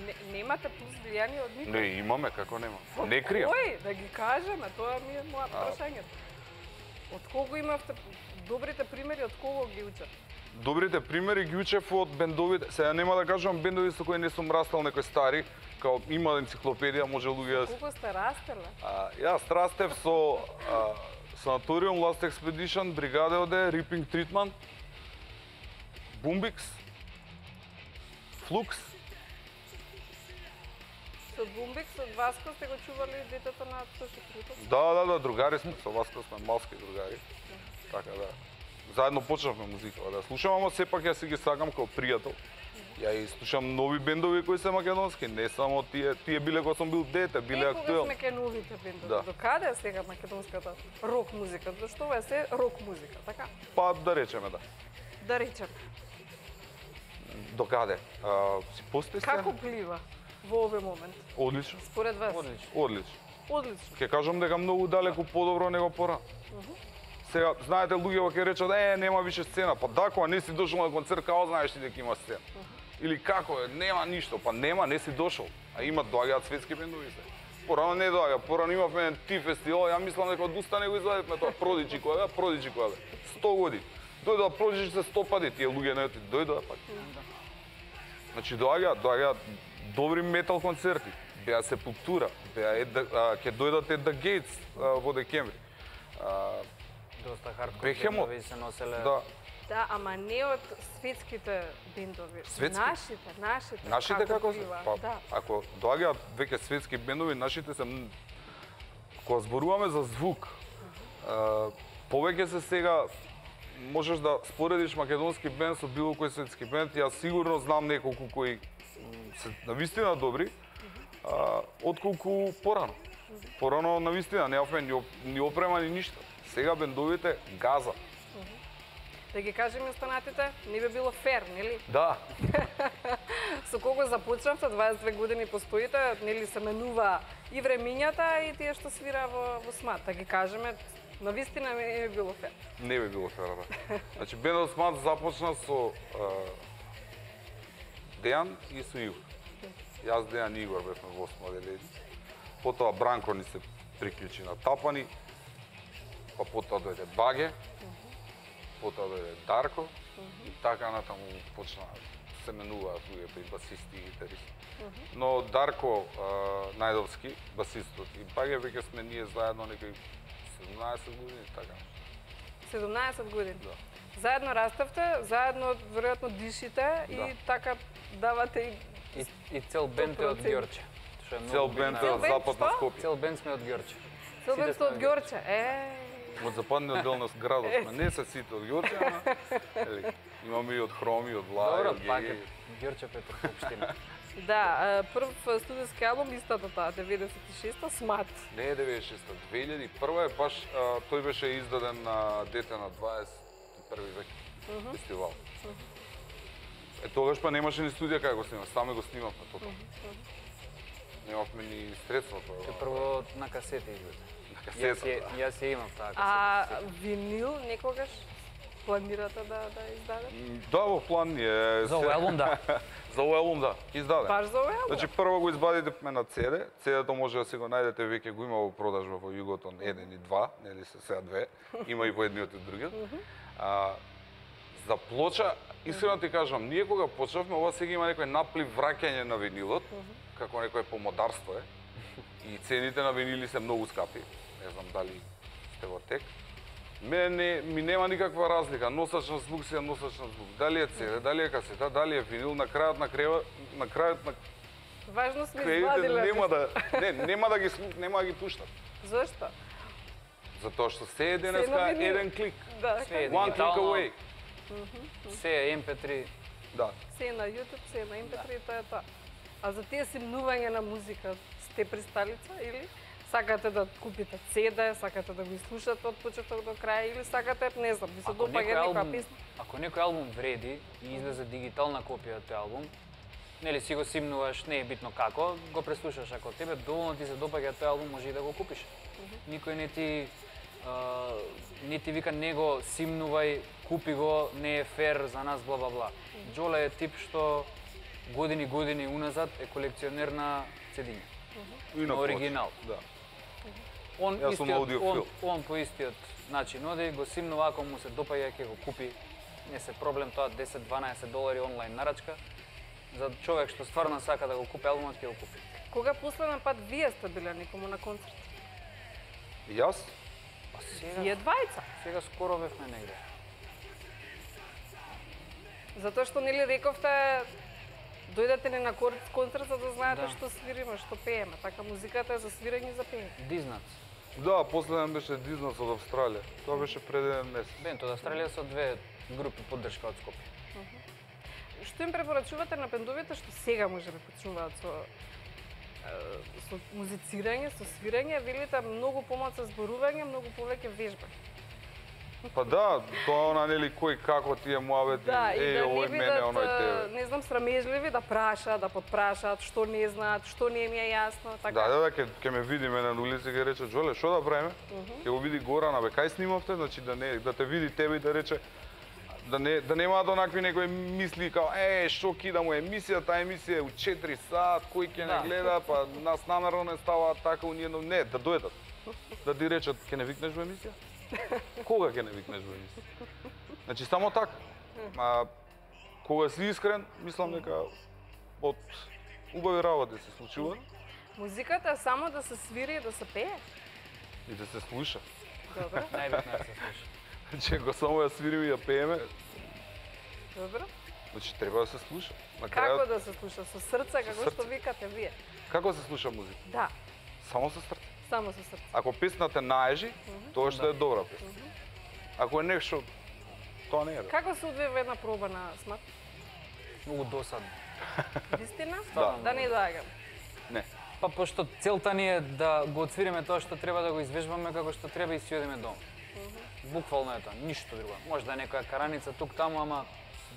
Не, немате плюс влијание од никој? Не, имаме, како нема. Од Не кријам. Кој? Да ги кажеме, тоа ми е моја прашање. Од кого имавте добрите примери, од кого ги учат? Добрите примери ги учев од бендовите. Сега нема да кажам бендови со кои не сум растал, некои стари, као има енциклопедија, може луѓе да... Колку сте растеле? А, јас растев со а, Санаториум, Last Expedition, Бригада оде, Ripping Treatment, Bumbix, Flux. Со Bumbix, од Васко сте го чували детето на Тоши Крутов? Да, да, да, другари сме, со Васко сме малски другари. Така да. Заедно почнавме музика да слушам, ама сепак ја си ги сакам како пријател. Ја и слушам нови бендови кои се македонски, не само тие, тие биле кога сум бил дете, биле е, актуелни. Кога сме ке новите бендови, Да. до каде е сега македонската рок музика? Зашто ова е се рок музика, така? Па да речеме да. Да речеме. До каде? А, си постои сцена? Како плива во овој момент? Одлично. Според вас? Одлично. Одлично. Одлично. Ќе кажам дека многу далеку подобро него порано. Сега, знаете, луѓе ќе речат, е, нема више сцена. Па да, кога не си дошол на концерт, како знаеш ти дека има сцена? Или како е, нема ништо. Па нема, не си дошол. А има, доаѓаат светски бендови се. Порано не доаѓа, порано имавме еден ти фестивал, ја мислам дека од уста не го извадевме тоа Продиджи која бе, Продиджи која бе. сто години. Дојдоа Продиджи се сто пати, тие луѓе не оти, дојдоа пак. Значи доаѓаат, доаѓаат добри метал концерти. Беа Сепултура, беа Ед, а, ќе дојдат Ед да Гейтс во декември. А, Доста хардкор Бехемот. бендови се носеле. Да. Да, ама не од светските бендови. Светски? Нашите, нашите. Нашите како се? плива, Па, да. ако доаѓаат веќе светски бендови, нашите се м- кога зборуваме за звук, а, повеќе се сега можеш да споредиш македонски бенд со било кој светски бенд. Јас сигурно знам неколку кои м, се навистина добри, а, отколку порано. Порано навистина немавме ни, оп- ни опрема ни ништо. Сега бендовите газа. Да ги кажеме останатите, не би било фер, нели? Да. Со кого започнавте, дваесет две години постоите, нели се менува и времињата и тие што свира во, во СМАТ. Да ги кажеме, на вистина не би било фер. Не би било фер, да. Значи, бендот СМАТ започна со а, Дејан и со Игор. Јас, Дејан и Игор бевме во осмо одделение. Потоа Бранко ни се приклучи на Тапани, па потоа дојде Баге, потоа дојде Дарко и така натаму почна се менуваат луѓето и басисти и гитаристи. Но Дарко а, Најдовски, басистот, и Баге веќе сме ние заедно некои седумнаесет години, така. седумнаесет години? Да. Заедно раставте, заедно веројатно дишите Да. и така давате и... И, и цел бенд е од Ѓорче. што е Цел многу бенд битно. е од западна Скопје. Цел бенд сме од Ѓорче. Цел бенд сте од Ѓорче, е. Од западниот дел на градот сме, не се сите од Ѓорче, ама ели, имаме и од Хроми, од Влај, Добро, од пак Геги. е Ѓорче Петро Општина. Да, прв студиски албум истата таа деветдесет и шеста СМАТ. Не е деветдесет и шеста, две илјади и прва е баш а, тој беше издаден на дете на дваесет и први век Мгм. фестивал. Е тогаш па немаше ни студија кај го снимав, сами го снимавме тоа. Немавме ни средства тоа. Се прво на касета излезе. На касета, Јас ја, јас ја имам таа А касета. винил некогаш планирате да да издадете? Да, во план ни е. За овој албум, да. За овој албум, да. Издаде. Баш за овој албум? Значи прво го избадивме на Си Ди. Си Ди-то може да се го најдете, веќе го има во продажба во Југотон еден и два, нели се сега две. Има и по едниот и другиот. А, за плоча, искрено ти кажам, ние кога почнавме, ова сега има некој наплив враќање на винилот, како некој помодарство е. И цените на винили се многу скапи. Не знам дали сте во тек. Мене ми нема никаква разлика, носач на звук си е носач на звук. Дали е Си Ди, дали е касета, дали е винил, на крајот на крева, на крајот на Важно сме кредите извадиле. нема да не, нема да ги слу- нема да ги пуштат. Зошто? Затоа што се е Се денеска на винил. еден клик. Да, Се е One click дигитално, away. се е Ем Пе три. Да. Се е на YouTube, се е на Ем Пе три, тоа е тоа. А за тие симнување на музика, сте присталица или сакате да купите Си Ди, сакате да го слушате од почеток до крај или сакате, не знам, ви се Ако допаѓа некој некоја албум, песна? ако некој албум вреди и излезе дигитална копија од тој албум, нели си го симнуваш, не е битно како, го преслушаш, ако тебе доволно ти се допаѓа тој албум, може и да го купиш. Никој не ти а, не ти вика него симнувај, купи го, не е фер за нас, бла бла бла. Џоле е тип што години години уназад е колекционер на цедиња. И на На оригинал. Да. Он, Јас сум истиот, аудиофил. он, он по истиот начин оди, го симнува, ако му се допаѓа, ќе го купи. Не се проблем тоа десет-дванаесет долари онлайн нарачка. За човек што стварно сака да го купи албумот, ќе го купи. Кога последен пат вие сте биле некому на концерт? Јас? Па сега, Вие двајца? сега скоро бевме негде. Затоа што нели рековте дојдете ни на кор- концерт за да знаете Да. што свириме, што пееме. Така музиката е за свирење и за пеење. Дизнац. Да, последен беше Дизнас од Австралија. Тоа беше пред еден месец. Бент од Австралија со две групи поддршка од Скопје. Што им препорачувате на бендовите што сега може да почнуваат со е, со музицирање, со свирење, велите многу помалку зборување, многу повеќе вежба. Па да, тоа она нели кој како тие муавети, Да, и е, да не овој мене, бидат, оној е, тебе. не знам, срамежливи да прашаат, да подпрашаат, што не знаат, што не им е јасно, така. Да, да, да, ќе ќе ме види мене на улица ќе рече Џоле, што да правиме? Мгм. Ќе го види Горана, бе, кај снимавте, значи да не да те види тебе и да рече да не да немаат онакви некои мисли као е што кида му емисија, таа емисија е у четири сат, кој ќе Да. не гледа, па нас намерно не става така у ниедно, не, да дојдат. Да ти речат ќе не викнеш во емисија? Кога ќе не викнеш во емисија? Значи само така. А кога си искрен, мислам дека од убави работи се случуваат Музиката е само да се свири и да се пее. и да се слуша. Добро, Најбитно е да се слуша. Значи, ако само ја свириме и ја пееме, добро. значи треба да се слуша. На Како крајот, да се слуша? Со срце, како срце. што викате вие. како се слуша музика? Да, Само со срце. само со срце. Ако песната наежи, тоа што е добра песна. Ако е нешто, тоа не е. добро. Како се одвива една проба на СМАТ? Многу досадно. Вистина? Да. Да не доаѓам. Не. Па пошто целта ни е да го отсвириме тоа што треба да го извежбаме како што треба и си одиме дома. Буквално е тоа, ништо друго. Може да е некоја караница тук таму, ама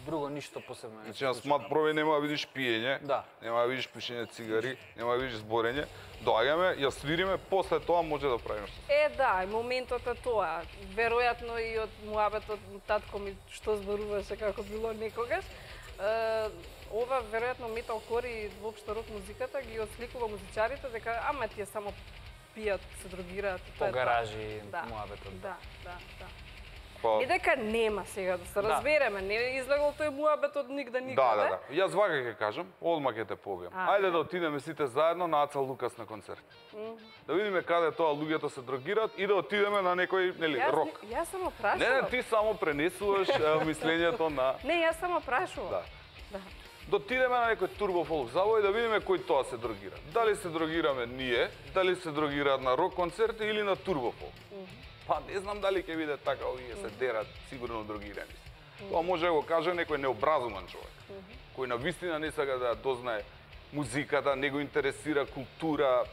друго ништо посебно не се Значи на случува. смат проби нема да видиш пиење, Да. нема да видиш пушење цигари, нема да видиш зборење. Доаѓаме, ја свириме, после тоа може да правиме што. Е, да, и моментот е тоа. Веројатно и од муабетот татко ми што зборуваше како било некогаш. Е, ова веројатно металкор и воопшто рок музиката ги отсликува музичарите дека ама тие само пијат, се дрогираат. и тоа По е тоа. гаражи, Да, муабетот. Да, да, да. Па, Не дека нема сега да се Да. разбереме, не е излегол тој муабет од нигде да, никаде. да, да. Јас вака ќе кажам, одма ќе те побијам. А. Ајде да отидеме сите заедно на Аца Лукас на концерт. Мгм. Да видиме каде тоа луѓето се дрогираат и да отидеме на некој, нели, Јас, рок. не- јас само прашувам. Не, не, ти само пренесуваш е, мислењето на... Не, јас само прашувам. Да. Да. Да отидеме на некој турбо фолк завој и да видиме кој тоа се дрогира. Дали се дрогираме ние, дали се дрогираат на рок концерти или на турбо фолк. Па не знам дали ќе биде така, овие се дерат сигурно дрогирани. Тоа може да го каже некој необразумен човек, кој на вистина не сака да дознае музиката, не го интересира култура,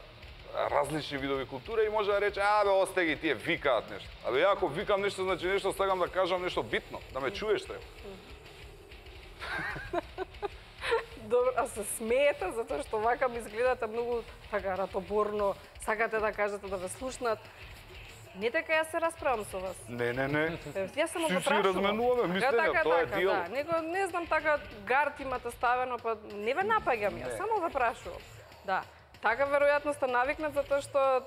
различни видови култура и може да рече, абе, осте ги, тие викаат нешто. Абе, ја ако викам нешто, значи нешто сакам да кажам нешто битно, да ме чуеш треба. Добро, а се смеете затоа што вака ми изгледате многу така ратоборно, сакате да кажете да ве слушнат. Не дека јас се расправам со вас. Не, не, не. Јас само Си го си прашувам. разменуваме мислења, така, тоа е така, дијалог. Да. Него не знам така гард имате ставено, па не ве напаѓам јас, Не. само ве прашувам. Да. Така веројатно сте навикнат затоа што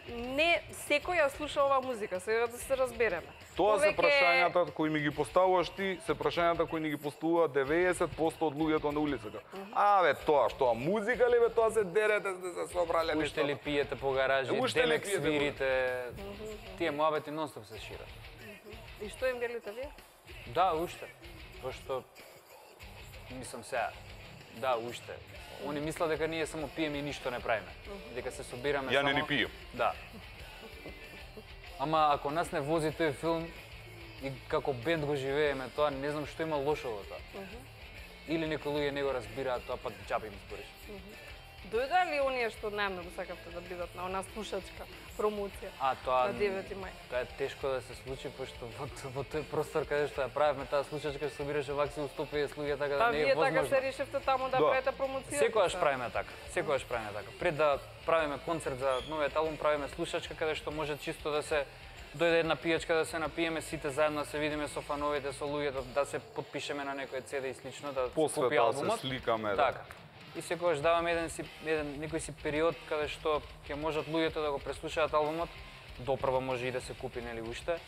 не секој ја слуша оваа музика, сега да се разбереме. Тоа се Повеќе- прашањата кои ми ги поставуваш ти, се прашањата кои ни ги поставува деветдесет проценти од луѓето на улицата. Абе, тоа што музика ли бе, тоа се дерете, сте се собрале нешто. Уште ли пиете по гаражи, Уште ли демек пиете по- свирите, тие муабети нонстоп се шират. И што им велите вие? Да, уште. Пошто, мислам сега, да, уште. Они мислат дека ние само пиеме и ништо не правиме. Дека се собираме Ја само... не ни пијам. Да. Ама ако нас не вози тој филм и како бенд го живееме тоа, не знам што има лошо во тоа. Или некои луѓе не го разбираат тоа, па џабе им збориш. Дојде ли оние што најмногу сакавте да бидат на она слушачка промоција А, тоа... на девети мај? Тоа е тешко да се случи, пошто во, во тој простор каде што ја правевме таа случачка, што собираше вакси сто педесет луѓе, така Па да не е вие возможно. така се решивте таму да Да. правите промоција? Секогаш правиме така. Секогаш правиме така. Пред да правиме концерт за новиот албум, правиме слушачка каде што може чисто да се дојде една пијачка да се напиеме сите заедно, да се видиме со фановите, со луѓето, да се потпишеме на некој цеде и слично, да После купи тоа се албумот. сликаме, да. Така. И секогаш даваме еден си еден некој си период каде што ќе можат луѓето да го преслушаат албумот, допрва може и да се купи нели уште.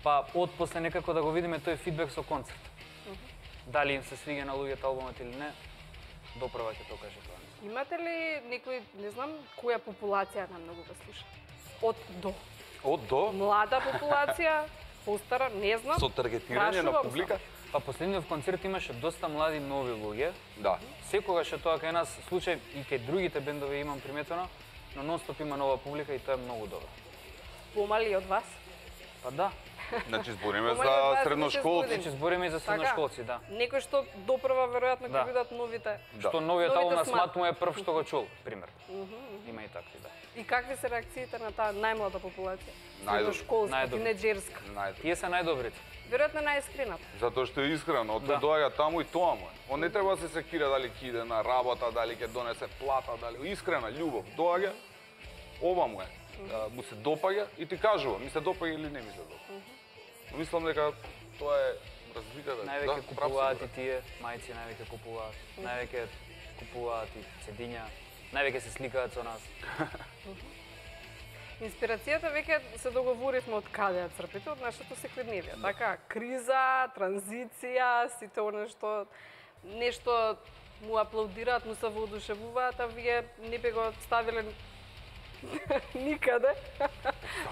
Па од после некако да го видиме тој фидбек со концерт. Дали им се свиѓа на луѓето албумот или не, допрва ќе тоа каже тоа. Имате ли некој, не знам, која популација најмногу ве слуша? Од до. Од до? Млада популација, постара, не знам. Со таргетирање на Прашувам публика? Па последниот концерт имаше доста млади нови луѓе. Да. Секогаш е тоа кај нас случај и кај другите бендови имам приметено, но нонстоп има нова публика и тоа е многу добро. Помали од вас? Па да. Значи збориме Помали од за дваесет и шест средношколци. години. Значи збориме и за Така. средношколци, да. Некој што допрва веројатно ќе Да. видат новите. Што новиот Новите албум на смат. Смат му е прв што го чул, пример. Мгм, мгм. Има и такви, да. И какви се реакциите на таа најмлада популација? Најдобри. Средношколска, Најдобри. тинеџерска. Најдобри. Тие се најдобрите. Веројатно најискрената. Затоа што е искрено, од Да. доаѓа таму и тоа му е. Он не треба да се секира дали ќе иде на работа, дали ќе донесе плата, дали искрена љубов. Доаѓа, ова му е. А, му се допаѓа и ти кажува, ми се допаѓа или не ми се допаѓа. Но мислам дека тоа е разликата. Највеќе Да, купуваат прав и си, тие, мајци највеќе купуваат. Највеќе купуваат и цедиња. Највеќе се сликаат со нас. Инспирацијата веќе се договоривме од каде ја црпите, од нашето секојдневие. Така, криза, транзиција, сите оно што нешто му аплаудираат, му се воодушевуваат, а вие не би го ставиле никаде.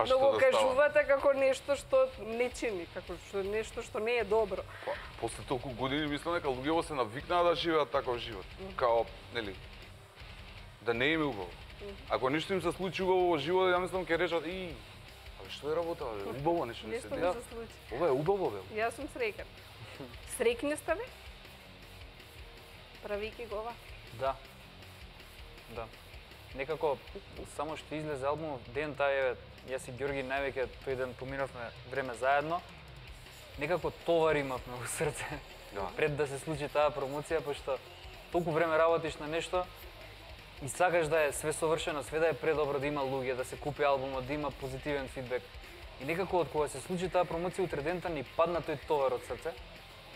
Но го да кажувате како нешто што не чини, како што нешто што не е добро. Па, после толку години мислам дека луѓето се навикнаа да живеат таков живот. Као, нели, да не им е убаво. Ако нешто им се случи убаво во животот, ја мислам ќе речат и абе што е работа, бе? Убаво нешто не се Нешто ми деси. се случи. Ова е убаво, бе. Јас сум среќен. Среќни сте ви? Правики го ова? Да. Да. некако само што излезе албумот ден тај еве јас и Ѓорги највеќе тој ден поминавме време заедно. Некако товар имавме во срце. Да. Пред да се случи таа промоција, пошто толку време работиш на нешто и сакаш да е све совршено, све да е предобро, да има луѓе, да се купи албумот, да има позитивен фидбек. И некако од кога се случи таа промоција утре дента ни падна тој товар од срце,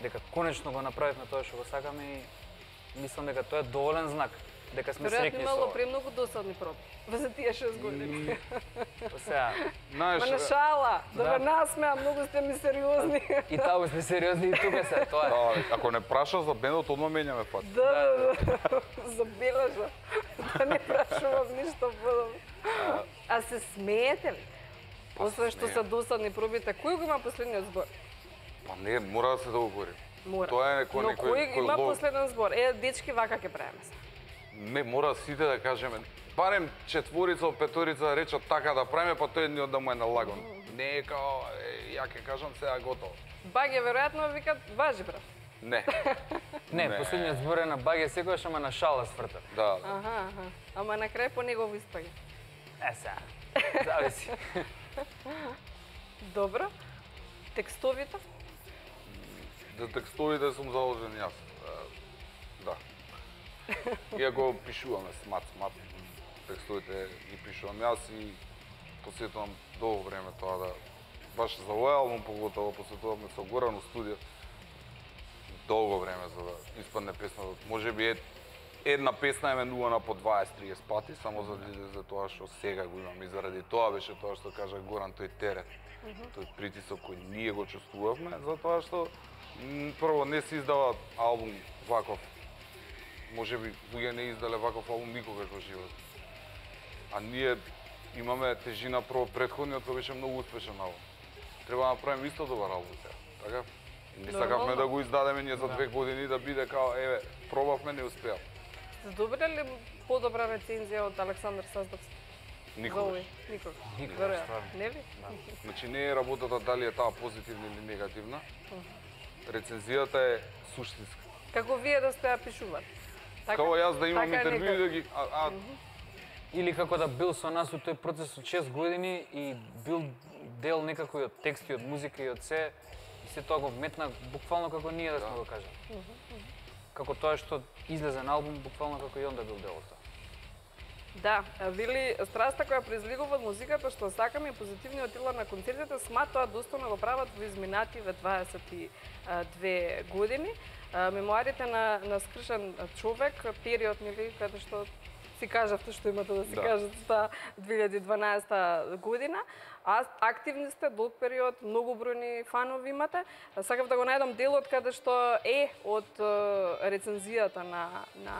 дека конечно го направивме тоа што го сакаме и мислам дека тоа е доволен знак, дека сме среќни со ова. Веројатно имало премногу досадни проби за тие шест години. Сега, Ма на шала, да ме насмеа, многу сте ми сериозни. И таму сме сериозни и тука се, тоа е. Да, ако не прашаш за бендот, одма менјаме пат. Да, да, да, забележа. Да не прашувам ништо подобро. А се смеете ли? Освен што се досадни пробите, кој го има последниот збор? Па не, мора да се договори. Мора. Тоа е некој Но некој кој има последен збор? Е, дечки, вака ќе правиме се. Не, мора сите да кажеме. Барем четворица од петорица да речат така да правиме, па тој едниот да му е налаган. Не е као, е, ја ќе кажам сега готово. Баге веројатно викат важи брат. Не. Не, последниот збор е на Баге секогаш, ама на шала сврта. Да. Аха, аха. Ама на крај по негово испаѓа. Е, сега. Зависи. Добро. Текстовите? За текстовите сум заложен јас. Да. Иако пишуваме смат, смат, текстовите ги пишувам јас и посветувам долго време тоа да баш за овој албум поготово посветуваме со Горан у студио долго време за да испадне песна. Можеби е една песна еменувана по дваесет триесет пати, само за, за тоа што сега го имам и заради тоа беше тоа што кажа Горан, тој терет, тој притисок кој ние го чувствувавме, затоа што прво не се издава албум ваков. Можеби луѓе не издале ваков албум никогаш во живот. А ние имаме тежина прво претходниот кој беше многу успешен албум. Треба да направиме исто добар албум сега, така? Не сакавме да го издадеме ние за две години да биде као еве, пробавме, не успеа. Добра ли подобра рецензија од Александар Саздовски? Никогаш. Никогаш. Никогаш. Не ли? Значи не е работата дали е таа позитивна или негативна. Рецензијата е суштинска. Како вие да сте ја пишували? Како јас да имам интервјуи да ги а, а... или како да бил со нас у тој процес од шест години и бил дел некако и од тексти, од музика и од се, и се тоа го вметна буквално како ние да сме го кажали. Како тоа што излезе на албум, буквално како и он да бил дел од тоа. Да, вели страста која произлегува од музиката што сакаме и позитивниот отила на концертите, сма тоа достојно го прават во изминативе дваесет и две години. Мемуарите на, на скршен човек, период, нели, каде што си кажавте што имате да си да. кажете таа две илјади и дванаесета година. А активни сте долг период, многу бројни фанови имате. Сакав да го најдам делот каде што е од рецензијата на, на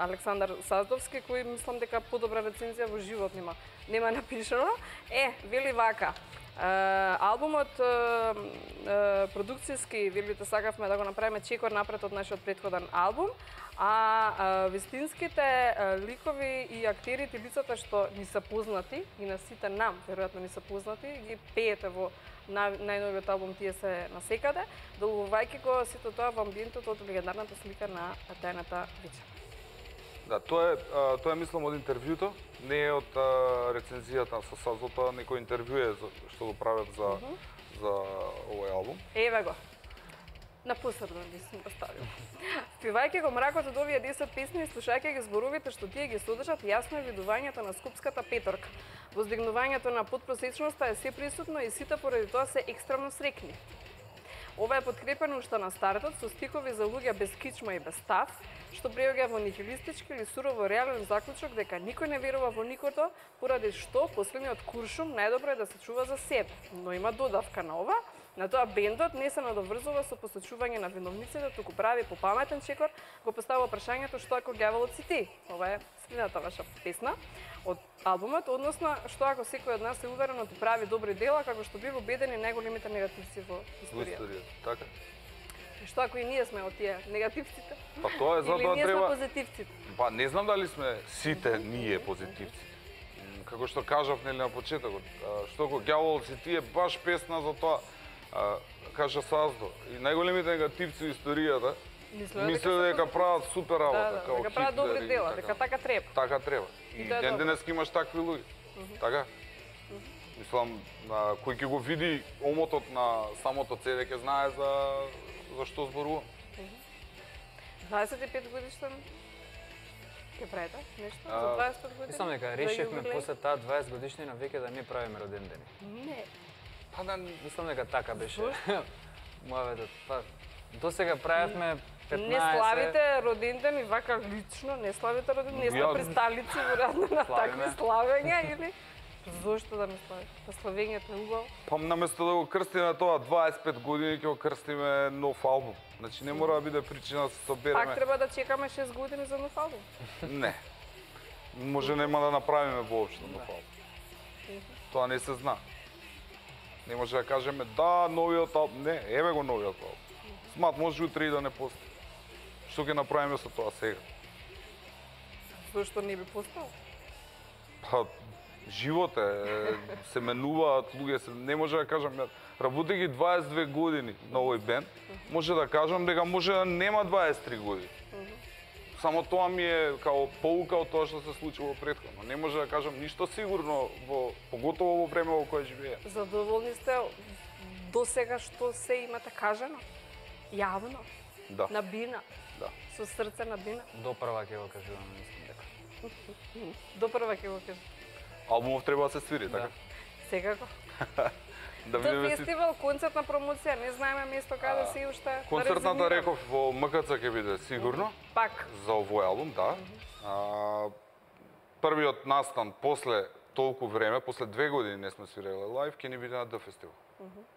Александар Саздовски, кој мислам дека подобра рецензија во живот нема, нема напишано. Е, вели вака. Uh, албумот uh, uh, продукцијски, велите, сакавме да го направиме чекор напред од нашиот претходен албум, а uh, вистинските uh, ликови и актерите, лицата што ни се познати и на сите нам, веројатно ни се познати, ги пеете во на, најновиот албум Тие се насекаде, долгувајќи го сето тоа во амбиентот од легендарната слика на Тајната Вича. Да, тоа е, тоа е мислам од интервјуто, не е од а, рецензијата со Сазо, тоа некој интервју е што го прават за, uh -huh. за овој албум. Еве го. На посебно ги сум поставил. Спивајќи го мракот од овие десет песни и слушајќи ги зборовите што тие ги содржат, јасно е видувањето на скупската петорка. Воздигнувањето на подпросечноста е се присутно и сите поради тоа се екстремно срекни. Ова е подкрепено уште на стартот со стикови за луѓе без кичма и без став, што преоѓа во нихилистички или сурово реален заклучок дека никој не верува во никото, поради што последниот куршум најдобро е да се чува за себе. Но има додавка на ова. На тоа бендот не се надоврзува со посочување на виновниците, туку прави по паметен чекор, го поставува прашањето што ако ѓаволот си ти. Ова е следната ваша песна од албумот, односно што ако секој од нас е уверено ти прави добри дела, како што бива убедени најголемите негативци во историјата. Историјата, така. Што ако и ние сме од тие негативците? Па тоа е затоа треба. Или ние сме позитивците? Па не знам дали сме сите ние позитивци. Како што кажав нели на почетокот, што ако ѓаволот си ти е баш песна за тоа. А, кажа Саздо, и најголемите негативци во историјата Мислеле дека прават супер работа, да, као дека прават Хитлер добри и дела, така. дека така треба. Така треба. И тоа е ден добро. денес имаш такви луѓе. Така? Мислам, а, кој ќе го види омотот на самото цеве ќе знае за за што зборувам. дваесет и пет годишен ќе правите нешто А, за дваесет и пет години? Мислам дека За решивме јубилеј? после таа дваесет годишнина веќе да не правиме роден ден. Не. Па да, мислам дека така беше. Мојавето, па досега правевме петнаесет. Не славите роден ден и вака лично, не славите роден ден, не сте Ја- присталици веројатно на такви Славиме. славења или зошто да не славите? Па славењето е убаво. Па наместо да го крстиме тоа дваесет и пет години ќе го крстиме нов албум. Значи не мора да биде причина да се собереме. Пак треба да чекаме шест години за нов албум. Не. Може нема да направиме воопшто нов албум. Тоа не се зна. Не може да кажеме да, новиот албум. Не, еве го новиот албум. Смат може утре и да не постои. Што ќе направиме со тоа сега? Зошто не би постал? Па, живот е, се менуваат луѓе, се, не може да кажам, ја работејќи дваесет и две години на овој бенд, може да кажам дека може да нема дваесет и три години. Само тоа ми е као поука од тоа што се случило претходно. Не може да кажам ништо сигурно, во, поготово во време во кое живее. Задоволни сте до сега што се имате кажано? Јавно? Да. На бина? Да. Со срце на бина? До прва ќе го кажувам, мислам дека. До прва ќе го кажам. Албумов треба да се свири, така? Секако. Да До видиме си. фестивал, концертна промоција, не знаеме место каде се и уште. да Концертната резервираме. реков во М К Ц ќе биде сигурно. Пак. За овој албум, да. А, првиот настан после толку време, после две години не сме свиреле лайв, ќе ни биде на Д фестивал.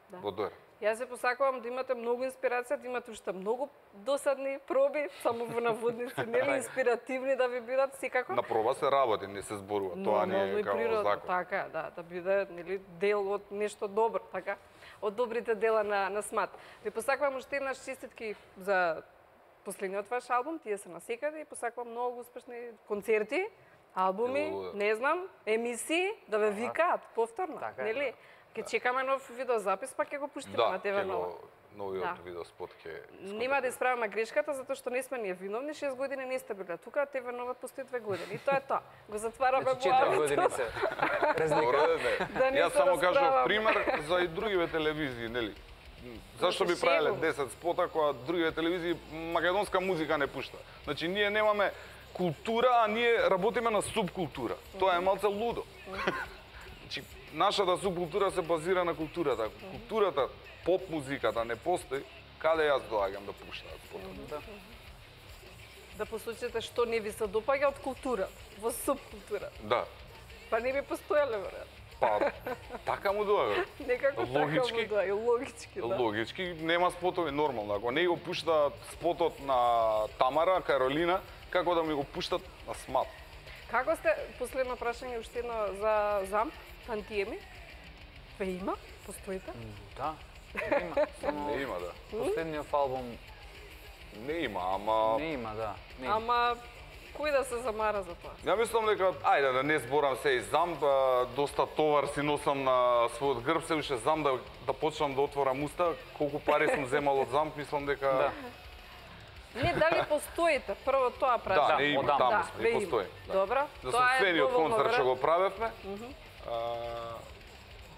Да. Во Доер. Јас се посакувам да имате многу инспирација, да имате уште многу досадни проби, само во наводници, нели инспиративни да ви бидат секако. На проба се работи, не се зборува. Тоа не Нормално е и како природно, закон. така, да, да биде нели дел од нешто добро, така, од добрите дела на на СМАТ. Ви посакувам уште еднаш честитки за последниот ваш албум, тие се насекаде и посакувам многу успешни концерти, албуми, Благодарам. не знам, емисии да ве викаат повторно, Така е, нели? Ќе чекаме нов видеозапис, па ќе го пуштиме Да, на Т В ќе Нова. го новиот Да. видеоспот ќе Нема да исправаме грешката, затоа што не сме ние виновни, шест години не сте биле тука, Т В Нова постои две години. И тоа е тоа. Го затвараме Значи четири години се разлика. Добро, не. Да не Јас се само кажав расправаме. пример за и другиве телевизии, нели? Зашто би се правеле шегувам. десет спота кога другиве телевизии македонска музика не пушта? Значи ние немаме култура, а ние работиме на субкултура. Тоа е малце лудо. Значи нашата субкултура се базира на културата. Културата, поп музиката не постои, каде јас доаѓам да пуштаат спотот? Да посочите што не ви се допаѓа од култура, во субкултура. Да. Па не би постоеле, веројатно. Па, така му доаѓа. Некако Логички. така му доаѓа, логички, да. Логички, нема спотови нормално. Ако не го пуштаат спотот на Тамара, Каролина, како да ми го пуштат на СМАТ? Како сте, последно прашање уште едно за ЗАМП, Тантиеми? Ве има? Постоите? Да, не има. Само Не има, да. последниот албум Не има, ама... не има, да. Не има. Ама, кој да се замара за тоа? Ја мислам дека, ајде да не зборам се и зам, да, доста товар си носам на својот грб, се уште зам да, да почнам да отворам уста, колку пари сум земал од зам, мислам дека... Да. Не, дали постоите? Прво тоа прашам. Да, не има, одам. таму Да, сме, ве не има. постои. Да. Добро, За тоа е собствениот доволно концерт што време. го правевме, а,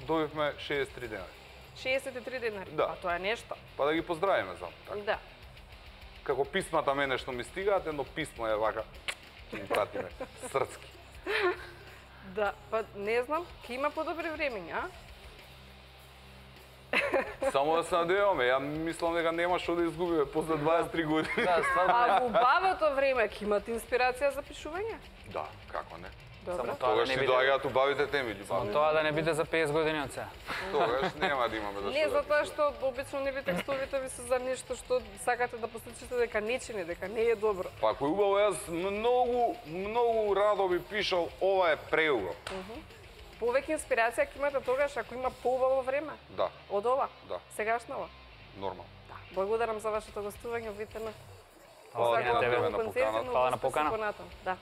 добивме шеесет и три денари. шеесет и три денари. Да. А тоа е нешто. Па да ги поздравиме зам. Така. Да. Како писмата мене што ми стигаат, едно писмо е вака, ќе им пратиме, срцки. Да, па не знам, ќе има подобри времења, а? Само да се надеваме, ја мислам дека нема што да изгубиме после дваесет и три години. Да, стварно А е. во убавото време ќе имате инспирација за пишување? Да, како не. Добро. Само тоа да Тогаш не си биде. доаѓаат убавите теми, Само љубави. тоа да не биде за песет години од сега. Тогаш нема да имаме да Не, што да затоа пишеме. што обично нели текстовите ви се за нешто што сакате да послушате дека не чини, дека не е добро. Па ако е убаво, јас многу, многу радо би пишал, ова е преубаво. Повеќе инспирација ќе имате тогаш ако има поубаво време Да, од ова. да, Сегашново. нормално. Благодарам за вашето гостување во ВТН. Фала на тебе на поканата. Фала на покана. Да.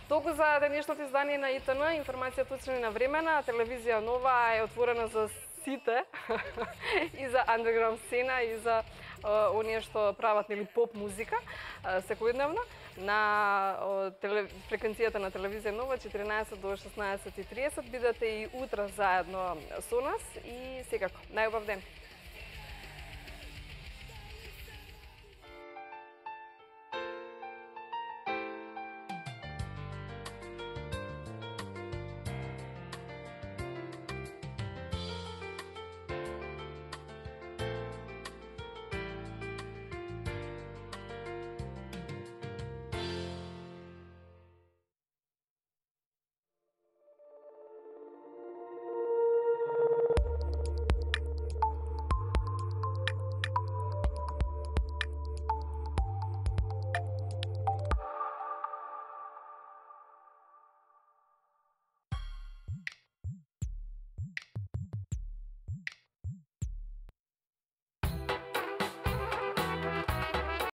Толку за денешното издание на И Т Н, информација точно и навремена, телевизија Нова е отворена за сите и за андерграунд сцена и за оние што прават нели поп музика секојдневно на теле, фреквенцијата на телевизија Нова четиринаесет до шеснаесет и тридесет. Бидете и утре заедно со нас и секако најубав ден.